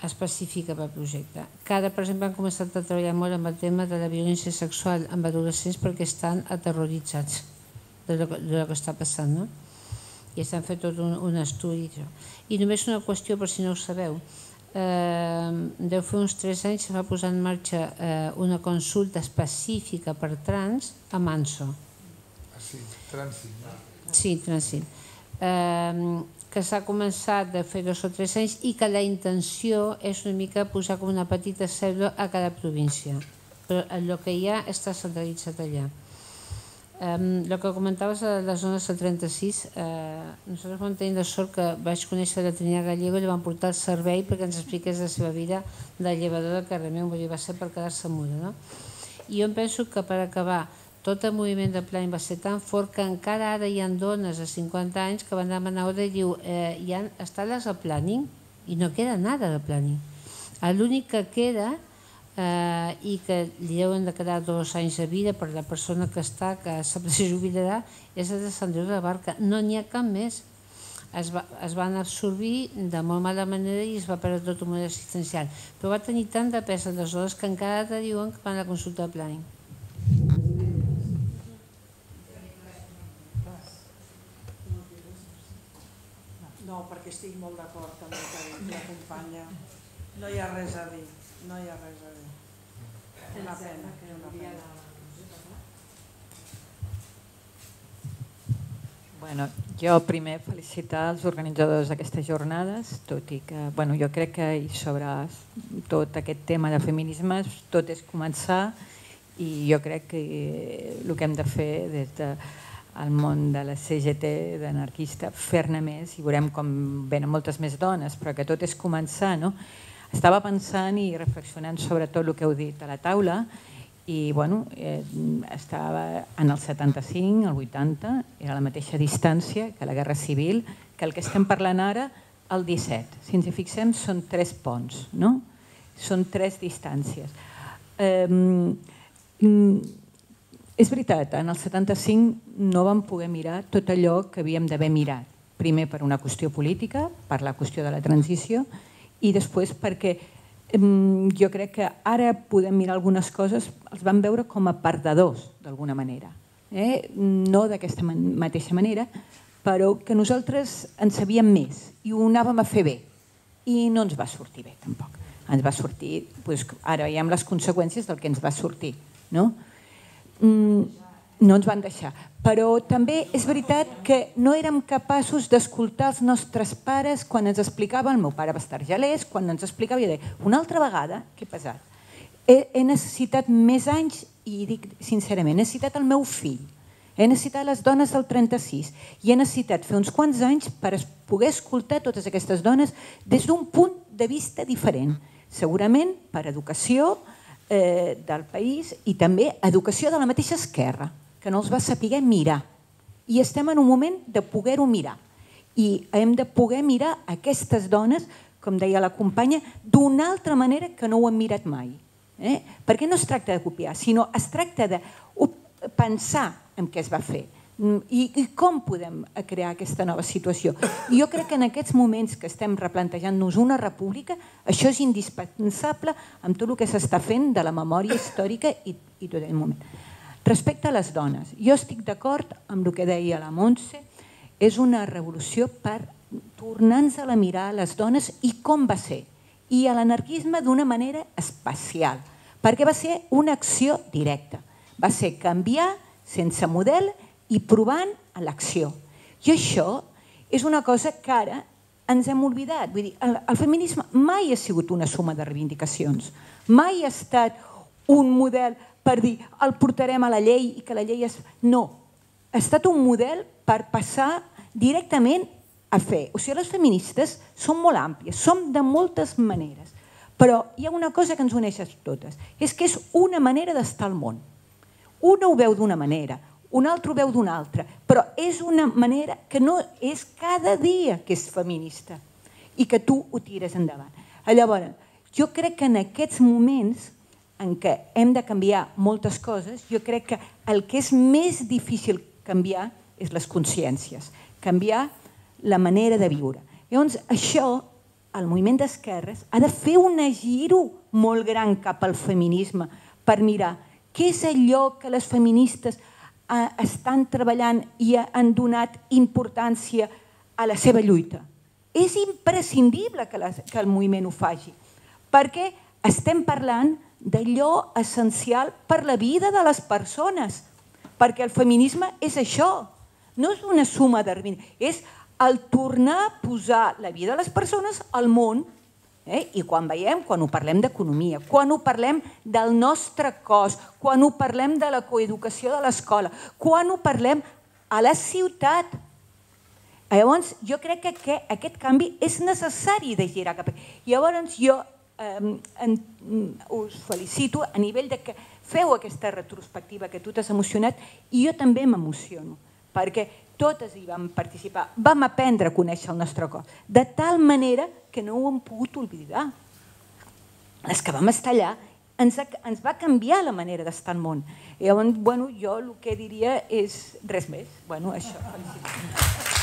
específica pel projecte. Que ara, per exemple, han començat a treballar molt amb el tema de la violència sexual amb adolescents perquè estan aterroritzats del que està passant, no? I estan fent tot un estudi. I només una qüestió, per si no ho sabeu, deu fer uns 3 anys se va posar en marxa una consulta específica per trans a Manso. Sí, Transit. Sí, Transit. Que s'ha començat a fer 2 o 3 anys i que la intenció és una mica posar com una petita cèl·lula a cada província. Però el que hi ha està centralitzat allà. El que comentaves de les zones del 36, nosaltres vam tenir la sort que vaig conèixer la Trinidad Gallego i li vam portar el servei perquè ens expliqués la seva vida de llevador del carrer meu, va ser per quedar-se muda. I jo em penso que per acabar tot el moviment de planning va ser tan fort que encara ara hi ha dones de 50 anys que van demanar hora i diu hi ha estades a planning i no queda nada de planning. L'únic que queda i que li deuen de quedar 2 anys de vida per la persona que està, que sempre se jubilarà, és el de Sant Andreu de la Barca. No n'hi ha cap més. es van absorbir de molt mala manera i es va perdre tot el model assistencial. Però va tenir tant de pes aleshores que encara te diuen que van a consultar planning. No, perquè estic molt d'acord amb el que ha dit la companya. No hi ha res a dir, no hi ha res a dir. Una pena, una pena. Bueno, jo primer felicitar els organitzadors d'aquestes jornades, tot i que jo crec que sobre tot aquest tema de feminismes tot és començar i jo crec que el que hem de fer des del món de la CGT, d'anarquista, fer-ne més i veurem com venen moltes més dones, però que tot és començar, no? Estava pensant i reflexionant sobre tot el que heu dit a la taula i estava en el 75, el 80, era la mateixa distància que la Guerra Civil, que el que estem parlant ara, el 17. Si ens hi fixem, són 3 ponts, no? Són 3 distàncies. És veritat, en el 75 no vam poder mirar tot allò que havíem d'haver mirat. Primer per una qüestió política, per la qüestió de la transició, i després perquè jo crec que ara podem mirar algunes coses, els vam veure com a perdedors, d'alguna manera. No d'aquesta mateixa manera, però que nosaltres en sabíem més i ho anàvem a fer bé. I no ens va sortir bé, tampoc. Ens va sortir, ara veiem les conseqüències del que ens va sortir. No ens van deixar. Però també és veritat que no érem capaços d'escoltar els nostres pares quan ens explicaven, el meu pare va estar gelés, quan ens explicava i deia, una altra vegada, què ha passat? He necessitat més anys i dic sincerament, he necessitat el meu fill, he necessitat les dones del 36 i he necessitat fer uns quants anys per poder escoltar totes aquestes dones des d'un punt de vista diferent. Segurament per educació del país i també educació de la mateixa esquerra, que no els va saber mirar. I estem en un moment de poder-ho mirar. I hem de poder mirar aquestes dones, com deia la companya, d'una altra manera que no ho hem mirat mai. Perquè no es tracta de copiar, sinó es tracta de pensar en què es va fer i com podem crear aquesta nova situació. I jo crec que en aquests moments que estem replantejant-nos una república, això és indispensable amb tot el que s'està fent de la memòria històrica i tot el moment. Respecte a les dones, jo estic d'acord amb el que deia la Montse, és una revolució per tornar-nos a mirar a les dones i com va ser. I a l'anarquisme d'una manera especial, perquè va ser una acció directa. Va ser canviar sense model i provant a l'acció. I això és una cosa que ara ens hem oblidat. Vull dir, el feminisme mai ha sigut una suma de reivindicacions. Mai ha estat un model per dir el portarem a la llei i que la llei és... No, ha estat un model per passar directament a fer. O sigui, les feministes són molt àmplies, som de moltes maneres, però hi ha una cosa que ens uneix a totes, és que és una manera d'estar al món. Una ho veu d'una manera, un altre ho veu d'una altra, però és una manera que no és cada dia que és feminista i que tu ho tires endavant. Llavors, jo crec que en aquests moments en què hem de canviar moltes coses, jo crec que el que és més difícil canviar és les consciències, canviar la manera de viure. Llavors, això, el moviment d'esquerres, ha de fer un giro molt gran cap al feminisme per mirar què és allò que les feministes estan treballant i han donat importància a la seva lluita. És imprescindible que el moviment ho faci, perquè estem parlant d'allò essencial per la vida de les persones, perquè el feminisme és això, no és una suma de reivindicacions, és el tornar a posar la vida de les persones al món. I quan veiem, quan ho parlem d'economia, quan ho parlem del nostre cos, quan ho parlem de la coeducació de l'escola, quan ho parlem a la ciutat, llavors jo crec que aquest canvi és necessari de girar cap aquí. Llavors jo us felicito a nivell de que feu aquesta retrospectiva que tu t'has emocionat i jo també m'emociono, perquè totes hi vam participar, vam aprendre a conèixer el nostre cos, de tal manera que no ho hem pogut oblidar. Les que vam estar allà ens va canviar la manera d'estar al món. Llavors, jo el que diria és res més. Això, felicitats.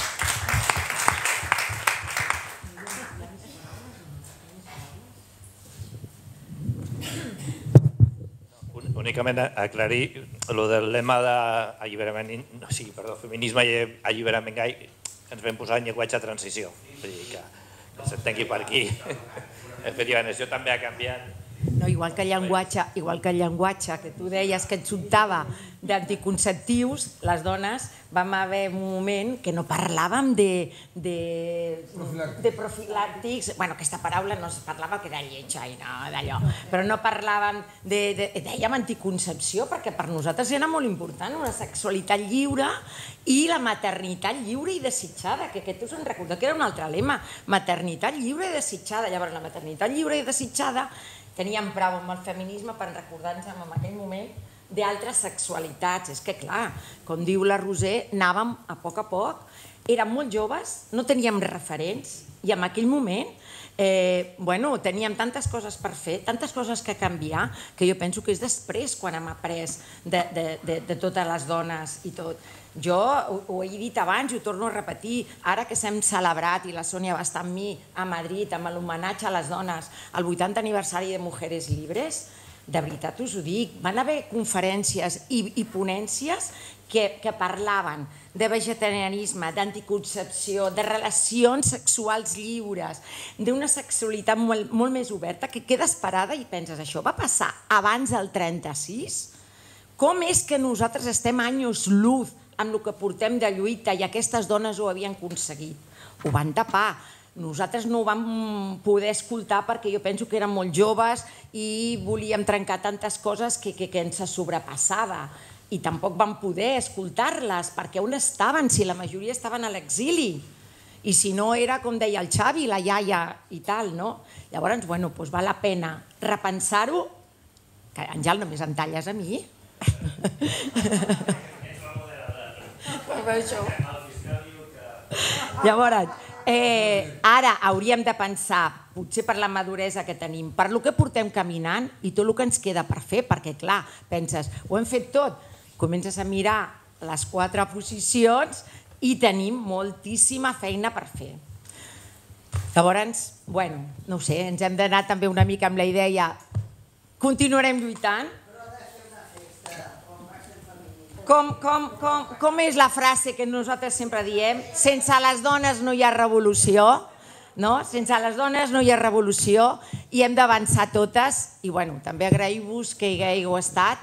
únicament aclarir el del lema de feminisme i alliberament gai, ens vam posar en llenguatge de transició, vull dir que s'entengui per aquí. Efectivament, això també ha canviat. No, igual que el llenguatge que tu deies que et sobtava d'anticonceptius, les dones vam haver un moment que no parlàvem de profilàctics, bueno, aquesta paraula no es parlava, que era lletja i d'allò, però no parlàvem dèiem anticoncepció, perquè per nosaltres era molt important una sexualitat lliure i la maternitat lliure i desitjada, que aquest us en recordeu que era un altre lema, maternitat lliure i desitjada. Llavors la maternitat lliure i desitjada teníem prou amb el feminisme per recordar-nos en aquell moment d'altres sexualitats. És que clar, com diu la Roser, anàvem a poc, érem molt joves, no teníem referents i en aquell moment teníem tantes coses per fer, tantes coses que canviar, que jo penso que és després quan hem après de totes les dones i tot. Jo ho he dit abans i ho torno a repetir, ara que s'hem celebrat i la Sònia va estar amb mi a Madrid amb l'homenatge a les dones al 80 aniversari de Mujeres Libres, de veritat us ho dic, van haver conferències i ponències que parlaven de vegetarianisme, d'anticoncepció, de relacions sexuals lliures, d'una sexualitat molt més oberta, que quedes parada i penses, això va passar abans del 36? Com és que nosaltres estem anys luz amb el que portem de lluita i aquestes dones ho havien aconseguit? Ho van tapar. Nosaltres no ho vam poder escoltar perquè jo penso que érem molt joves i volíem trencar tantes coses que ens sobrepassava. I tampoc vam poder escoltar-les, perquè on estaven si la majoria estaven a l'exili? I si no era, com deia el Xavi, la iaia i tal, no? Llavors, bueno, doncs val la pena repensar-ho. Que, Àngel, només em talles a mi? Llavors, ara hauríem de pensar, potser per la maduresa que tenim, per lo que portem caminant i tot el que ens queda per fer, perquè clar, penses, ho hem fet tot, comences a mirar les 4 posicions i tenim moltíssima feina per fer. Llavors, bueno, no ho sé, ens hem d'anar també una mica amb la idea, continuarem lluitant. Com és la frase que nosaltres sempre diem? Sense les dones no hi ha revolució, no? Sense les dones no hi ha revolució i hem d'avançar totes i bueno, també agrair-vos que hi hagueu estat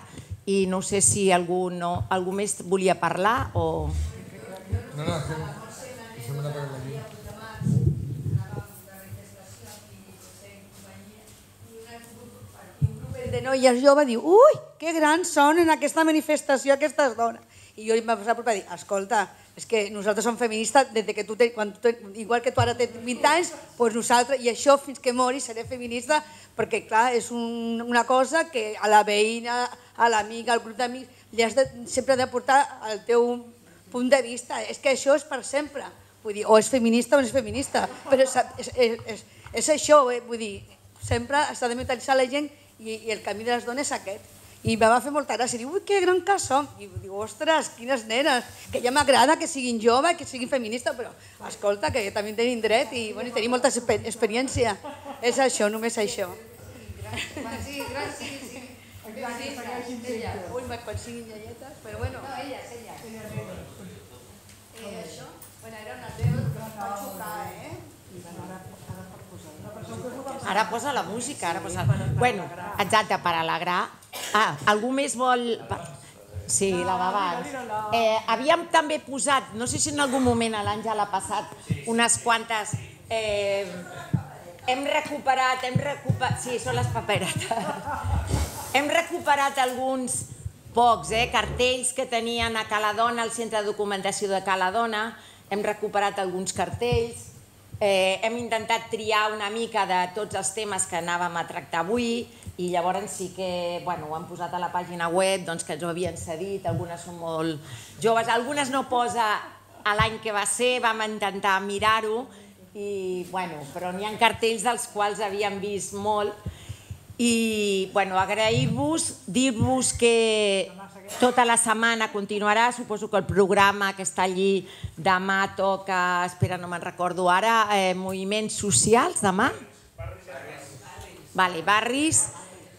i no sé si algú més volia parlar o... No, deixem anar per aquí. De noies joves diu, ui, que grans són en aquesta manifestació aquestes dones. I jo em vaig apropar i dir, escolta, és que nosaltres som feministes des que tu igual que tu ara tens 20 anys, doncs nosaltres, i això fins que moris seré feminista, perquè clar, és una cosa que a la veïna, a l'amiga, al grup d'amics, li has sempre de portar el teu punt de vista. És que això és per sempre. Vull dir, o és feminista o no és feminista, però és això, vull dir, sempre s'ha de mentalitzar la gent i el camí de les dones és aquest. I me va fer molta gràcia, diu, ui, que gran que som. I diu, ostres, quines nenes, que ja m'agrada que siguin joves, que siguin feministes, però escolta, que també tenim dret i tenim molta experiència. És això, només això. Sí, gràcies. Ui, quan siguin iaietes, però bueno. No, elles. Això, bueno, era una teva que va xocar, Ara posa la música, ara posa... Bueno, exacte, per alegrar. Algú més vol... Sí, la d'abans. Havíem també posat, no sé si en algun moment l'Àngel ha passat unes quantes... Hem recuperat... Sí, són les paperetes. Hem recuperat alguns pocs cartells que tenien a Caladona, al Centre de Documentació de Caladona. Hem recuperat alguns cartells. Hem intentat triar una mica de tots els temes que anàvem a tractar avui i llavors sí que ho han posat a la pàgina web, que ens ho havien cedit, algunes són molt joves, algunes no posa a l'any que va ser, vam intentar mirar-ho, però n'hi ha cartells dels quals havíem vist molt i agrair-vos, dir-vos que tota la setmana continuarà, suposo que el programa que està allí demà toca, espera, no me'n recordo ara, moviments socials, demà? Barris.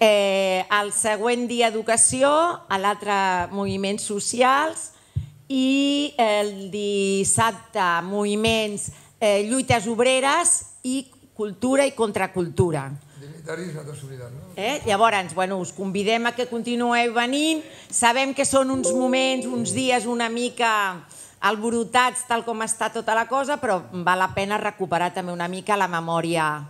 El següent dia educació, l'altre moviments socials i el dissabte moviments lluites obreres i cultura i contracultura. Militarisme de solidaritat, no? Llavors, us convidem a que continueu venint. Sabem que són uns moments, uns dies una mica alborotats tal com està tota la cosa, però val la pena recuperar també una mica la memòria.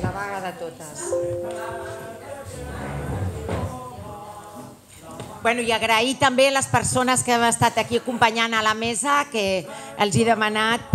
La vaga de totes. I agrair també a les persones que han estat aquí acompanyant a la mesa, que els he demanat